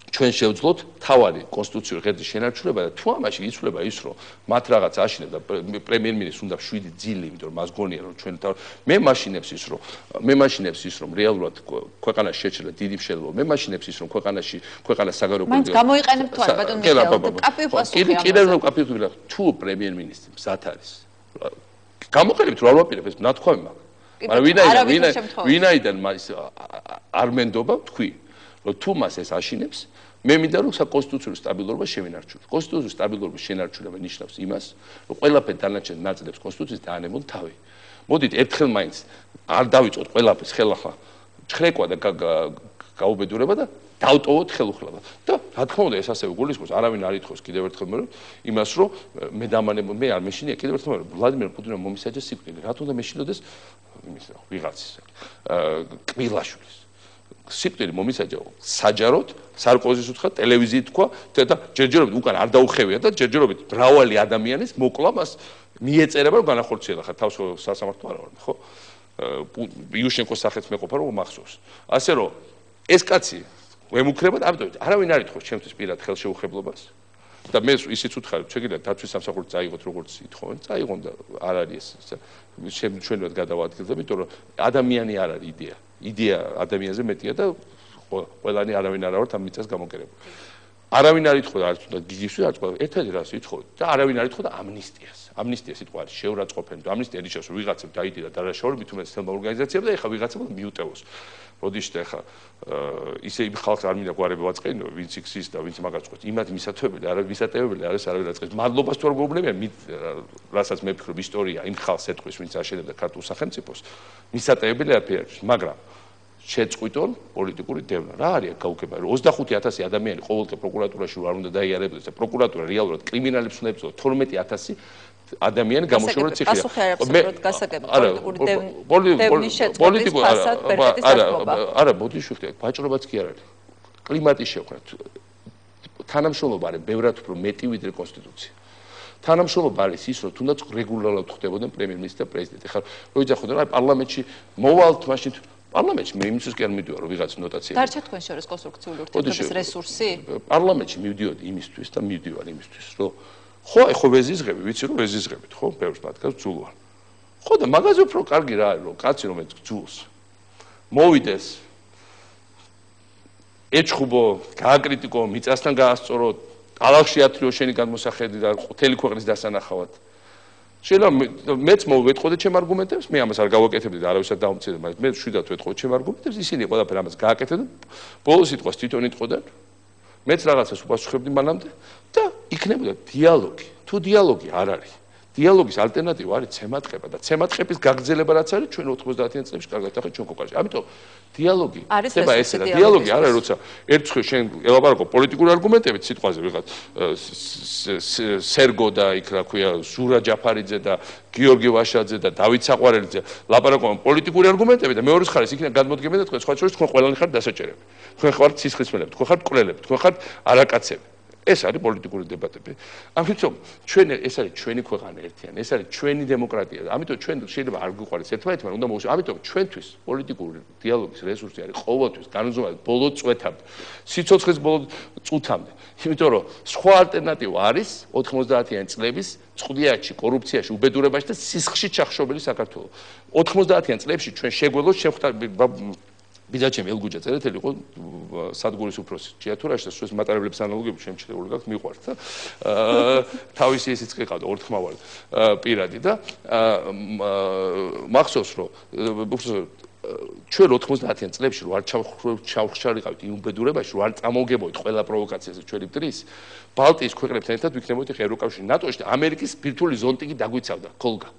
ჩვენ შევძლოთ თავარი კონსტიტუციური ღერძის შენარჩუნება და თუ ამაში იცვლება ის, რომ მათ რაღაც აშინებს და პრემიერ-მინისტრს უნდა 7 ძილი, იმიტომ რომ მას გონია, რომ ჩვენ მე მაშინებს ის, რომ რეალურად ქვეყანაში შეჭრა დიდი მშენებლობა, მე მაშინებს ის, რომ ქვეყანა საგარეო პოლიტიკა მაინც გამოიყენებთ თუ არა ბატონ მიხეილ, კაპივ პასუხი ამაზე. კიდევ რომ კაპივ ვიღა, თუ პრემიერ-მინისტრი მზად არის. გამოყენებთ რა ვაპირებ ეს ნათქვამი მაქვს. მაგრამ ვინაიდან მას არ მენდობა თქვი, რომ თუ მას ეს აშინებს, მე მინდა რომ საკონსტიტუციურ სტაბილურობა შევინარჩუნოთ. კონსტიტუციის სტაბილურობის შენარჩუნება ნიშნავს იმას, რომ ყველაფერი დანარჩენ ნაწილებს კონსტიტუციის დაანებონ თავი. მოდით ერთხელ მაინც არ დავიწყოთ ყველაფერს ხელახლა ჩხრეკვა და გაუბედურება და დავტოვოთ ხელუხლება. და რა თქმა უნდა ეს ასევე გულისხმობს, არავინ არ ითხოვს კიდევ ერთხელ მე იმას, რომ მე არ მეშინია კიდევ ერთხელ ვლადიმერ პუტინმა მომისაჯა სიკვდილი. რა თქმა უნდა მეშინოდეს იმის ვიღაცის კბილაშვილის სიკვდილი მომისაჯა საჯაროდ სარკოზის უთხრა ტელევიზიით თქვა და ჯერჯერობით უკან არ დაუხევია და ჯერჯერობით მრავალი ადამიანის მოკლა მას მიეწერება რომ განახორციელა ხარ თავს სასამართლო არა ვარ ხო იუშენკოს სახეც მეყოფა რომ მახსოვს ასე რომ ეს კაცი ვემუქრება და ამიტომ არავინ არ ითხოვს ჩემთვის პირად ხელშეუხებლობას და მე ისიც ვთქარი შეგიძლიათ დაცვის სამსახურს წაიღოთ როგორც ითხოვენ წაიღონ და არ არის ეს ჩვენවත් გადავადგილდებით იმიტომ რომ ადამიანი არ არის იდეა ადამიანზე მეტია და ყველანი არავინ არ ვართ ამ მიწას გამოკერებული. არავინ არ ითხოვდა არც უნდა გიგისვი არც ყველა ერთად რას ითხოვდა და არავინ არ ითხოვდა ამნისტიას. ამნისტია სიტყვა არის შეურაცხყოფელი და ამნისტია ნიშნავს რომ ვიღაცამ დაიდირა დარაშაული მით უმეტეს თელმა ორგანიზაციამ და ეხლა ვიღაცამ მიუტევოს. როდიშტა ეხლა ისე იმ ხალხს არ მინდა გვარები ვაწყენო ვინც იქს და ვინც მაგას წყვეტს იმათ მისათვებელი არა მისატევებელი არის არავინ აწყებს მადლობას თუ არ გეუბნებიან რასაც მე ვფიქრობ ისტორია იმ ხალხს ეთქვის ვინც აშენებდა ქართულ სახელმწიფოს მისატევებელი არაფერი არის მაგრამ შეწყვიტონ პოლიტიკური დევნა. რა არის გაუგება? 25000 ადამიანი ყოველდღე პროკურატურაში არ უნდა დაიარებოდეს და პროკურატურა რეალურად კრიმინალებს უნდა ებრძოლოს 12000 ადამიანი გამოშორდა ციხეა. პასუხი არ აქვს უბრალოდ გასაგები პოლიტიკური შეწყვეტის ფასად ბერტის დაშობა. არა, მოდი შევხვდეთ, ვაჭრობაც კი არ არის. კლიმატის შექმნა. თანამშრომლობა არის ბევრად უფრო მეტი ვიდრე კონსტიტუცია. თანამშრომლობა არის ის, რომ თუნდაც რეგულარულად ხდებოდნენ პრემიერ-მინისტრი და პრეზიდენტი. ხარ, რო იძახოდნენ, რა პარლამენტში მოვალთ მაშინ პარლამენტში მე იმისთვის კი არ მივდივარ რომ ვიღაც ნოტაცია. დარჩა თქვენ შორის კონსტრუქციული ურთიერთობის რესურსი? პარლამენტში მივდიოდი იმისთვის და მივდივარ იმისთვის, რომ ხო, ხო ვეზიზღები, ვიცი რომ ვეზიზღებით, ხო, ბევრს მათგანს ძულვარ. ხო და მაგაზე უფრო კარგი რა არის, რომ კაცი რომელიც ძულს მოვიდეს ეჭხუბო, გააკრიტიკო, მიწასთან გაასწორო, ალახში ათრიო შენი გადმოსახედი და მთელი ქვეყნის დასანახავად. შეიძლება მეც მოვეთყოდე ჩემ არგუმენტებს, მე ამას არ გავაკეთებდი და არავისაც დაუმცირდა, მაგრამ მე შვიდად ვეთყოდი ჩემ არგუმენტებს, ისინი ყველაფერ ამას გააკეთებდნენ. ბოლოს სიტყვას თვითონ იტყოდან. მეც რაღაცას უპასუხებდი მანამდე და იქნებოდა დიალოგი. თუ დიალოგი არ არის, დიალოგის ალტერნატივა არის ცემატყება და ცემატყების გაგრძელება რაც არის ჩვენ 90-იან წლებში კარგად ახლა ჩვენ კოკაში. ამიტომ დიალოგი ხდება ესე და დიალოგი არ არის როცა ერთხელ შენ ელაპარაკო პოლიტიკური არგუმენტებით სიტყვაზე ვიღაც სერგო და იქ რა ქვია ზურა ჯაფარიძე და გიორგი ვაშაძე და დავით საყვარელიძე ლაპარაკობენ პოლიტიკური არგუმენტებით და მეორეს ხარეს იქნება გადმოდგება და თქვენ სხვა შორის თქვენ ყველანი ხართ დასაჭერები. თქვენ ხართ სისხლისმელები, თქვენ ხართ მკვლელები, თქვენ ხართ არაკაცები. ეს არის პოლიტიკური დებატები. ამიტომ ეს არის ჩვენი ქვეყანა ერთიანი, ეს არის ჩვენი დემოკრატია. ამიტომ ჩვენ შეიძლება არ გვიყვარეს ერთმანეთმა, უნდა მოვუშვათ. ამიტომ ჩვენთვის პოლიტიკური დიალოგის რესურსი არის ყოველთვის განუზომად ბოლო წვეთამდე, სიცოცხლის ბოლო წუთამდე. იმიტომ რომ სხვა ალტერნატივა არის 90-იან წლების წყდიაჩი, კორუფციაში, უბედურებაში და სისხლში ჩახშობილი საქართველო. 90-იან წლებში ჩვენ შეგვეძლოს ბიძაჩემ ელგუჯა წერეთელი იყო სადგურის უფროსი ჭიათურაში და სულ მატარებლების ანალოგიები შემჩნეული გაქვს მიყვართ და თავისი ესიც ყიყავდა ორთქმავალი პირადი და მახსოვს რომ ჩვენ 90-იან წლებში რო არ ჩავხშარიყავით იმ უბედურებაში რო არ წამოვგებოდით ყველა პროვოკაციაზე ჩვენი მტრის ბალტიის ქვეყნებთან ერთად ვიქნებოდით ევროკავშირში ნატოში და ამერიკის ბირთვული ზონტი კი დაგვიცავდა ქოლგა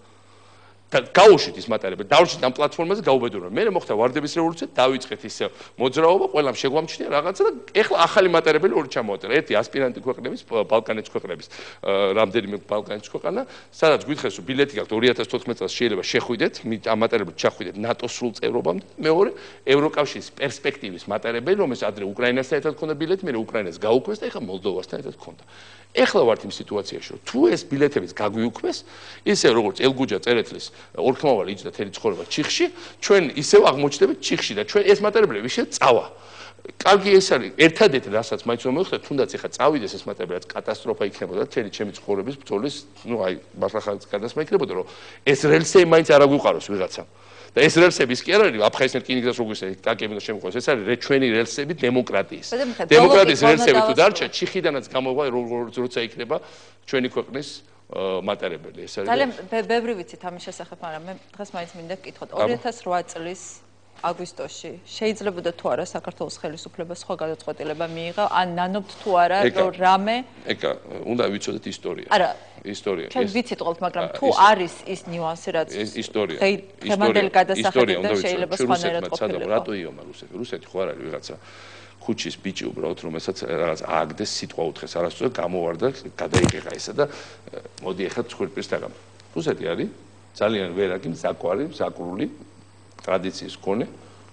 გაუშვით ის მატარებელი, დავრჩით ამ პლატფორმაზე, გაუბედურებთ. მე მოხდა ვარდების რევოლუცია, დავიწყეთ ისე მოძრაობა, ყველამ შეგვამჩნია რაღაცა და ეხლა ახალი მატარებელი ორი ჩამოვაწერა. ერთი ასპირანტი ქვეყნების, ბალკანეთის ქვეყნების, რამდენიმე ბალკანეთის ქვეყანა, სადაც გითხეს, რომ ბილეთი გაქვთ 2014 წელს შეიძლება შეხვიდეთ, ამ მატარებლით ჩახვიდეთ ნატოს სრულ წევრობამდე. მეორე, ევროკავშირის პერსპექტივის მატარებელი, რომელსაც ადრე უკრაინასთან ერთად ჰქონდა ბილეთი, მე უკრაინას გაუქმეს და ეხლა მოლდოვასთან ერთად ჰქონდა. ეხლა ვართ იმ სიტუაციაში, რომ თუ ეს ბილეთებიც გაგვიუქმეს, ისე როგორც ელგუჯა წერეთლის ორქმავალი იჯდა თელი ცხოვრება ჩიხში, ჩვენ ისევ აღმოჩნდებით ჩიხში და ჩვენ ეს მატარებლები შეიძლება წავა. კარგი ეს არის ერთადერთი რასაც მაინც რომ მოვხდეთ, თუნდაც ეხლა წავიდეს ეს მატარებლი, კატასტროფა იქნებოდა თელი ჩემი ცხოვრების ბრძოლის, აი მართლა გადასმა იქნებოდა, რომ ეს რელსები მაინც არ აგვიყვაროს ვიღაცამ. და ეს რელსების კი არ არის აფხაზეთის რკინიგზას როგორ ისე ტანკები და შემოყვეს, ეს არის ჩვენი რელსები დემოკრატიის. დემოკრატიის რელსები თუ დარჩა, ჩიხიდანაც გამოვა როცა იქნება ჩვენი ქვეყნის მატარებელი. ეს არის ძალიან ბევრი ვიცით ამის შესახებ, მაგრამ მე დღეს მაინც მინდა გკითხოთ 2008 წლის აგვისტოში შეიძლებოდა თუ არა საქართველოს ხელისუფლებას სხვა გადაწყვეტილება მიიღო, ან ნანობთ თუ არა რომ რამე ეკა უნდა ვიცოდეთ ისტორია. არა ისტორია. ჩვენ ვიცით ყოველთ, მაგრამ თუ არის ის ნიუანსი რაც ისტორია. დღევანდელი გადასახედიდან შეიძლება სხვანაირად ყოფილიყო. რატო იომა რუსეთი? რუსეთი ხო არ არის ვიღაცა ხუჩის ბიჭი უბრალოდ რომელსაც რაღაც ააგდეს სიტყვა უთხეს არასწორად გამოვარდა გადაიყეყა ესა და მოდი ახლა ცხვირპირს დაგამ. რუსეთი არის ძალიან ვერაგი მზაკვრული ტრადიციის მქონე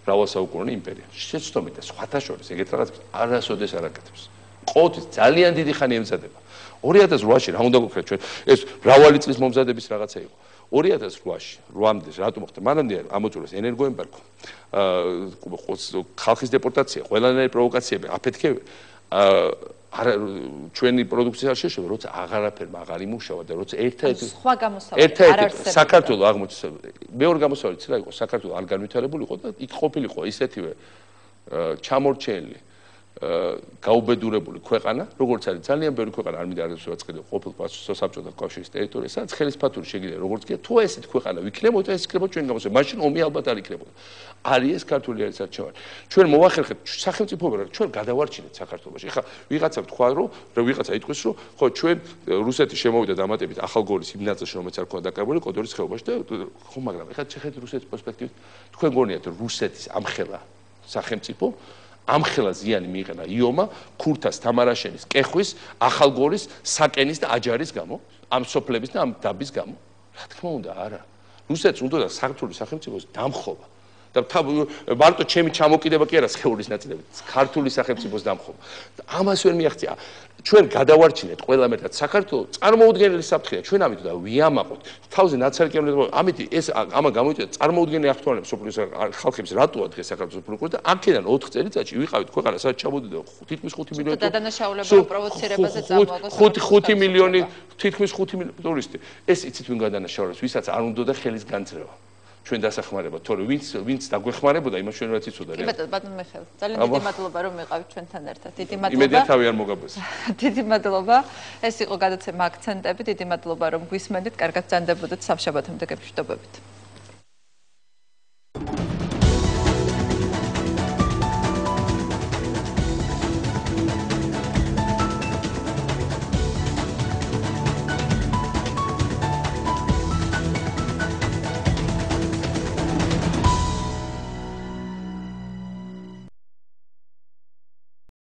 მრავალსაუკუნოვანი იმპერია. შეცდომით და სხვათა შორის ეგეთ რაღაც არასოდეს არ აკეთებს. ყოველთვის ძალიან დიდი ხანი ემზადება. 2008-ში რა უნდა გქრეთ ჩვენ ეს მრავალი წლის მომზადების რაღაცა იყო. 2008-ში 8-მდე რატომ მოხდა? მანამდე ამოწურეს ენერგოემბარგო, ხალხის დეპორტაცია, ყველანაირი პროვოკაციები, აფეთქებები, ჩვენი პროდუქცია არ შეშოვა, როცა აღარაფერმა აღარ იმუშავა და როცა ერთადერთი სხვა გამოსავალი არ არსებობდა. საქართველოს აღმოჩნდა. მეორე გამოსავალი რა იყო? საქართველოს არ განვითარებული იყო და იქ ყოფილიყო ისეთივე ჩამორჩენილი გაუბედურებული ქვეყანა, როგორც არის ძალიან ბევრი ქვეყანა, არ მინდა არასდროს ვაწყიდო ყოფილ საბჭოთა კავშირის ტერიტორიაზე, სადაც ხელისფათური შეგიძლია როგორც კი თუ ესეთი ქვეყანა ვიქნებოდა, ეს იქნებოდა ჩვენ გამოსავალი. მაშინ ომი ალბათ არ იქნებოდა. არის ეს ქართული არის არჩევანი. ჩვენ მოვახერხეთ სახელმწიფოები, ჩვენ გადავარჩინეთ საქართველოში. ეხლა ვიღაცა თქვა, რომ ვიღაცა იტყვის, რომ ხო ჩვენ რუსეთი შემოვიდა დამატებით ახალგორის იმ ნაწილში, რომელიც არ ქონდა დაკავებული კოდორის ხეობაში და ხო, მაგრამ ეხლა შეხედეთ რუსეთის პერსპექტივით, თქვენ გონიათ რომ რუსეთის ამხელა სახელმწიფო ამხელა ზიანი მიიღება იომა, ქურთას, თამარაშენის, კეხვის, ახალგორის, საკენის და აჯარის გამო, ამ სოფლების და ამ დაბის გამო. რა თქმა უნდა, არა. რუსეთს უნდა საქართველოს სახელმწიფოს დამხობა. და მარტო ჩემი ჩამოკიდება კი არა სხეულის ნაწილებით, ქართული სახელმწიფოს დამხობა. ამას ვერ მიაღწია. ჩვენ გადავარჩინეთ ყველა მეტად საქართველოს წარმოუდგენელი საფრთხეა. ჩვენ ამით და ვიამაყოთ. თავზე ნაცარკევლები, ამით ეს ამა გამოიწვია წარმოუდგენელი აქტუალობა სოფლის ხალხებს რატოა დღეს საქართველოს პროკურორი და აქედან 4 წელიწადში ვიყავით ქვეყანა, სადაც ჩამოდიდა თითქმის 5 მილიონი დადანაშაულება პროვოცირებაზე წამოაგოს 5 მილიონი თითქმის 5 მილიონი ტურისტი. ეს იცით ვინ გადანაშაულებს, ვისაც არ უნდა და ხელის განწრება. ჩვენ დასახმარება, თორე ვინც დაგვეხმარებოდა, იმას ჩვენ რაც იცოდა. კი ბატონო, ბატონო მიხეილ, ძალიან დიდი მადლობა რომ იყავით ჩვენთან ერთად. დიდი მადლობა. იმედია თავი არ მოგაბეს. დიდი მადლობა. ეს იყო გადაცემა აქცენტები. დიდი მადლობა რომ გვისმენდით. კარგად ბრძანდებოდეთ სამშაბათამდე გეფშტობებით.